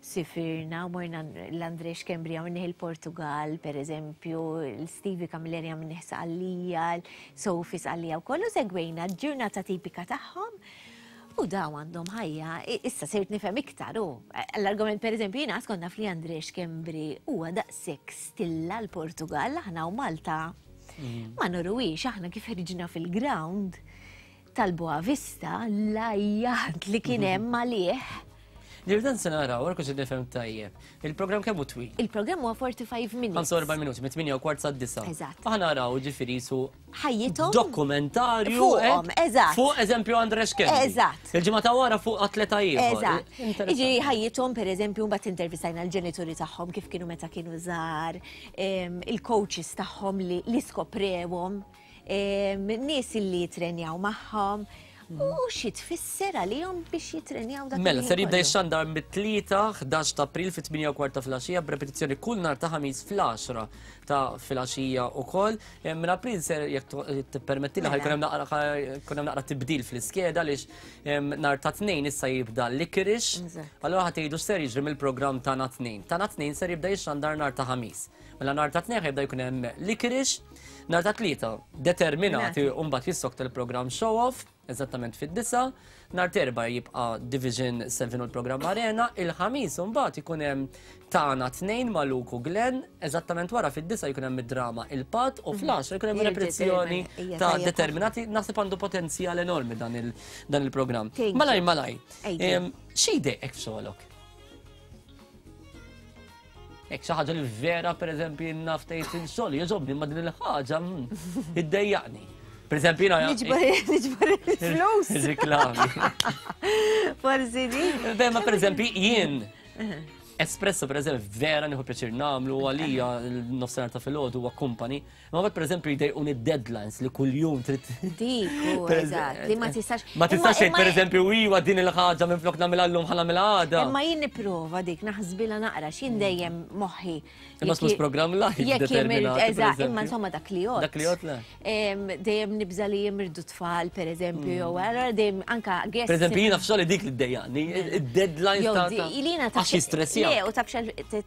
sifirna u morna l-Andre Schembri għamilnih il-Portugal, per eżempju, l-Stevie Camilleri għamilnih Sqallija, Sophie Sqallija u kollu segwejna ġurnata tipika tagħhom u daw għandhom ħajja, issa sirt nifhem iktar u l-argument per eżempju jiena skont naf li Andre Schembri huwa daqshekk stilla l-Portugal aħna u Malta mm. ma nuruwix aħna kif ħriġna fil-ground tal-Boa Vista l-ajjat li kien hemm għalih. Nirdan se naraw, għarku xi nifhem tajjeb. Il-programm kemm hu twil? Il-programm huwa 45 minutes. 45 minuti, mit-8 u kwart sa' 9. Eżatt. Aħna naraw ġifieri su ħajjithom. Dokumentarju. Fuqhom, eh? eżatt. Fuq eżempju Andre Schembri. Eżatt. Il-ġimgħa ta' wara fuq atleta ieħor. Eżatt. Jiġifieri ħajjithom pereżempju mbagħad intervistajna l-ġenituri tagħhom kif kienu meta kienu żgħar, il-coaches tagħhom li skoprewhom nies li jitrenjaw magħhom. U xi tfisser għalihom biex jitrenjaw dak Mela, ser il-ħin jibda kollu. jixxandar mit-tlieta 11 ta' April fit-8 u kwarta filgħaxija b'repetizzjoni kull nhar ta' ħamis fl-10 ta' filgħaxija wkoll. Eh, minn April ser jekk tippermettili ħajkun hemm naqra jkun hemm naqra tibdil fl-iskeda għaliex nhar ta' tnejn issa jibda Licorice. Allura ħa tgħidu x'ser jiġri mill-programm tagħna tnejn. Tagħna tnejn ser jibda jixxandar nhar ta' ħamis. Mela nhar ta' tnejn ħajbda jkun hemm Licorice, nhar ta' tlieta determinati u mbagħad jissokta l-programm Show Off, eżattament fid-disa, nhar terba jibqa' Division 7 u l-programm Arena, il-ħamis mbagħad ikun hemm tagħna tnejn ma' Luke u Glenn, eżattament wara fid-disa jkun hemm id-drama Il-Patt u fl-għaxra jkun hemm repetizzjoni ta' determinati, naħseb għandu potenzjal enormi dan il-programm. Malaj, malaj, xi jdejqek f'xogħolok? Hekk xi ħaġa li vera pereżempju naf tgħid inxogħol jogħġobni ma din il-ħaġa mm, iddejjaqni. Pereżempju jiena Niġbor il-flus. Riklami. Forsi di. Beh, ma pereżempju jien Espresso pereżempju vera nieħu pjaċir nagħmlu għalija l-nofsinhar ta' filgħodu huwa kumpani. Ma mbagħad pereżempju jdejquni deadlines li kuljum trid. Dik, eżatt, li ma tistax. Ma tistax tgħid pereżempju iwa din il-ħaġa minflok nagħmilha llum ħa nagħmilha għada. Imma jien nipprova dik naħsbilha naqra x'jien dejjem moħħi. Imma mhux programm live. Jekk jemirt, eżatt, imma insomma dak li jgħod. Dak li jgħod le. Dejjem nibża li jimirdu tfal pereżempju jew allura dejjem anka guest. Pereżempju jiena f'xogħli dik li ddejjaqni, id-deadlines ta' Ilina ta' xi stressja. Le, u taf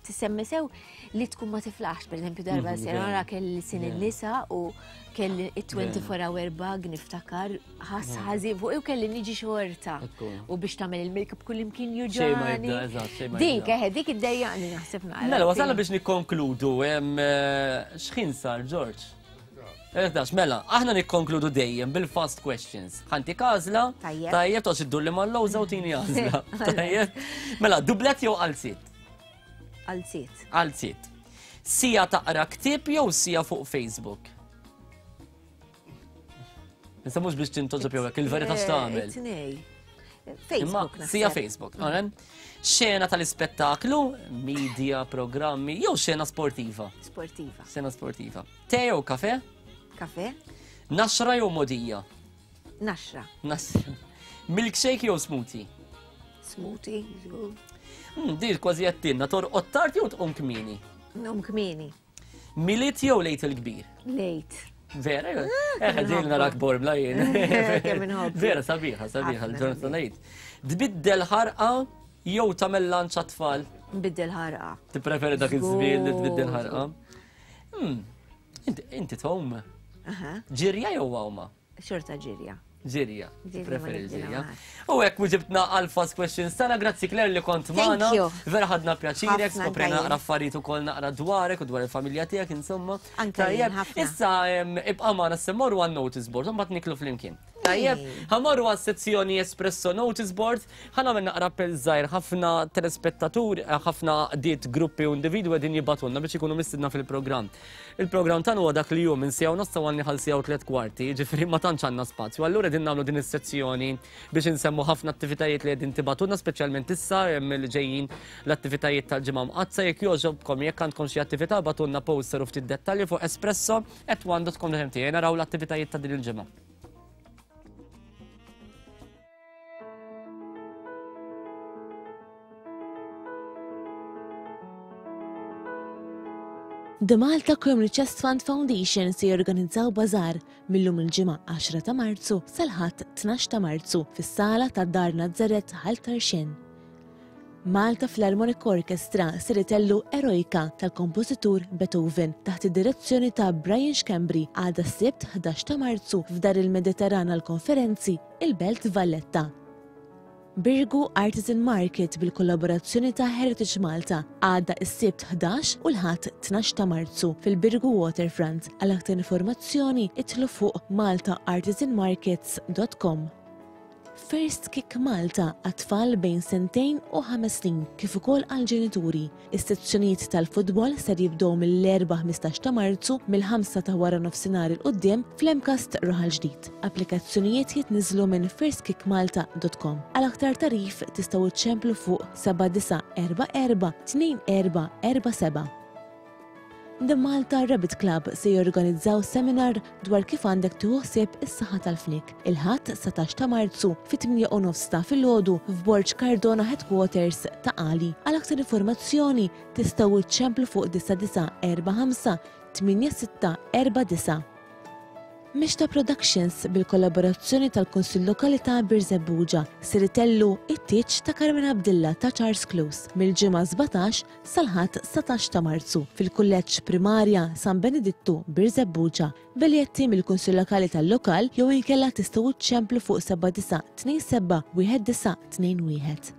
tisemmi sew li tkun ma tiflaħx, per eżempju darba mhm, sena wara kelli sin il-nisa u kelli 24 hour bug niftakar ħas mhm. ħażin fuq u kelli niġi xorta u biex tagħmel il-makeup kull imkien juġani. Dik, eħe, dik iddejjaqni naħseb naqra. Mela, wasalna biex nikkonkludu, eh, x'ħin sar George? 11, mela, aħna nikkonkludu dejjem bil-fast questions. Ħanti għażla, tajjeb, toqgħodx iddur li mal-lowża u tini għażla. Tajjeb. Mela, dublet jew qalziet? Qalziet. Qalziet. Sija taqra ktieb jew sija fuq Facebook? Issa mhux biex tintoġob jew hekk, il-verità eh, x'tagħmel. Tnej. Facebook. Sija Facebook, mm. Xena tal-ispettaklu, media, programmi, jew xena sportiva? Sportiva. Xena sportiva. Te jew kafe? Kafe. Naxra jew modija? Naxra. Naxra. Milkshake jew smoothie? Smoothie, żgur. Hmm, Dir kważi għattinna, torqod tard jew tqum kmieni? Nqum kmieni. Milied jew lejt il-kbir? Lejt. Vera, eh, ġejl narak borbla jien. Vera, sabiħa, sabiħa, l-ġurnata lejt. Tbiddel ħarqa jew tagħmel lanċ għat-tfal? Nbiddel ħarqa. Tippreferi dak iż-żmien li tbiddel ħarqa? Hmm, inti tgħum. Ġirja jew għawma? Xorta ġirja. Ġirja. Preferi ġirja. U hekk ġibtna għal fast questions tagħna, grazzi Claire li kont magħna. Vera ħadna pjaċirek, skoprejna naqra affarijiet ukoll naqra dwarek u dwar il-familja tiegħek insomma. Tajjeb, issa ibqa' magħna se morru għan notice board, mbagħad niklu flimkien. Tajjeb, ħamorru għas sezzjoni Espresso Notice Board, ħanagħmel naqra appell żgħir ħafna telespettaturi, eh, ħafna għaqdiet gruppi u individwi qegħdin jibgħatulna biex ikunu mistidna fil-programm. Il-programm tagħna huwa dak li hu minn siegħa u nofs sa għal siegħa u tliet kwarti, jiġifieri ma tantx għandna spazju. Allura qegħdin nagħmlu din is-sezzjoni biex insemmu ħafna attivitajiet li qegħdin tibgħatulna speċjalment issa li ġejjin l-attivitajiet tal-ġimgħa mqaddsa jekk jogħġobkom jekk għandkom xi attività bagħtulna poster u ftit dettalji fuq espresso at one.com.mt naraw l-attivitajiet ta' din il-ġimgħa. The Malta Community Chest Fund Foundation se jorganizzaw bażar mil-lum il-Ġimgħa 10 ta' Marzu sal-Ħadd 12 ta' Marzu fis-sala ta' Dar Nazzaret Ħal Tarxien. Malta Philharmonic Orchestra ser itellu Eroica tal-kompożitur Beethoven taħt id-direzzjoni ta' Brian Schembri għada s-Sibt 11 ta' Marzu f'Dar il-Mediterran għall-Konferenzi, il-Belt Valletta. Birgu Artisan Market bil-kollaborazzjoni ta' Heritage Malta għada s-Sibt 11 u l-Ħadd 12 ta' Marzu fil-Birgu Waterfront. Għal aktar informazzjoni idħlu fuq maltaartisanmarkets dot com. First Kick Malta għat-tfal bejn sentejn u ħames snin kif ukoll għall-ġenituri. Is-sezzjonijiet tal-futbol ser jibdew mill-Erbgħa 15 ta' Marzu mill-ħamsa ta' waranofsinhar 'il quddiem fl-MCAST Raħal Ġdid. Applikazzjonijiet jitniżżlu minn firstkickmalta dot com. Għal aktar tagħrif tistgħu ċċemplu fuq 7944 2447. The Malta Rabbit Club se jorganizzaw seminar dwar kif għandek tieħu ħsieb is-saħħa tal-fniek, il-Ħadd 19 ta' Marzu fit-8 u nofs ta' filgħodu f'Borg Cardona Headquarters Ta' Qali. Għal aktar informazzjoni tistgħu ċċemplu fuq 9945 8649. Mixta Productions bil-kollaborazzjoni tal-Kunsill Lokali ta' Birżebbuġa ser itellu it-tieġ ta' Carmen Abdilla ta' Charles Close mill-Ġimgħa 17 sal-Ħadd 19 ta' Marzu fil-Kulleġġ Primarja San Benedittu Birżebbuġa. Biljetti mill-Kunsill Lokali tal-lokal jew inkella tistgħu ċċemplu fuq 7927 1921.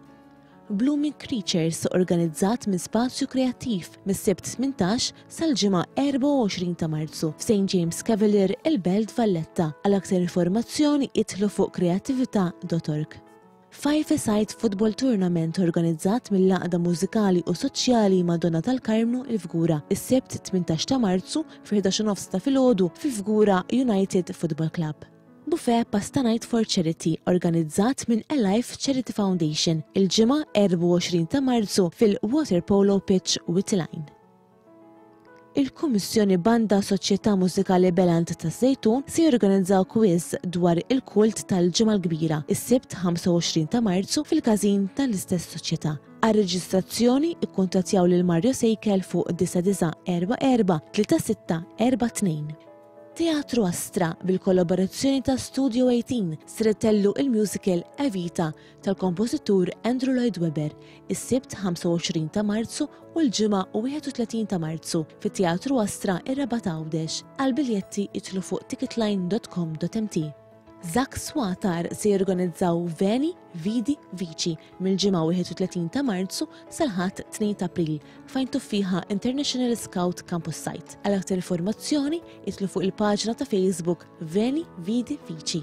Blooming Creatures organizzat minn Spazju Kreattiv mis-Sibt 18 sal-Ġimgħa 24 ta' Marzu f'St James Cavalier, il-Belt Valletta. Għal aktar informazzjoni idħlu fuq kreattività.org. Five-a-side football tournament organizzat mill-Għaqda Mużikali u Soċjali Madonna tal-Karmnu il-Fgura is-Sibt 18 ta' Marzu fil-11 u nofs ta' filgħodu fil-Fgura United Football Club. Buffet Pasta Night for Charity organizzat minn Alive Charity Foundation il-Ġimgħa 24 ta' Marzu fil-Waterpolo Pitch Wied il-Għajn. Il-Kummissjoni Banda Soċjetà Mużikali Beland taż-Żejtun se jorganizzaw quiz dwar il-kult tal-Ġimgħa l-Kbira is-Sibt 25 ta' Marzu fil-każin tal-istess soċjetà. Għar-reġistrazzjoni ikkuntattjaw lil Mario Sejkel fuq 9944 3642. Teatru Astra bil-kollaborazzjoni ta' Studio 18 ser itellu il-musical Evita tal-kompożitur Andrew Lloyd Webber is-Sibt 25 ta' Marzu u l-Ġimgħa 31 ta' Marzu fit-Teatru Astra ir-Rabat Għawdex. Għal biljetti idħlu fuq ticketline.com.mt. Zak Swatar se jorganizzaw Veni, Vidi, Vici mill-Ġimgħa 31 ta' Marzu sal-Ħadd 2 ta' April f'Għajn Tuffieħa International Scout Campus Site. Għal aktar informazzjoni idħlu fuq il-paġna ta' Facebook Veni, Vidi, Vici.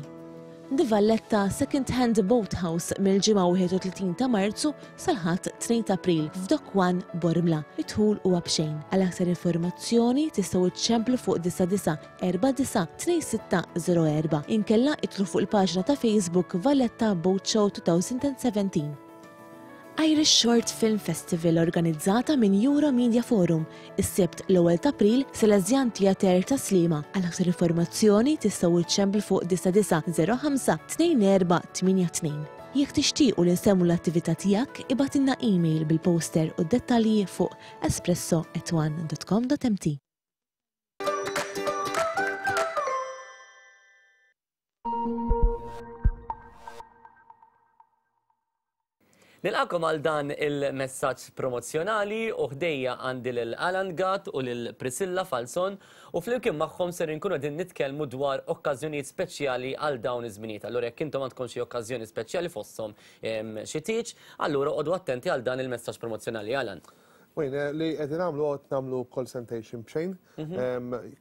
The Valletta Second Hand Boathouse mill-Ġimgħa 31 ta' Marzu sal-Ħadd 2 ta' April f'Dock One Bormla. Id-dħul huwa b'xejn. Għal aktar informazzjoni tistgħu iċċemplu fuq 99 492604 inkella idħlu fuq il-paġna ta' Facebook Valletta Boat Show 2017. Irish Short Film Festival organizzata minn Euro Media Forum is-Sibt l-ewwel ta' April Salesian Theatre ta' Sliema. Għal aktar informazzjoni tistgħu iċċemplu fuq 9905 2482. Jekk tixtiequ li nsemmu l-attività tiegħek, ibgħatilna email bil-poster u d-dettalji fuq espresso@one.com.mt. Nilqakom għal dan il-messaġġ promozzjonali u ħdejja għandi lil Alan Gatt u lil Priscilla Falzon u flimkien magħhom ser inkunu qegħdin nitkellmu dwar okkażjonijiet speċjali għal dawn iż-żminijiet. Allura jekk intom għandkom xi okkażjoni speċjali fosthom xi tieġ, allura oqogħdu attenti għal dan il-messaġġ promozzjonali. Alan. Wayne, li qegħdin nagħmlu qed nagħmlu consultation b'xejn,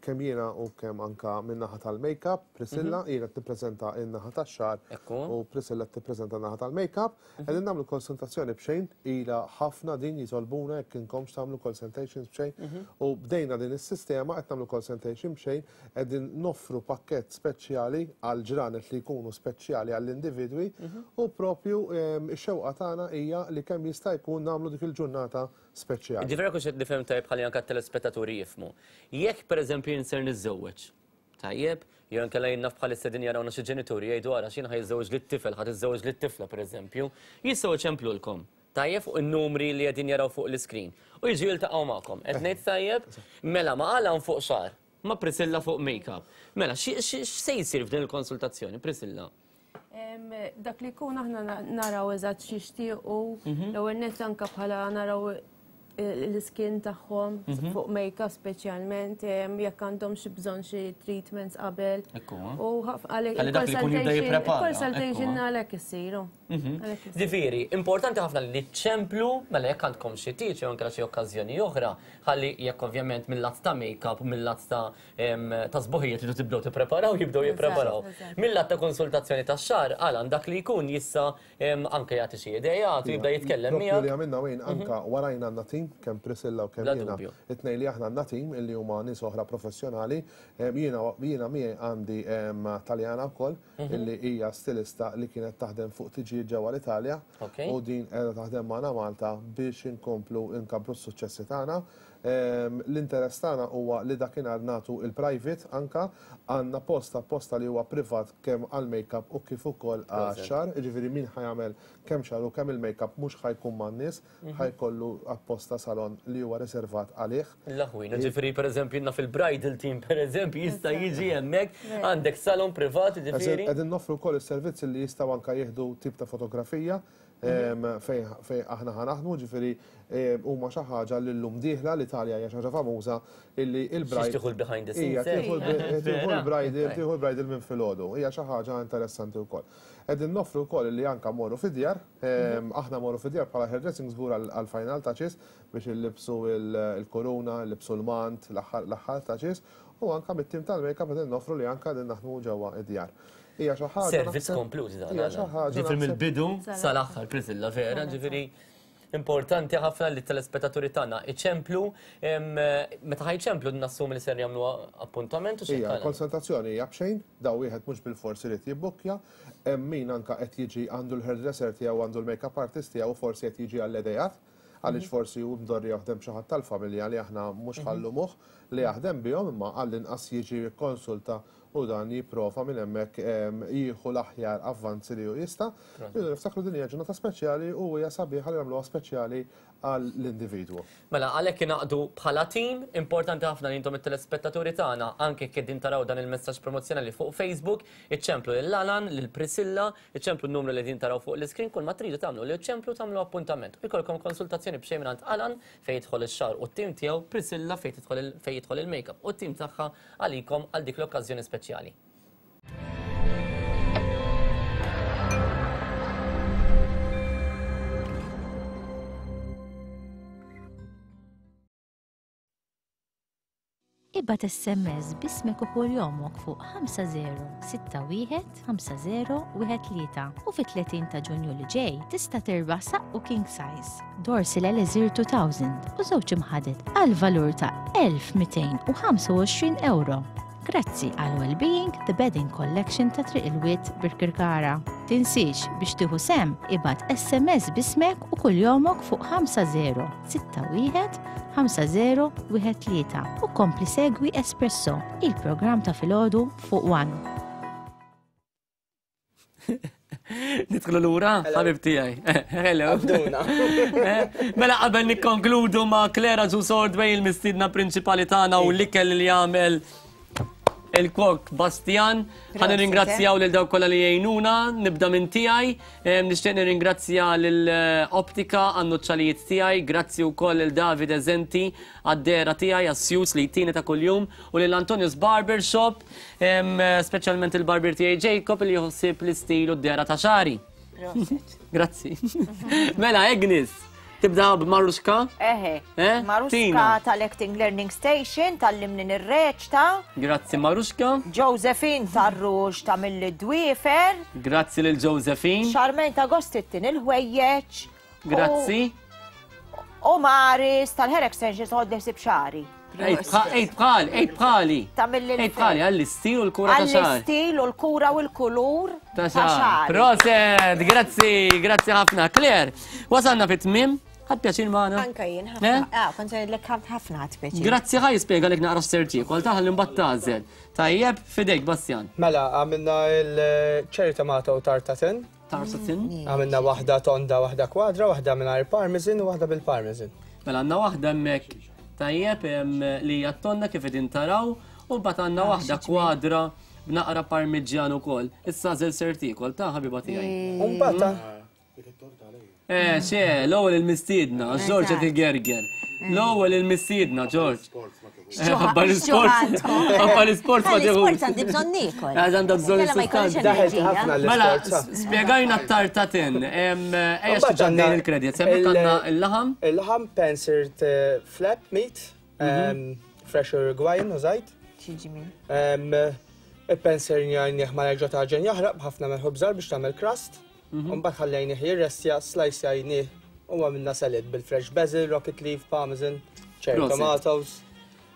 kemm jiena u kemm anka min-naħa tal-makeup, Priscilla, jiena qed nippreżenta n-naħa tax-xagħar u Priscilla qed tippreżenta n-naħa tal-makeup. Qegħdin nagħmlu konsultazzjoni b'xejn, ilha ħafna din jitolbuna jekk inkomx tagħmlu consultations b'xejn u bdejna din is-sistema qed nagħmlu consultation b'xejn, qegħdin noffru pakkett speċjali għal ġranet li jkunu speċjali għall-individwi u propju x-xewqa tagħna hija li kemm jista' jkun nagħmlu dik il-ġurnata speċjali. Ġifieri jekk hux qed nifhem tajjeb ħalli anke t-telespettaturi jifhmu. Jekk pereżempju jien ser niżżewweġ, tajjeb, jew inkella jien naf bħalissa qegħdin jarawna xi ġenituri jgħidu ara x'jien ħa jiżżewweġ lit-tifel, ħa tiżżewweġ lit-tifla pereżempju, jistgħu jċemplulkom. Tajjeb fuq in-numri li qegħdin jaraw fuq l-iskrin. U jiġu jiltaqgħu magħkom. Qed ngħid tajjeb? Mela ma' Alan fuq xagħar, ma' Priscilla fuq make-up. Mela, x'se jsir f'din il-konsultazzjoni, Priscilla? Dak li jkun aħna naraw eżatt x'jixtiequ, mhm. l-ewwel nett anke bħala naraw l-iskin tagħhom mhm. fuq make-up speċjalment jekk għandhom xi bżonn xi treatments qabel. U għalhekk il-consultation għalhekk issiru. Mhm. Ġifieri, importanti ħafna li ċemplu mela jekk għandkom xi tieġ jew anke xi okkażjoni oħra, ħalli jekk ovvjament mill-lat ta' make-up, mill-lat ta' ta' sbuħija tridu tibdew tippreparaw, jibdew jippreparaw. Mill-lat ta' konsultazzjoni tax-xagħar, Alan dak li jkun jista' anke jagħti xi ideat u jibda jitkellem miegħek. Li għamilna wejn anke warajna għandna tim, kemm Priscilla u kemm jiena. It-tnejn li aħna għandna tim illi huma nies oħra professjonali. Jiena jiena miegħi għandi Taljana wkoll illi hija stilista li kienet taħdem fuq tiġijiet. ġiet ġewwa l-Italja u din qiegħda taħdem magħna Malta biex inkomplu nkabbru s-suċċessi tagħna. L-interess tagħna huwa li dakinhar nagħtu il-private anka għandna post apposta li huwa privat kemm għall-makeup u kif ukoll għax-xagħar, jiġifieri min ħa jagħmel kemm xagħar u kemm il-makeup mhux ħa jkun man-nies, ħa jkollu apposta salon li huwa riservat għalih. L-aħwin, jiġifieri pereżempju naf il-bridal team pereżempju jista' jiġi hemmhekk, għandek salon privat jiġifieri. Qegħdin noffru wkoll is-servizz li jistgħu anke jieħdu tip ta' fotografija fejn aħna ħa naħdmu, ġifieri huma xi ħaġa li llum dieħla l-Italja hija xi ħaġa famuża illi il-bride. Tieħu l-behind the scenes. Tieħu l-bridal, tieħu l-bridal minn filgħodu. Hija xi ħaġa interessanti wkoll. Qegħdin noffru wkoll illi anke mmorru fid-djar, aħna mmorru fid-djar bħala hairdressing żgur għall-final touches biex illibsu l-kuruna, illibsu l-mant, l-aħħar touches, u anke mit-tim tal-makeup qegħdin noffru li anke qegħdin naħdmu ġewwa id-djar. Hija xi ħaġa. Servizz komplut dan. Hija xi ħaġa. Ġifieri mill-bidu sal-aħħar Prisilla vera, ġifieri importanti ħafna li telespettaturi tagħna iċemplu meta ħajċemplu nassumi li ser jagħmlu appuntament u xi. Hija konsultazzjoni hija b'xejn, daw wieħed mhux bil-fors irid jibbukkja, hemm min anka qed jiġi għandu l-hairdresser tiegħu għandu l-makeup artist tiegħu forsi qed jiġi għall-idejat għaliex forsi hu mdorri jaħdem xi ħadd tal-familja li aħna mhux ħallumuh li jaħdem bihom imma għall-inqas jiġi jikkonsulta u dan jipprova minn hemmhekk jieħu l-aħjar avvanzi li hu jista'. Rridu niftakru din hija ġurnata speċjali u hija sabiħa li nagħmluha speċjali għall-individwu. Mela għalhekk ingħaqdu bħala tim, importanti ħafna li intom it-telespettaturi tagħna anke jekk qegħdin taraw dan il-messaġġ promozzjonali fuq Facebook, iċċemplu lil Alan, lil Priscilla, iċċemplu n-numru li qegħdin taraw fuq l-iskrin, kull ma tridu tagħmlu li ċċemplu tagħmlu appuntament. U jkollkom konsultazzjoni b'xejn mingħand Alan fejn jidħol ix-xagħar u t-tim tiegħu, Priscilla fejn tidħol fejn jidħol il-makeup u t-tim tagħha għalikom għal dik l-okkażjoni speċjali. Ibgħat SMS b'ismek u kuljomok fuq 5061 5013 u fit-30 ta' Ġunju li ġej tista' tirbaħ saqqu king size, Dorsil Elixir 2000 u żewġ imħaded għal valur ta' 1225 euro. Grazzi għal Wellbeing The Bedding Collection ta' Triq il-Wied Birkirkara. Tinsiex biex tieħu sehem ibgħat SMS b'ismek u kuljomok fuq 5061 5013 u kompli segwi Espresso, il-programm ta' filgħodu fuq One. Nidħlu lura, ħabib tiegħi. Hello. Eh, mela qabel nikkonkludu ma' Clara Ġus Ordway il-mistiedna prinċipali tagħna u l-ikel li jagħmel il-kok Bastian. Ħa nirringrazzjaw lil dawk kollha li jgħinuna, nibda minn tiegħi. Eh, nixtieq nirringrazzja lil eh, Optika għan-nuċċalijiet tiegħi, grazzi wkoll lil David Eżenti għad-dehra tiegħi għas-sjus li jtini ta' kuljum u lil Antonius Barber Shop Speċjalment il-barbier tiegħi Jacob li jħossib l-istil u d-dehra ta' xari. Grazzi. Mela, Agnes, tibda b'Maruxka? Eħe. Eh? Maruxka tal-Acting Learning Station tal-limni nirreċta. Grazzi Maruxka. Josephine tar-Rux ta' mill-Dwiefer. Grazzi lil Josephine. Charmaine ta' Gostittin il-ħwejjeġ. Grazzi. U Maris tal-hair extensions għod ħsib xari. Ejt bħal, ejt bħali. Ejt bħali, għall-istil u l-kura ta' xar. Għall-istil u l-kura u l-kulur ta' xar. Proset, grazzi, grazzi ħafna. Claire, wasalna fit tmim ħad pjaċir maħna. Anka jien, ħafna. Eh? Ah, kont ngħidlek ħafna ħad pjaċir. Grazzi ħaj jispjega lek naqra s-serti, kol taħal imbagħad tażel. Tajjeb, fidejk, Bastian. Mela, għamilna il-cherry tomato tartatin. Tarsatin. Għamilna waħda tonda, waħda kwadra, waħda mingħajr parmesan u waħda bil-parmesan. Mela għandna waħda hemmhekk tajjeb li hija tonda kif qegħdin taraw u mbagħad għandna ah, waħda kwadra b'naqra parmiġġjan ukoll. Issa żel ser tiekol ta' ħabiba tiegħi. U mbagħad Eh, xe, l-ewwel il-mistiedna, Ġorġ qed igerger. L-ewwel il-mistiedna, Ġorġ. Ħabba l-isport. Ħabba l-isport ma tieħu. L-isport għandi bżonn niekol. Għax għandha bżonn is-sustanza. Daħet ħafna Mela, spjegajna t-tartatin. Ejja xi il-kredit. Semmek għandna il-laħam. Il-laħam pansered eh, flap meat, mhm. fresh Uruguayan użajt. Xiġi min? Il-panser ma jerġa' taġen jaħraq b'ħafna melħu bżar biex tagħmel crust. Mhm. Mbagħad ħallejnih jirrestja, slicejnih u għamilna salad bil-fresh basil, rocket leaf, parmesan, cherry tomatoes.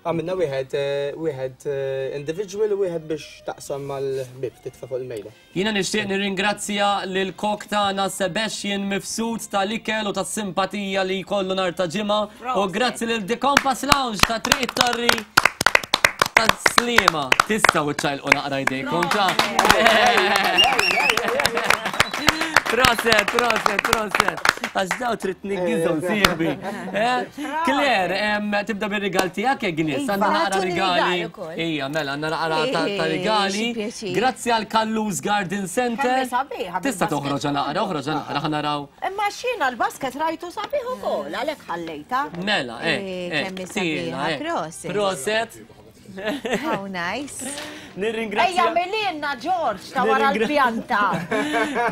Għamilna wieħed eh, wieħed eh, individual u wieħed biex taqsam mal-ħbieb titfa' fuq il-mejda. Jiena nixtieq nirringrazzja lil kok tagħna Sebastian Mifsud tal-ikel u tas-simpatija li jkollu nhar ta' ġimgħa u grazzi lil The Compass Lounge ta' Triq it-Torri ta' Sliema. Tistgħu ċċajlqu naqra jdejkom ta' Proset, proset, proset. Għax daw trid niggizhom sieħbi. Eh? Claire, tibda bir-rigal tiegħek Agnes, għandna Iva. naqra Tuni rigali. rigal ukoll. Ija, mela, għandna naqra ta' ta' rigali. Xi pjaċir. Grazzi għal Kallus Garden Center. Kemm hi sabiħa Tista' bil-basket. toħroġ naqra, oħroġ naqra ħa naraw. Imma xina l-basket rajtu sabiħ ukoll, għalhekk ħallejta. Mela, eh, Eh, kemm hi tila, sabiħa, eh. proset. Proset. How nice. Nirringrazzja. Ejja mililna George ta' wara l-pjanta.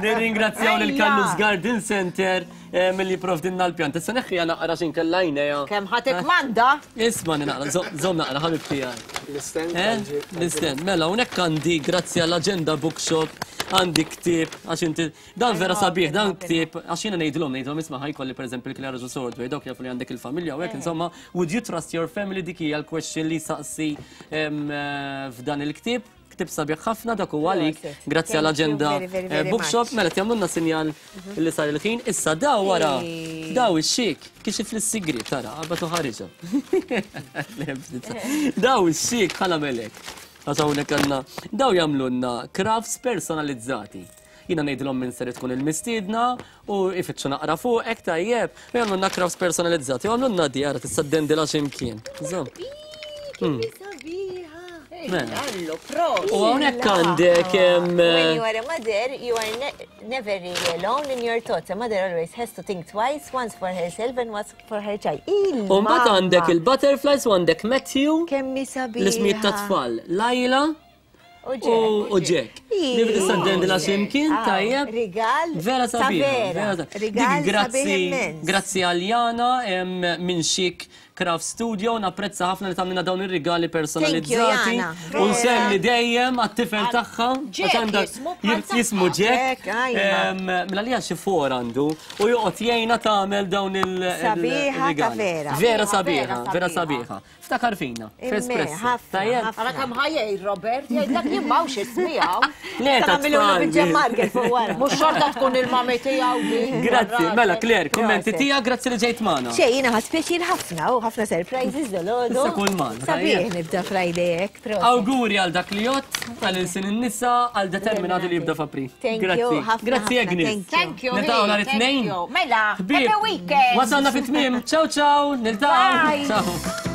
Nirringrazzjaw lil Ejja. Kallus Garden Center eh, milli provdinna l-pjanta. Issa neħħija naqra x'inkella għajnejha. Kemm ħa tikkmanda? Isma' naqra, żomm naqra ħabib tiegħi. L-istand. Eh? L-istand. Mela, hawnhekk għandi grazzi għall-Agenda Bookshop għandi ktieb għax inti dan vera sabiħ dan ktieb għax jiena ngħidilhom ngħidilhom isma' ħajkolli pereżempju l-Clara Ġus Ordway dawk jafu li għandek il-familja u hekk insomma would you trust your family dik hija l-question li saqsi eh, f'dan il-ktieb. Ktieb sabiħ ħafna dak huwa għalik grazzi Thank you għall-Agenda very, very, eh, very Bookshop much. mela jagħmlulna sinjal li sar il-ħin issa daw wara daw ix-xik kixif lis-sigriet tara qabad u ħariġha. Daw ix-xik ħa nagħmelek. Għax hawnhekk għandna daw jagħmlulna crafts personalizzati. Jiena ngħidilhom min ser tkun il-mistiedna u ifittxu naqra fuqek tajjeb u jagħmlulna crafts personalizzati. U jagħmlulna di ara tista' ddendilha x'imkien. Żomm. Sabiħa. Mela. Allu, proset. U hawnhekk għandek When you are a mother, you are ne never really alone in your thoughts. A mother always has to think twice, once for herself and once for her child. U mbagħad għandek il-butterflies u għandek Matthew. Kemm hi sabiħa. L-ismijiet ta' tfal. Lajla U u Jack. Li tista' ddendilha x'imkien Ah, tajjeb. Rigal. Vera ta' sabiħa. vera. vera sabiħa. Rigal Dik grazzi, sabiħ immens. grazzi għal Jana em, minn Chic Craft Studio, napprezza ħafna li tagħmilna dawn ir-rigali personalizzati. Jana. U nsemmi dejjem għat-tifel tagħha. Jack għax għandha- jismu bħal tagħha. Jismu Jack. Jack, ajma. Em, Mela li xi for għandu u joqgħod jgħinha tagħmel dawn il- Sabiħa ta' il-rigali. vera. Vera Sabiħa, sabiħa, vera sabiħa. Ftakar fina, Imme, f'Espresso. ħafna, Tajjeb? ħafna. Ara kemm ħajjej Robert, jgħidlek jien m'hawnx ismi hawn. Le, ta' Tagħmilulu tfal. bil-ġemmarker fuq wara. Mhux xorta tkun il-mami tiegħu din. Grazzi, mela Claire, kummenti Proset. tiegħek, grazzi li ġejt magħna. Xej, jiena ħadt pjaċir ħafna u ħafna surprises dolodu. Issa kull man, Sabiħ tajjeb. nibda Friday hekk, proset. Awguri għal dak li jott, għal ilsin in-nisa, għal determinati li jibda f'April. Thank you, Grazzi. ħafna, Grazzi ħafna, Agnes. thank you. Thank you. Niltaqgħu nhar thank it-tnejn. you. Mela, Ħbieb, happy weekend. Wasalna fit-tmiem. Ciao ciao, niltaqgħu. Bye. Ciao.